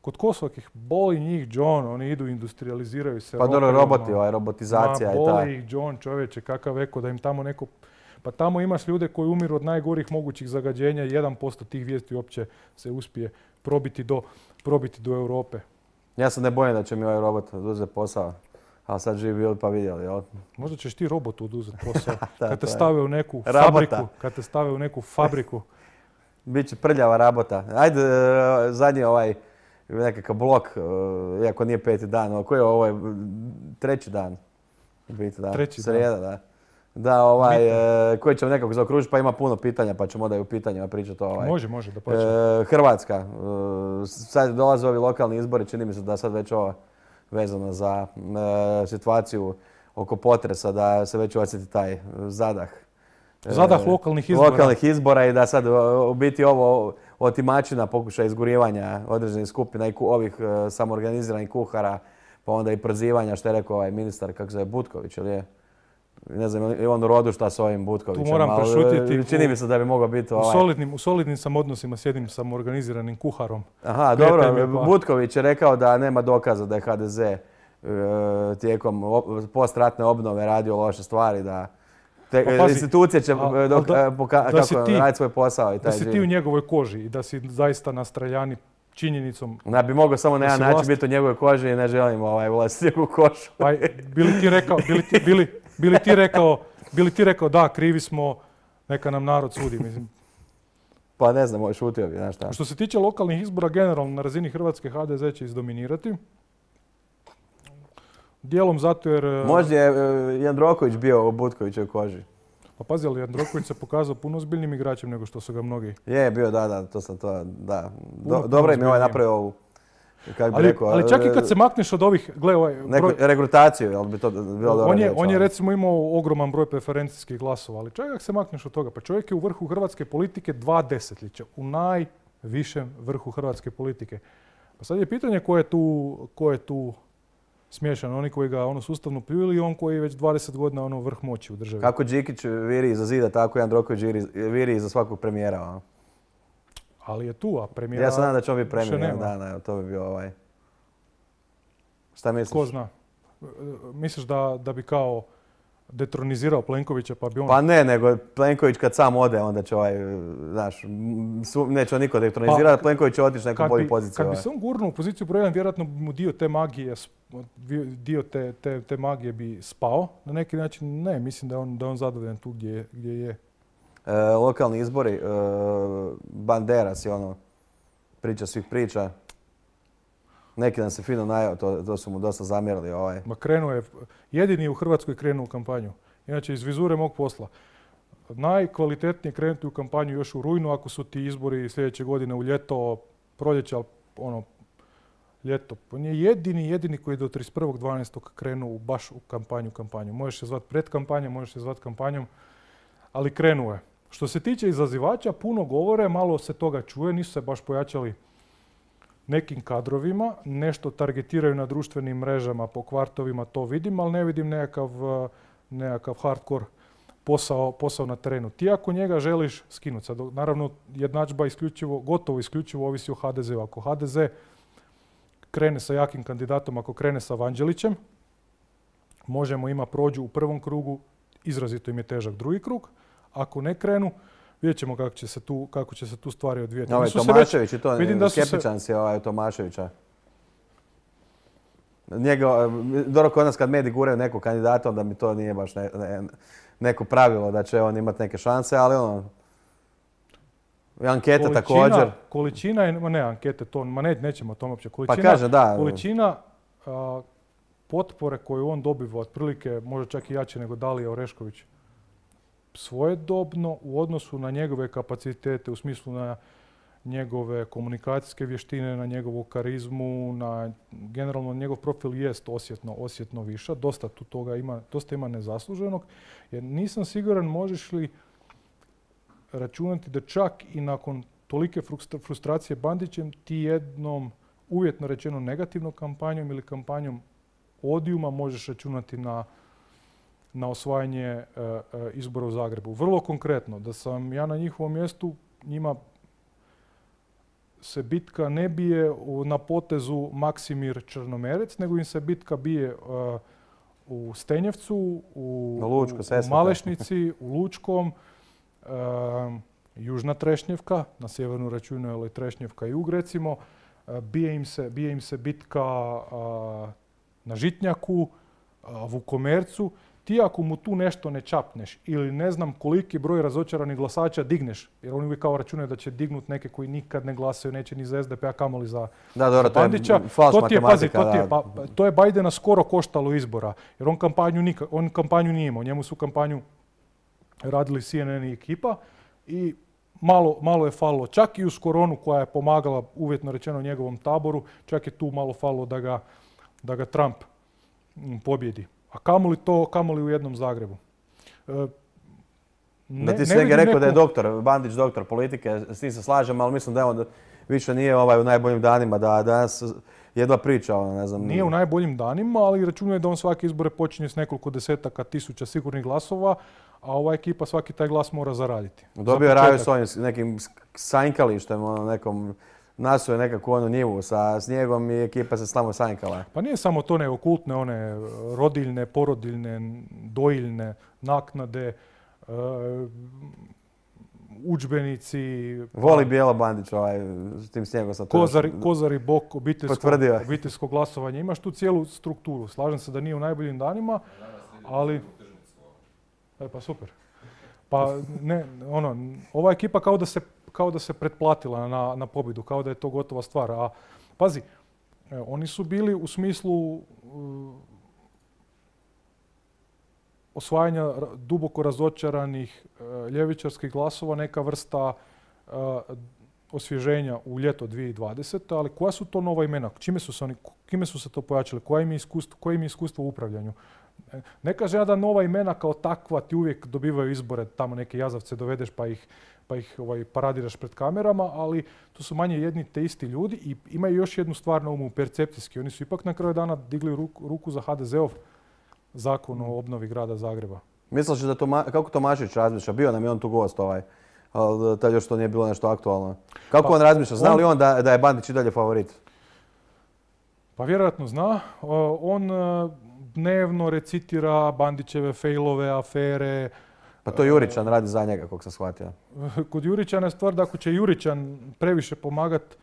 Kod Kosovakih boli njih John, oni idu, industrializiraju se. Pa dobro, roboti, ovaj, robotizacija ma, i ta. boli ih John, čovječe, kakav eko, da im tamo neko... Pa tamo imaš ljude koji umiru od najgorih mogućih zagađenja i jedan posto tih vijesti uopće se uspije probiti do, probiti do Europe. Ja se ne bojim da će mi ovaj robot oduzeti posao, ali sad živi bili pa vidjeli, jel? Možda ćeš ti robotu oduzeti posao. da, kad te je. stave u neku Rabota. fabriku. Kad te stave u neku fabriku. Biće prljava rabota. Ajde, zadnji ovaj nekakav blok, iako nije peti dan, koji je ovo je treći dan? Biti, da. Treći Srijeda, dan. da. Da, ovaj, e, koji ćemo nekako zaokružiti, pa ima puno pitanja, pa ćemo onda i u pitanjima pričati. Ovaj. Može, može, da počne. E, Hrvatska, e, sad dolaze ovi lokalni izbori, čini mi se da sad već ovo vezano za e, situaciju oko potresa, da se već osjeti taj zadah. E, zadah lokalnih izbora. Lokalnih izbora i da sad u biti ovo otimačina pokušaja izgurivanja određenih skupina i ku, ovih e, samoorganiziranih kuhara, pa onda i prozivanja, što je rekao ovaj ministar, kako se zove, Butković, ili je? Ne znam, je on u rodu šta s ovim Butkovićem. Tu moram ali, prešutjeti. Čini mi se da bi mogao biti U ovaj... solidnim, u solidnim sam odnosima s jednim sam organiziranim kuharom. Aha, Prijatelj dobro, mi je pa- Butković je rekao da nema dokaza da je ha de ze e, tijekom op- postratne obnove radio loše stvari, da te, Pa pazi, institucije će al- al dok, da- poka- da si kako ti- raditi svoj posao i Da taj si ti život. u njegovoj koži i da si zaista nastreljani činjenicom. Da bi mogao samo na Da jedan si način vlast- biti u njegovoj koži i ne želim ovaj, ulaziti u njegovu košu. Pa bili ti rekao, bili ti, bili, bili ti rekao, bili ti rekao da, krivi smo, neka nam narod sudi. Mislim. Pa ne znam, šutio bi, znaš šta. Što se tiče lokalnih izbora, generalno na razini Hrvatske ha de ze će izdominirati. Dijelom zato jer... Možda je e, Jandroković bio u Butkovićevoj koži. Pa pazi, ali Jandroković se pokazao puno ozbiljnim igračem nego što su ga mnogi. Je, bio, da, da, to sam to, da. Do, Puno, dobro puno im je ovaj ozbiljnije. napravio ovu, kako bi Ali, rekao... ali čak i e, kad se makneš od ovih, gle ovaj neku broj, regrutaciju, jel bi to bilo dobro on je, riječ, on je ali- recimo imao ogroman broj preferencijskih glasova, ali čak ako se makneš od toga, pa čovjek je u vrhu hrvatske politike dva desetljeća, u najvišem vrhu hrvatske politike. Pa sad je pitanje ko je tu, ko je tu smiješan, oni koji ga ono sustavno pljuju ili on koji je već dvadeset godina ono vrh moći u državi. Kako Đikić viri iza zida, tako Jandroković viri, viri iza svakog premijera. ono. Ali je tu, a premijera... Ja se nadam da će on biti više premijer jednog nema. dana, evo, to bi bio ovaj... Šta misliš? Ko zna? E, Misliš da, da bi kao detronizirao Plenkovića pa bi on... Pa ne, nego Plenković kad sam ode, onda će ovaj, znaš, m, su- neće on niko detronizirati, Pa, Plenković će otići na neku Kad bolju bi, poziciju. kad bi ovaj. se on gurnuo u poziciju broj jedan, vjerojatno bi mu dio te magije, s- dio te, te, te magije bi spao. Na neki način ne, mislim da je on, da je on zadovoljan tu gdje, je- gdje je. E, lokalni izbori, e, Banderas je ono, priča svih priča. Neki dan se fino najao, to, to su mu dosta zamjerili. Ovaj. Ma krenuo je, jedini je u Hrvatskoj krenuo u kampanju. Inače, iz vizure mog posla. Najkvalitetnije krenuti u kampanju još u rujnu, ako su ti izbori sljedeće godine u ljeto, proljeće, ali ono, ljeto. On je jedini, jedini koji je do trideset prvog dvanaestog krenuo u- baš u kampanju, kampanju. Možeš se zvati pred kampanjom, možeš se zvati kampanjom, ali krenuo je. Što se tiče izazivača, puno govore, malo se toga čuje, nisu se baš pojačali nekim kadrovima, nešto targetiraju na društvenim mrežama, po kvartovima, to vidim, ali ne vidim nekakav, eh, nekakav hardcore posao, posao na terenu. Ti ako njega želiš skinuti, sad naravno jednadžba isključivo, gotovo isključivo ovisi o ha de zeu. Ako ha de ze krene sa jakim kandidatom, ako krene sa Vanđelićem, možemo ima prođu u prvom krugu, izrazito im je težak drugi krug. Ako ne krenu, vidjet ćemo kako će se tu, kako će se tu stvari odvijati. Ovaj Oni su se Tomašević i to, vidim da su se- skeptičan si ovaj Tomaševića. Njega, dobro kod nas kad mediji guraju nekog kandidata, onda mi to nije baš ne- ne- neko pravilo da će on imati neke šanse, ali ono, i ankete Količina- također. Količina je, ma ne, ankete to, ma ne, nećemo o tom uopće. Količina, Pa kaže da, količina a, potpore koju on dobiva, otprilike možda čak i jače nego Dalija Orešković, svojedobno u odnosu na njegove kapacitete, u smislu na njegove komunikacijske vještine, na njegovu karizmu, na generalno njegov profil jest osjetno, osjetno viša. Dosta tu toga ima, dosta ima nezasluženog. Jer nisam siguran možeš li računati da čak i nakon tolike frustra- frustracije Bandićem ti jednom uvjetno rečeno negativnom kampanjom ili kampanjom odijuma možeš računati na, na osvajanje e, e, izbora u Zagrebu. Vrlo konkretno, da sam ja na njihovom mjestu, njima se bitka ne bije u- na potezu Maksimir Črnomerec, nego im se bitka bije e, u Stenjevcu, u, Na Lučko, u- u Sesvete. Malešnici, u Lučkom, e, Južna Trešnjevka, na sjevernu računaju je Trešnjevka i Jug recimo, e, bije im se, bije im se bitka a, na Žitnjaku, a, Vukomercu. Ti ako mu tu nešto ne čapneš ili ne znam koliki broj razočaranih glasača digneš, jer oni uvijek kao računaju da će dignut neke koji nikad ne glasaju, neće ni za es de pe, a kamoli za da, dobro, to je Bandića. falš To ti je, pazi, matematika. to, ti je, da. pa, pa, to je Bajdena skoro koštalo izbora, jer on kampanju, nika, on kampanju nije imao. Njemu su kampanju radili C N N i ekipa i malo, malo je falilo. Čak i uz koronu koja je pomagala uvjetno rečeno njegovom taboru, čak je tu malo falilo da ga, da ga Trump mm, pobjedi. A kamoli to, kamoli u jednom Zagrebu. E, Da ne- ti ne si negdje vidim rekao da je neku- doktor, Bandić doktor politike, s tim se slažem, ali mislim da je on više nije ovaj u najboljim danima, da danas jedva priča, ono, ne znam. Nije u najboljim danima, ali računuje da on svake izbore počinje s nekoliko desetaka tisuća sigurnih glasova, a ova ekipa svaki taj glas mora zaraditi. Dobio je Raju s ovim nekim sanjkalištem, ono, nekom, nasuo je nekakvu onu njivu sa snijegom i ekipa se slamo sanjkala. Pa nije samo to, nego kultne one rodiljne, porodiljne, dojiljne naknade, uh, udžbenici. Voli Bijelo Bandić ovaj, s tim snijegom sa to. Kozari, kozari bok, obiteljsko, obiteljsko glasovanje. Imaš tu cijelu strukturu. Slažem se da nije u najboljim danima, ali... E, pa super. Pa ne, ono, ova ekipa kao da se, kao da se pretplatila na, na pobjedu, kao da je to gotova stvar. A pazi, oni su bili u smislu uh, osvajanja duboko razočaranih uh, ljevičarskih glasova neka vrsta uh, osvježenja u ljeto dvije tisuće dvadesete. Ali koja su to nova imena? Čime su se oni, kime su se to pojačali? Koje im je iskustvo, koje im je iskustvo u upravljanju? Ne kaže ja da nova imena kao takva ti uvijek dobivaju izbore, tamo neke jazavce dovedeš pa ih, pa ih ovaj, paradiraš pred kamerama, ali to su manje jedni te isti ljudi i imaju još jednu stvar na umu, percepcijski. Oni su ipak na kraju dana digli ruku, ruku za ha de ze ov zakon o obnovi grada Zagreba. Misliš da to, kako Tomašević razmišlja? Bio nam je on tu gost ovaj, ali tad još to nije bilo nešto aktualno. Kako pa, on razmišlja? Zna li on da, da je Bandić i dalje favorit? Pa vjerojatno zna. On dnevno recitira Bandićeve fejlove, afere. Pa to Juričan radi za njega, kog sam shvatio. Kod Juričana je stvar da ako će Juričan previše pomagat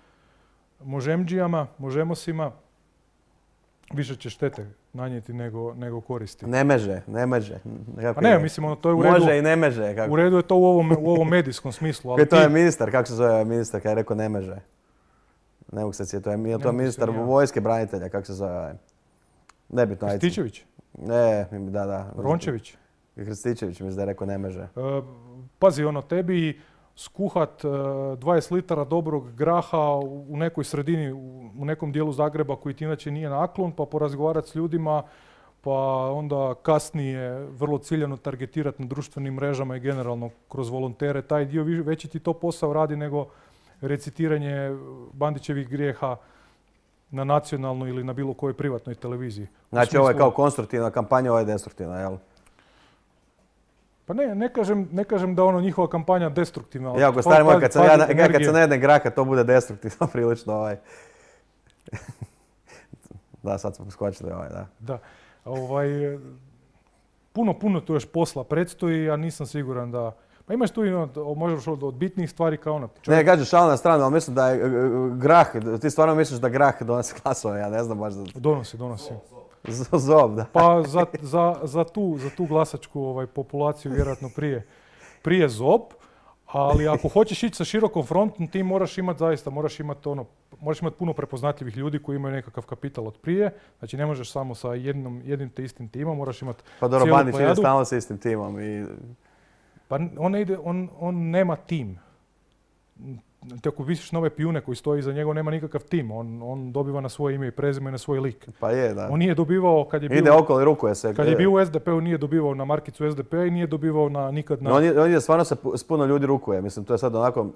možemđijama, možemosima, više će štete nanijeti nego, nego koristi. Ne meže, ne meže. Pa ne, mislim, ono, to je u redu. Može i ne meže. Kako? U redu je to u ovom, u ovom medijskom smislu. Ali to ti... je ministar, kako se zove ministar kad je rekao ne meže? Ne mogu se sjetiti, to je, je to ministar vojske branitelja, kako se zove? Nebitno, ajde. Krstičević? Ne, da, da. Rončević? Krstičević mislim da je rekao ne meže. E, pazi, ono, tebi skuhat e, dvadeset litara dobrog graha u nekoj sredini, u nekom dijelu Zagreba koji ti inače nije naklon, pa porazgovarati s ljudima, pa onda kasnije vrlo ciljano targetirati na društvenim mrežama i generalno kroz volontere. Taj dio veći ti to posao radi nego recitiranje Bandićevih grijeha na nacionalnoj ili na bilo kojoj privatnoj televiziji. Znači smislu... ovo je kao konstruktivna kampanja, ovo je destruktivna, jel? Pa ne, ne kažem, ne kažem da ono njihova kampanja destruktivna. Ja, ako stari moj, kad sam ja, ja kad sam na jedne graha, to bude destruktivno prilično ovaj. Da, sad smo skočili ovaj, da. Da, ovaj, puno, puno tu još posla predstoji, ja nisam siguran da... Pa imaš tu i ono, možeš od, od bitnijih stvari kao ono... Čovjek... Ne, kažeš šal na stranu, ali mislim da je grah, ti stvarno misliš da grah donosi glasove, ja ne znam baš da... Donosi, donosi. Zob, da. Pa za, za, za, tu, za tu glasačku ovaj, populaciju vjerojatno prije, prije zob, ali ako hoćeš ići sa širokom frontom, ti moraš imati zaista, moraš imati ono, moraš imati puno prepoznatljivih ljudi koji imaju nekakav kapital od prije. Znači ne možeš samo sa jednom, jednim te istim timom, moraš imati pa dobro, Bandić ide stalno sa istim timom i... Pa on, ne ide, on, on nema tim. Te ako visiš nove pijune koji stoji iza njega, nema nikakav tim. On, on dobiva na svoje ime i prezime, na svoj lik. Pa je, da. On nije dobivao, kad je bio... Ide okolo i rukuje se. Kad je bio u es de peu, nije dobivao na markicu es de pe i nije dobivao na nikad na... No, on, je, on je stvarno se s puno ljudi rukuje. Mislim, to je sad onako...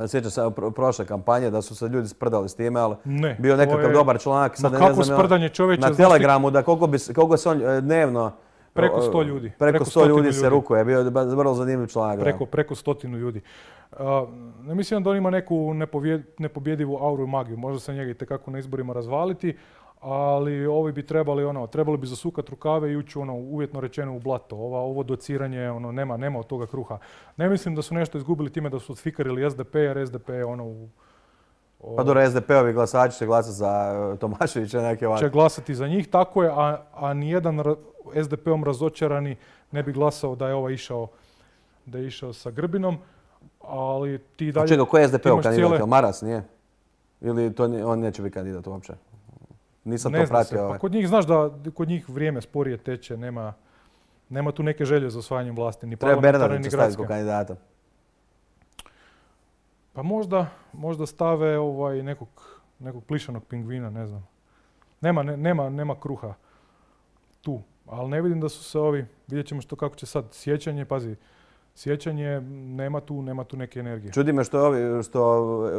Sjećam se prošle kampanje da su se ljudi sprdali s time, ali ne, bio nekakav je... dobar članak. Sad, Ma ne kako znam, sprdanje čovječa... Na Telegramu, da koliko, bi, koliko se on dnevno... Preko sto ljudi. Preko, preko sto ljudi se rukuje, bio je vrlo zanimljiv članak. Preko, preko stotinu ljudi. Uh, ne mislim da on ima neku nepovjed, nepobjedivu auru i magiju. Možda se njega itekako na izborima razvaliti, ali ovi bi trebali, ono, trebali bi zasukati rukave i ući ono, uvjetno rečeno u blato. Ova, ovo dociranje, ono, nema, nema od toga kruha. Ne mislim da su nešto izgubili time da su odfikarili es de pe, jer es de pe je ono u... O... Pa dobro, es de pe-ovi glasači će glasati za Tomaševića neke ovakve. Će glasati za njih, tako je, a, a nijedan es de pe-om razočarani ne bi glasao da je ovaj išao, da je išao sa Grbinom, ali ti dalje... A čekaj, ko je es de pe-ov kandidat? Cijele... Maras, nije? Ili to, on neće biti kandidat uopće? Nisam ne to pratio. Se. Ovaj. Pa kod njih znaš da kod njih vrijeme sporije teče, nema, nema tu neke želje za osvajanjem vlasti. Ni treba Bernardića staviti kao kandidata. Pa možda, možda stave ovaj nekog, nekog plišanog pingvina, ne znam. Nema, ne, nema, nema kruha tu. Ali ne vidim da su se ovi, vidjet ćemo što kako će sad sjećanje, pazi, sjećanje, nema tu, nema tu neke energije. Čudi me što je ovi, što e,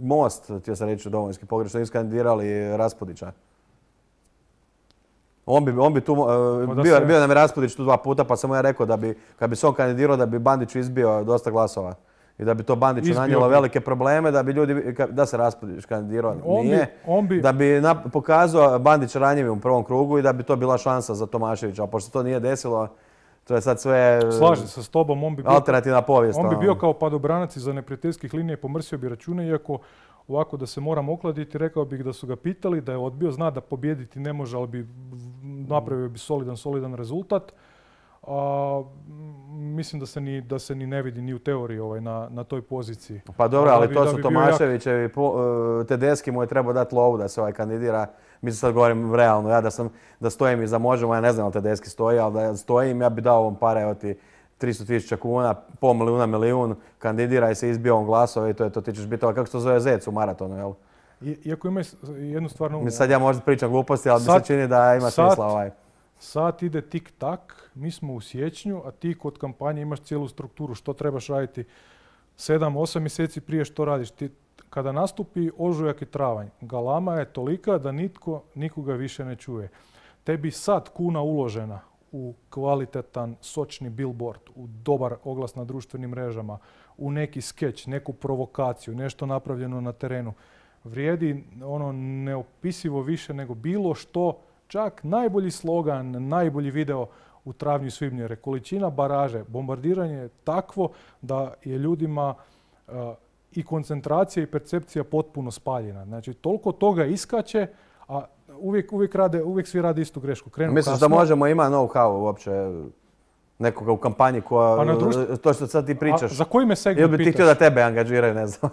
Most, htio sam reći Domovinski pokret, što nisu kandidirali Raspudića. On bi, on bi tu, uh, bio, se... bio nam je Raspudić tu dva puta, pa sam mu ja rekao da bi, kad bi se on kandidirao, da bi Bandiću izbio dosta glasova. I da bi to Bandiću Izbio nanijelo bi. velike probleme, da bi ljudi, da se Raspudić kandidirao, On nije. bi, on bi... Da bi na, pokazao Bandić ranjivim u prvom krugu i da bi to bila šansa za Tomaševića. A pošto to nije desilo, to je sad sve Slažem se s tobom, on bi bio, alternativna povijest. on bi ono. bio kao padobranac iza neprijateljskih linija i pomrsio bi račune, iako ovako da se moram okladiti, rekao bih da su ga pitali, da je odbio, zna da pobijediti ne može, ali bi napravio bi solidan, solidan rezultat. A, mislim da se, ni, da se ni ne vidi ni u teoriji ovaj, na, na toj poziciji. Pa dobro, Da ali bi- to da su bi bio jak. Tomaševićevi, po- Tedeschi mu je trebao dati lovu da se ovaj kandidira. Mislim sad govorim realno, ja da sam, da stojim iza Možemo, ja ne znam da Tedeschi stoji, ali da stojim, ja bi dao ovom pare od ti tristo tisuća kuna, pol milijuna, milijun, kandidiraj se, izbio on glasove i to je to, ti ćeš biti, ali kako se to zove zec u maratonu, jel? I, iako ima s- jednu stvar na umu. Mislim, sad ja možda pričam gluposti, ali mi Sad- se čini da ima sad- smisla ovaj. Sat ide tik-tak, mi smo u siječnju, a ti kod kampanje imaš cijelu strukturu. Što trebaš raditi sedam osam mjeseci prije što radiš. Ti, kada nastupi ožujak i travanj, galama je tolika da nitko nikoga više ne čuje. Tebi sad kuna uložena u kvalitetan, sočni billboard, u dobar oglas na društvenim mrežama, u neki skeč, neku provokaciju, nešto napravljeno na terenu, vrijedi ono neopisivo više nego bilo što. Čak najbolji slogan, najbolji video u travnju i svibnju, jer je količina baraže, bombardiranje je takvo da je ljudima uh, i koncentracija i percepcija potpuno spaljena. Znači, toliko toga iskače, a uvijek, uvijek, rade, uvijek svi rade istu grešku. Krenu Misliš kasno. da Možemo ima know-how uopće nekoga u kampanji koja, Pa na društvu- to što sad ti A pričaš, za koji me ili segment bi ti pitaš? htio da tebe angažiraju, ne znam.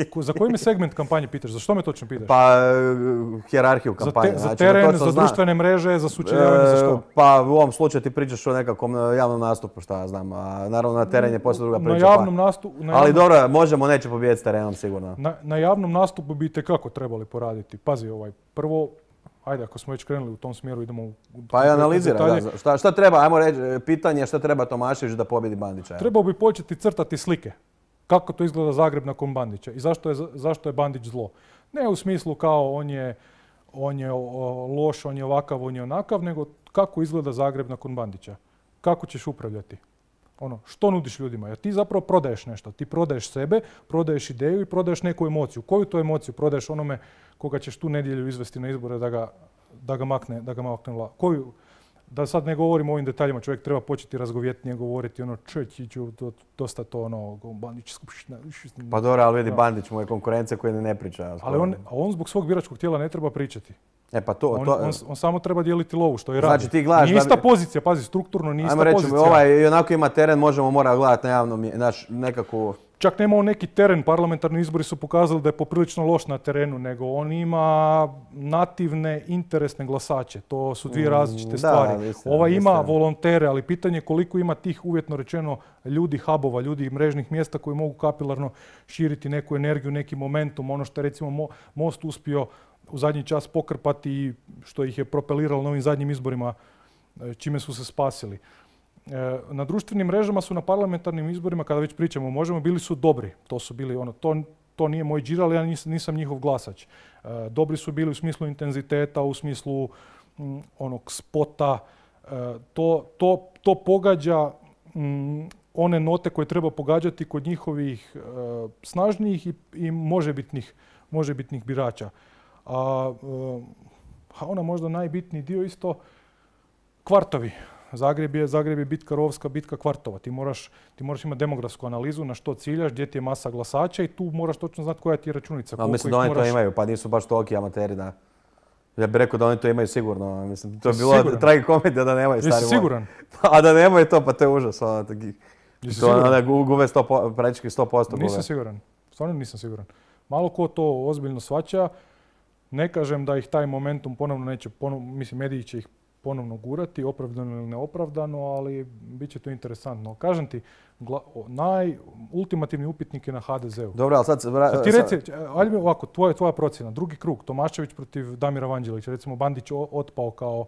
Ko- Za koji me segment kampanje pitaš? Za što me točno pitaš? Pa, e, hijerarhiju za, kampanje. te- za znači, da teren, točno za zna. društvene mreže, za sučeljavanje, za E, što? Pa u ovom slučaju ti pričaš o nekakvom e, javnom nastupu, šta ja znam. A naravno na teren je poslije druga Na priča. javnom pa. nastupu... Na Ali javnom- dobro, Možemo neće pobijediti s terenom sigurno. Na, na javnom nastupu bi itekako trebali poraditi. Pazi, ovaj, prvo, ajde, ako smo već krenuli u tom smjeru, idemo u u Pa i konkretne analizira, detalje. da, šta, šta treba, ajmo reći, e, pitanje je šta treba Tomašević da pobjedi Bandića. evo. Trebao bi početi crtati slike. Kako to izgleda Zagreb nakon Bandića i zašto je, zašto je Bandić zlo. Ne u smislu kao on je, on je o, loš, on je ovakav, on je onakav, nego kako izgleda Zagreb nakon Bandića. Kako ćeš upravljati? Ono, što nudiš ljudima? Jer ti zapravo prodaješ nešto. Ti prodaješ sebe, prodaješ ideju i prodaješ neku emociju. Koju to emociju prodaješ onome koga ćeš tu nedjelju izvesti na izbore da ga, da ga makne, da ga makne vla- Koju, da sad ne govorimo o ovim detaljima, čovjek treba početi razgovjetnije govoriti, ono, čećiću, dosta to, ono, Bandić, skupština. Pa dobro, ali vidi, Da. Bandić mu je konkurencija koja ne priča. Ali on, a on zbog svog biračkog tijela ne treba pričati. E pa to, On, to on, on samo treba dijeliti lovu, što je Znači, radi. ti gledaš Nije da ista bi- pozicija, pazi, strukturno nije ista ajmo reći, pozicija. ovaj i onako ima teren, Možemo mora gledati na javnom, mje- naš nekakvu... Čak nema on neki teren, parlamentarni izbori su pokazali da je poprilično loš na terenu, nego on ima nativne, interesne glasače. To su dvije Mm, različite da, stvari. istina, Ova ima istina. volontere, ali pitanje je koliko ima tih, uvjetno rečeno, ljudi hubova, ljudi mrežnih mjesta koji mogu kapilarno širiti neku energiju, neki momentum, ono što je recimo Mo- Most uspio u zadnji čas pokrpati i što ih je propeliralo na ovim zadnjim izborima, e, čime su se spasili. E, Na društvenim mrežama su na parlamentarnim izborima, kada već pričamo o Možemo, bili su dobri. To su bili, ono, to, to nije moj džir, ali ja nis- nisam njihov glasač. E, Dobri su bili u smislu intenziteta, u smislu mm, onog spota. E, To, to, to pogađa mm, one note koje treba pogađati kod njihovih e, snažnijih i, i možebitnih, možebitnih birača. A, e, a ona možda najbitniji dio isto, kvartovi. Zagreb je, Zagreb je bitka rovska, bitka kvartova. Ti moraš, ti moraš imati demografsku analizu na što ciljaš, gdje ti je masa glasača i tu moraš točno znati koja ti je računica. Ali koliko mislim ih da oni moraš- to imaju, pa nisu baš toliki amateri da... Ja bih rekao da oni to imaju sigurno. Mislim, to je bilo Siguran? tragikomedija da nemaju stari Jesi moji. siguran? A da nemaju to, pa to je užas. Ono, taki, Jesi to siguran? onda gu- gube sto, po- praktički sto posto gube. Nisam siguran. Stvarno nisam siguran. Malo ko to ozbiljno shvaća. Ne kažem da ih taj momentum ponovno neće, ponovno, mislim, mediji će ih ponovno gurati, opravdano ili neopravdano, ali bit će to interesantno. Kažem ti, gla, o, naj, ultimativni upitnik je na ha de zeu. Dobro, ali sad... se vra- Sad ti sad- reci, ajde mi ovako, tvoja, tvoja procjena, drugi krug, Tomašević protiv Damira Vanđelića, recimo Bandić o- otpao kao...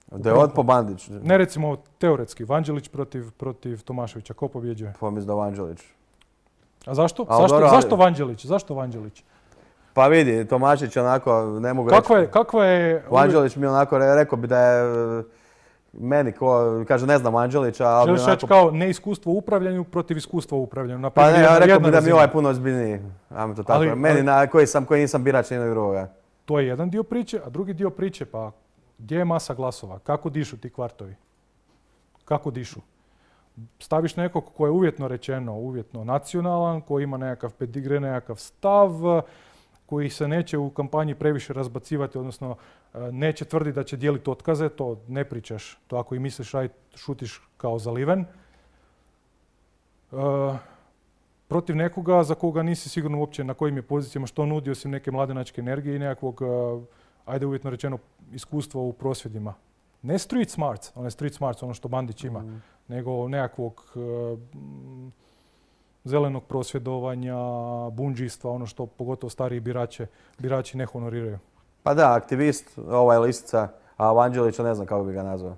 Da je otpo Bandić. Ne recimo teoretski, Vanđelić protiv, protiv Tomaševića, ko pobjeđuje? Pa mislim da Vanđelić. A zašto? Ali zašto, dobro, ali- zašto Vanđelić? Zašto Vanđelić? Pa vidi, Tomašić onako, ne mogu Kakva je, reći. kakva je... Vanđelić mi onako, re- rekao bi da je e, meni ko, kaže ne znam Vanđelića, ali Želiš onako... reći kao neiskustvo u upravljanju protiv iskustva u upravljanju. Na Pa primjer, ne, ja jedna- rekao jedna bi da mi razina. ovaj puno ozbiljniji. Ajmo to tako. Ali- Meni ali- na koji sam, koji nisam birač nijednog drugoga. To je jedan dio priče, a drugi dio priče, pa gdje je masa glasova? Kako dišu ti kvartovi? Kako dišu? Staviš nekog ko je uvjetno rečeno, uvjetno nacionalan, koji ima nekakav pedigre, nekakav stav, koji se neće u kampanji previše razbacivati, odnosno e, neće tvrditi da će dijeliti otkaze, to ne pričaš. To ako i misliš, aj šutiš kao zaliven. E, protiv nekoga za koga nisi sigurno uopće na kojim je pozicijama, što nudi osim neke mladenačke energije i nekakvog, e, ajde uvjetno rečeno, iskustva u prosvjedima. Ne street smarts, onaj street smarts, ono što Bandić ima, Mm. nego nekakvog e, m, zelenog prosvjedovanja, bundžijstva, ono što pogotovo stariji birače, birači ne honoriraju. Pa da, aktivist, ovaj listica, a Vanđelića ne znam kako bi ga nazvao.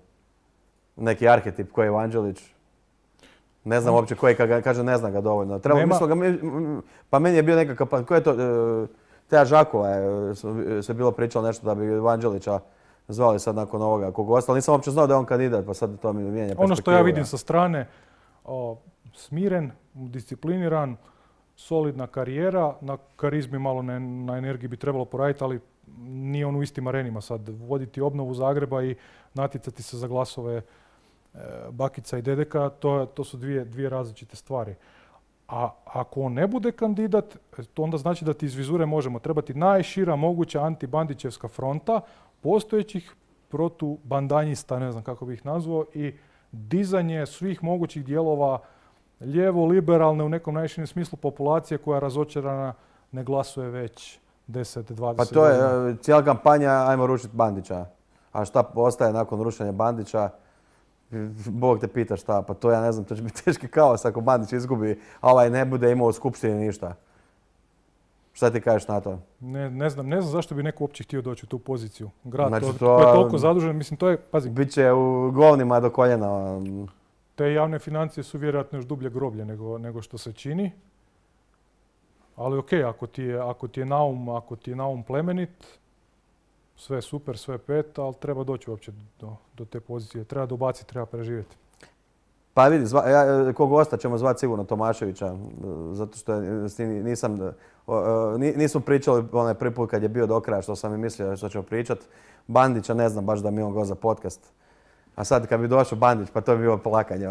Neki arhetip koji je Vanđelić. Ne znam uopće koji, kad ga kaže ne znam ga dovoljno. Treba, Nema- mislio ga, mi- m- pa meni je bio nekakav, pa ko je to, e, Teja Žakula je s- se bilo pričalo nešto da bi Vanđelića zvali sad nakon ovoga kog ostalo. Nisam uopće znao da je on kandidat, pa sad to mi mijenja perspektivu. Ono što ja vidim sa strane, o, smiren, discipliniran, solidna karijera, na karizmi malo ne, na energiji bi trebalo poraditi, ali nije on u istim arenima sad. Voditi obnovu Zagreba i natjecati se za glasove e, bakica i dedeka, to, to su dvije, dvije različite stvari. A ako on ne bude kandidat, to onda znači da ti iz vizure možemo trebati najšira moguća antibandićevska fronta postojećih protubandanjista, ne znam kako bih ih nazvao, i dizanje svih mogućih dijelova lijevo, liberalne u nekom najširem smislu populacije koja razočarana ne glasuje već deset, Pa dvadeset to godina. je e, cijela kampanja, ajmo rušiti Bandića. A šta ostaje nakon rušenja Bandića? Bog te pita šta, pa to ja ne znam, to će biti teški kaos ako Bandić izgubi, a ovaj ne bude imao u skupštini ništa. Šta ti kažeš na to? Ne, ne, znam, ne znam zašto bi neko uopće htio doći u tu poziciju. Grad Znači to, to- koji je toliko zadužen, mislim to je, pazi, Biće u govnima do koljena. te javne financije su vjerojatno još dublje groblje nego, nego što se čini. Ali ok, ako ti je, ako ti je naum, ako ti je naum plemenit, sve je super, sve je pet, ali treba doći uopće do, do te pozicije. Treba dobaciti, treba preživjeti. Pa vidi, zva, ja, kog gosta ćemo zvati sigurno Tomaševića, zato što je- s njim nisam, o, o, ni- nismo pričali onaj prvi put kad je bio do kraja što sam i mislio što ćemo pričat. Bandića ne znam baš da mi on go za podcast. A sad kad bi došao Bandić, pa to bi bilo plakanje.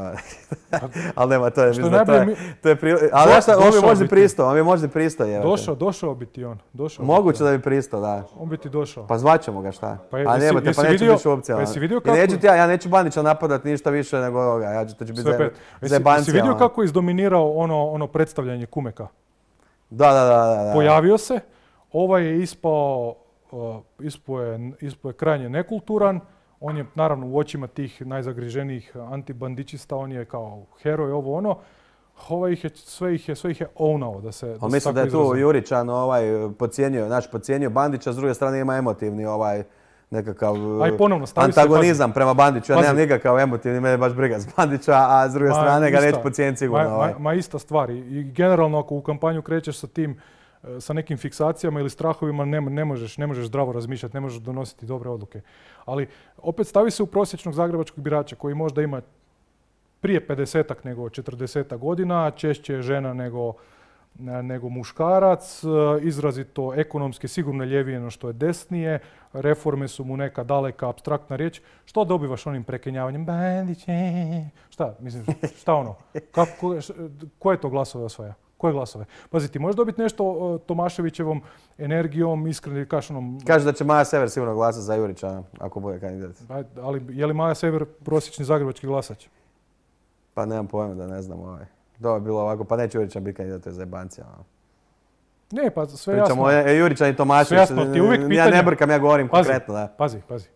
Ali nema, to je, Što mislim, da to najbolje je, to je pri- ali Do- ja šta, on bi došao možda bi ti. pristao, on bi možda pristao. jebote. Došao, došao bi ti on. Došao bi Moguće ti da on. bi pristao, da. On bi ti došao. Pa zvaćemo ga, šta? Pa A jesi- nema te, jesi pa neće vidio- biti uopcija. pa jesi vidio I kako- neću ti ja, ja neću Bandića napadat ništa više nego ovoga. Ja ću, to će biti Sve za, pet. Jesi, zebancija, jesi vidio ono. kako je izdominirao ono, ono predstavljanje Kumeka? Da, da, da, da, da. Pojavio se, ovaj je ispao, uh, ispao je, ispao je krajnje nekulturan, on je naravno u očima tih najzagriženijih antibandičista, on je kao heroj, ovo ono, ovaj ih je, sve ih je, sve ih je ownao, da se, da Ali se mislim da tako je tu izrazim. Juričan ovaj, pocijenio, znači pocijenio Bandića, s druge strane ima emotivni ovaj nekakav Aj, ponovno, stavi se, antagonizam prema Bandiću. Ja Pazi. nemam nikakav emotivni, mene je baš briga s Bandića, a s druge Ma, strane ga ista. neću pocijeniti sigurno. Ma, ovaj. ma, ma ista stvar. I i generalno ako u kampanju krećeš sa tim, e, sa nekim fiksacijama ili strahovima, ne, ne, možeš, ne možeš zdravo razmišljati, ne možeš donositi dobre odluke. Ali opet stavi se u prosječnog zagrebačkog birača koji možda ima prije pedesetak nego četrdesetak godina, češće je žena nego, ne- nego muškarac, e, izrazito ekonomski sigurno ljevije no što je desnije, reforme su mu neka daleka, apstraktna riječ. Što dobivaš onim prekenjavanjem? Bandiće, šta, mislim, šta ono? Kako, ko, š- koje to glasove osvaja? Koje glasove? Pazi, ti možeš dobiti nešto o, Tomaševićevom energijom, iskrenim kašanom, Kaže da će Maja Sever sigurno glasati za Jurića ako bude kandidat. ali je li Maja Sever prosječni zagrebački glasač? Pa nemam pojma da ne znam ovaj. To je bilo ovako, pa neće Jurića biti kandidat, to je zajebancija. ono. Ne, pa sve Pričamo jasno. o e, Jurića i Tomašević. Sve jasno, ti uvijek Ja pitanje- ne brkam, ja govorim Pazi. konkretno, da. Pazi, pazi.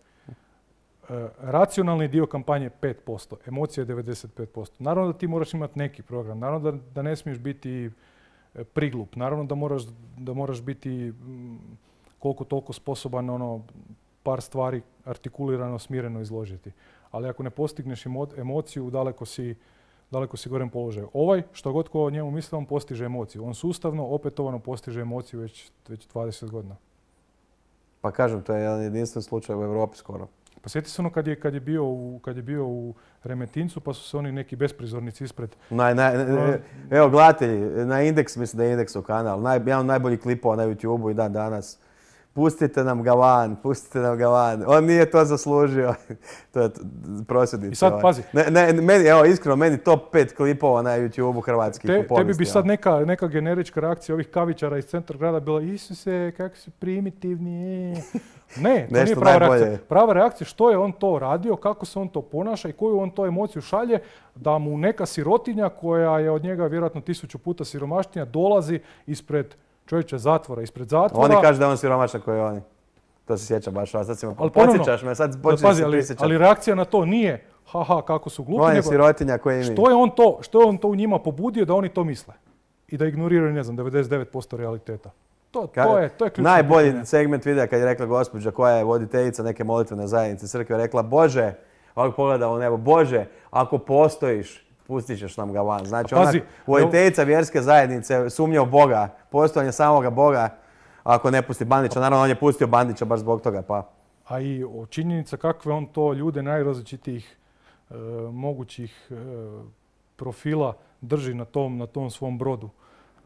E, racionalni dio kampanje je pet posto, emocija je devedeset pet posto. Naravno da ti moraš imati neki program, naravno da, da ne smiješ biti e, priglup, naravno da moraš, da moraš biti mm, koliko toliko sposoban ono, par stvari artikulirano, smireno izložiti. Ali ako ne postigneš emo- emociju, daleko si, daleko si gorem položaju. Ovaj, što god ko o njemu misli, on postiže emociju. On sustavno, opetovano postiže emociju već, već dvadeset godina. Pa kažem, to je jedan jedinstven slučaj u Europi skoro. Pa sjeti se ono kad je, kad je, bio, u, kad je bio u Remetincu, pa su se oni neki besprizornici ispred. Naj, naj, evo, gledatelji, na Indeks, mislim da je Indeksov kanal, naj, jedan od najboljih klipova na YouTubeu i dan danas. Pustite nam ga van, pustite nam ga van. On nije to zaslužio. To je prosvjednici. I sad, ovaj. pazi. Ne, ne, meni, evo, iskreno, meni top pet klipova na YouTubeu hrvatskih Te, u povijesti. tebi bi sad neka, neka generička reakcija ovih kavičara iz centra grada bila Isuse, kako su primitivni. Ne, to Nešto nije prava najbolje. reakcija. Prava reakcija što je on to radio, kako se on to ponaša i koju on to emociju šalje da mu neka sirotinja koja je od njega vjerojatno tisuću puta siromašnija dolazi ispred čovječe zatvora, ispred zatvora. Oni kažu da je on siromašan koji oni. To se sjeća baš, a sad si me Ali ponovno, podsjećaš me, sad da, počinješ pazi, se ali, prisjećati. ali reakcija na to nije haha kako su glupi, On je nego sirotinja koji mi. što je on to, što je on to u njima pobudio da oni to misle i da ignoriraju, ne znam, devedeset devet posto realiteta. To, to je, to je ključno Najbolji pitanje. segment videa kad je rekla gospođa koja je voditeljica neke molitvene zajednice crkve, rekla Bože, ovako pogleda u nebo, Bože, ako postojiš, pustit ćeš nam ga van. Znači, A pazi, ona voditeljica vjerske zajednice sumnja u Boga, postojanje samoga Boga, ako ne pusti Bandića. Naravno, on je pustio Bandića baš zbog toga, pa. A i o činjenica kakve on to ljude najrazličitijih e, mogućih e, profila drži na tom, na tom svom brodu.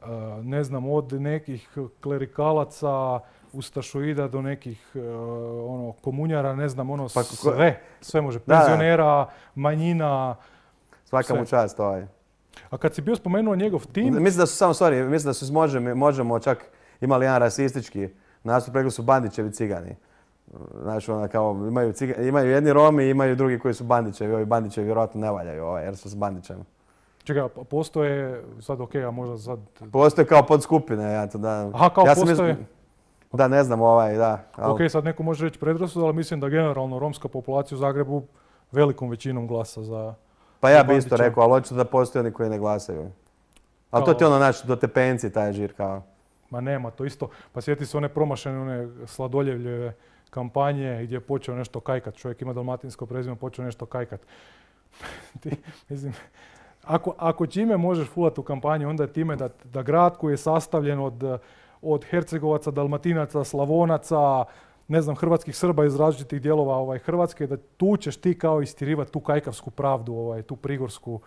E, ne znam, od nekih klerikalaca, ustašoida do nekih e, ono, komunjara, ne znam, ono Pa ko- sve. Sve može. Da, da. Penzionera, manjina. Svaka Sve. mu čast ovaj. A kad si bio spomenuo njegov tim, Mislim da su, samo, sorry, mislim da su možemo, možemo čak imali jedan rasistički nastup, rekli su Bandićevi cigani. Znači, ona kao, imaju, ciga, imaju jedni Romi, imaju drugi koji su Bandićevi, ovi Bandićevi vjerojatno ne valjaju ovaj, jer su s Bandićem. čekaj, postoje, sad ok, a možda sad... Postoje kao podskupine, ja to da... Aha, kao ja sam postoje... mis- Da, ne znam ovaj, da. ali- Ok, sad neko može reći predrasud, ali mislim da generalno romska populacija u Zagrebu velikom većinom glasa za... Pa ja bi isto Bandića. rekao, ali očito da postoje oni koji ne glasaju. Ali to Kao- ti je ono, naš do tepenci taj žir kao. Ma nema, to isto. Pa sjeti se one promašene, one sladoljevljeve kampanje gdje je počeo nešto kajkat. Čovjek ima dalmatinsko prezime, počeo nešto kajkat. Ti, mislim, ako, ako čime možeš fulati u kampanji, onda je time da, da grad koji je sastavljen od, od Hercegovaca, Dalmatinaca, Slavonaca, ne znam, hrvatskih Srba iz različitih dijelova ovaj, Hrvatske, da tu ćeš ti kao istirivati tu kajkavsku pravdu, ovaj, tu prigorsku,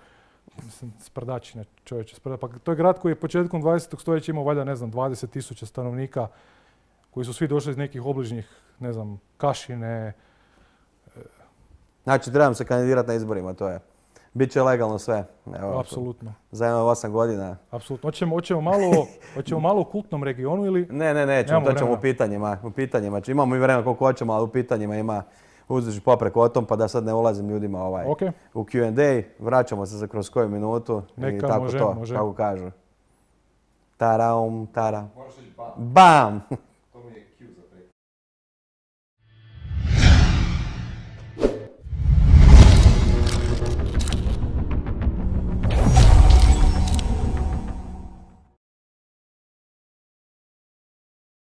mislim, sprdačine čovječe. Sprda. Pa to je grad koji je početkom dvadesetog stoljeća imao valjda, ne znam, dvadeset tisuća stanovnika koji su svi došli iz nekih obližnjih, ne znam, Kašine. Znači, trebam se kandidirati na izborima, to je. Biće legalno sve. Evo, Apsolutno. za jedno osam godina. Apsolutno. Hoćemo, hoćemo, malo, hoćemo malo u kultnom regionu ili... Ne, ne, nećemo, Nemamo to ćemo vremena. u pitanjima. U pitanjima. Znači, imamo i vremena koliko hoćemo, ali u pitanjima ima uzduž popreko o tom, pa da sad ne ulazim ljudima ovaj, Ok, u Q and A. Vraćamo se za kroz koju minutu i Neka, tako može, to, može. kako kažu. Taraum, tara. Moraš reći pa. Bam!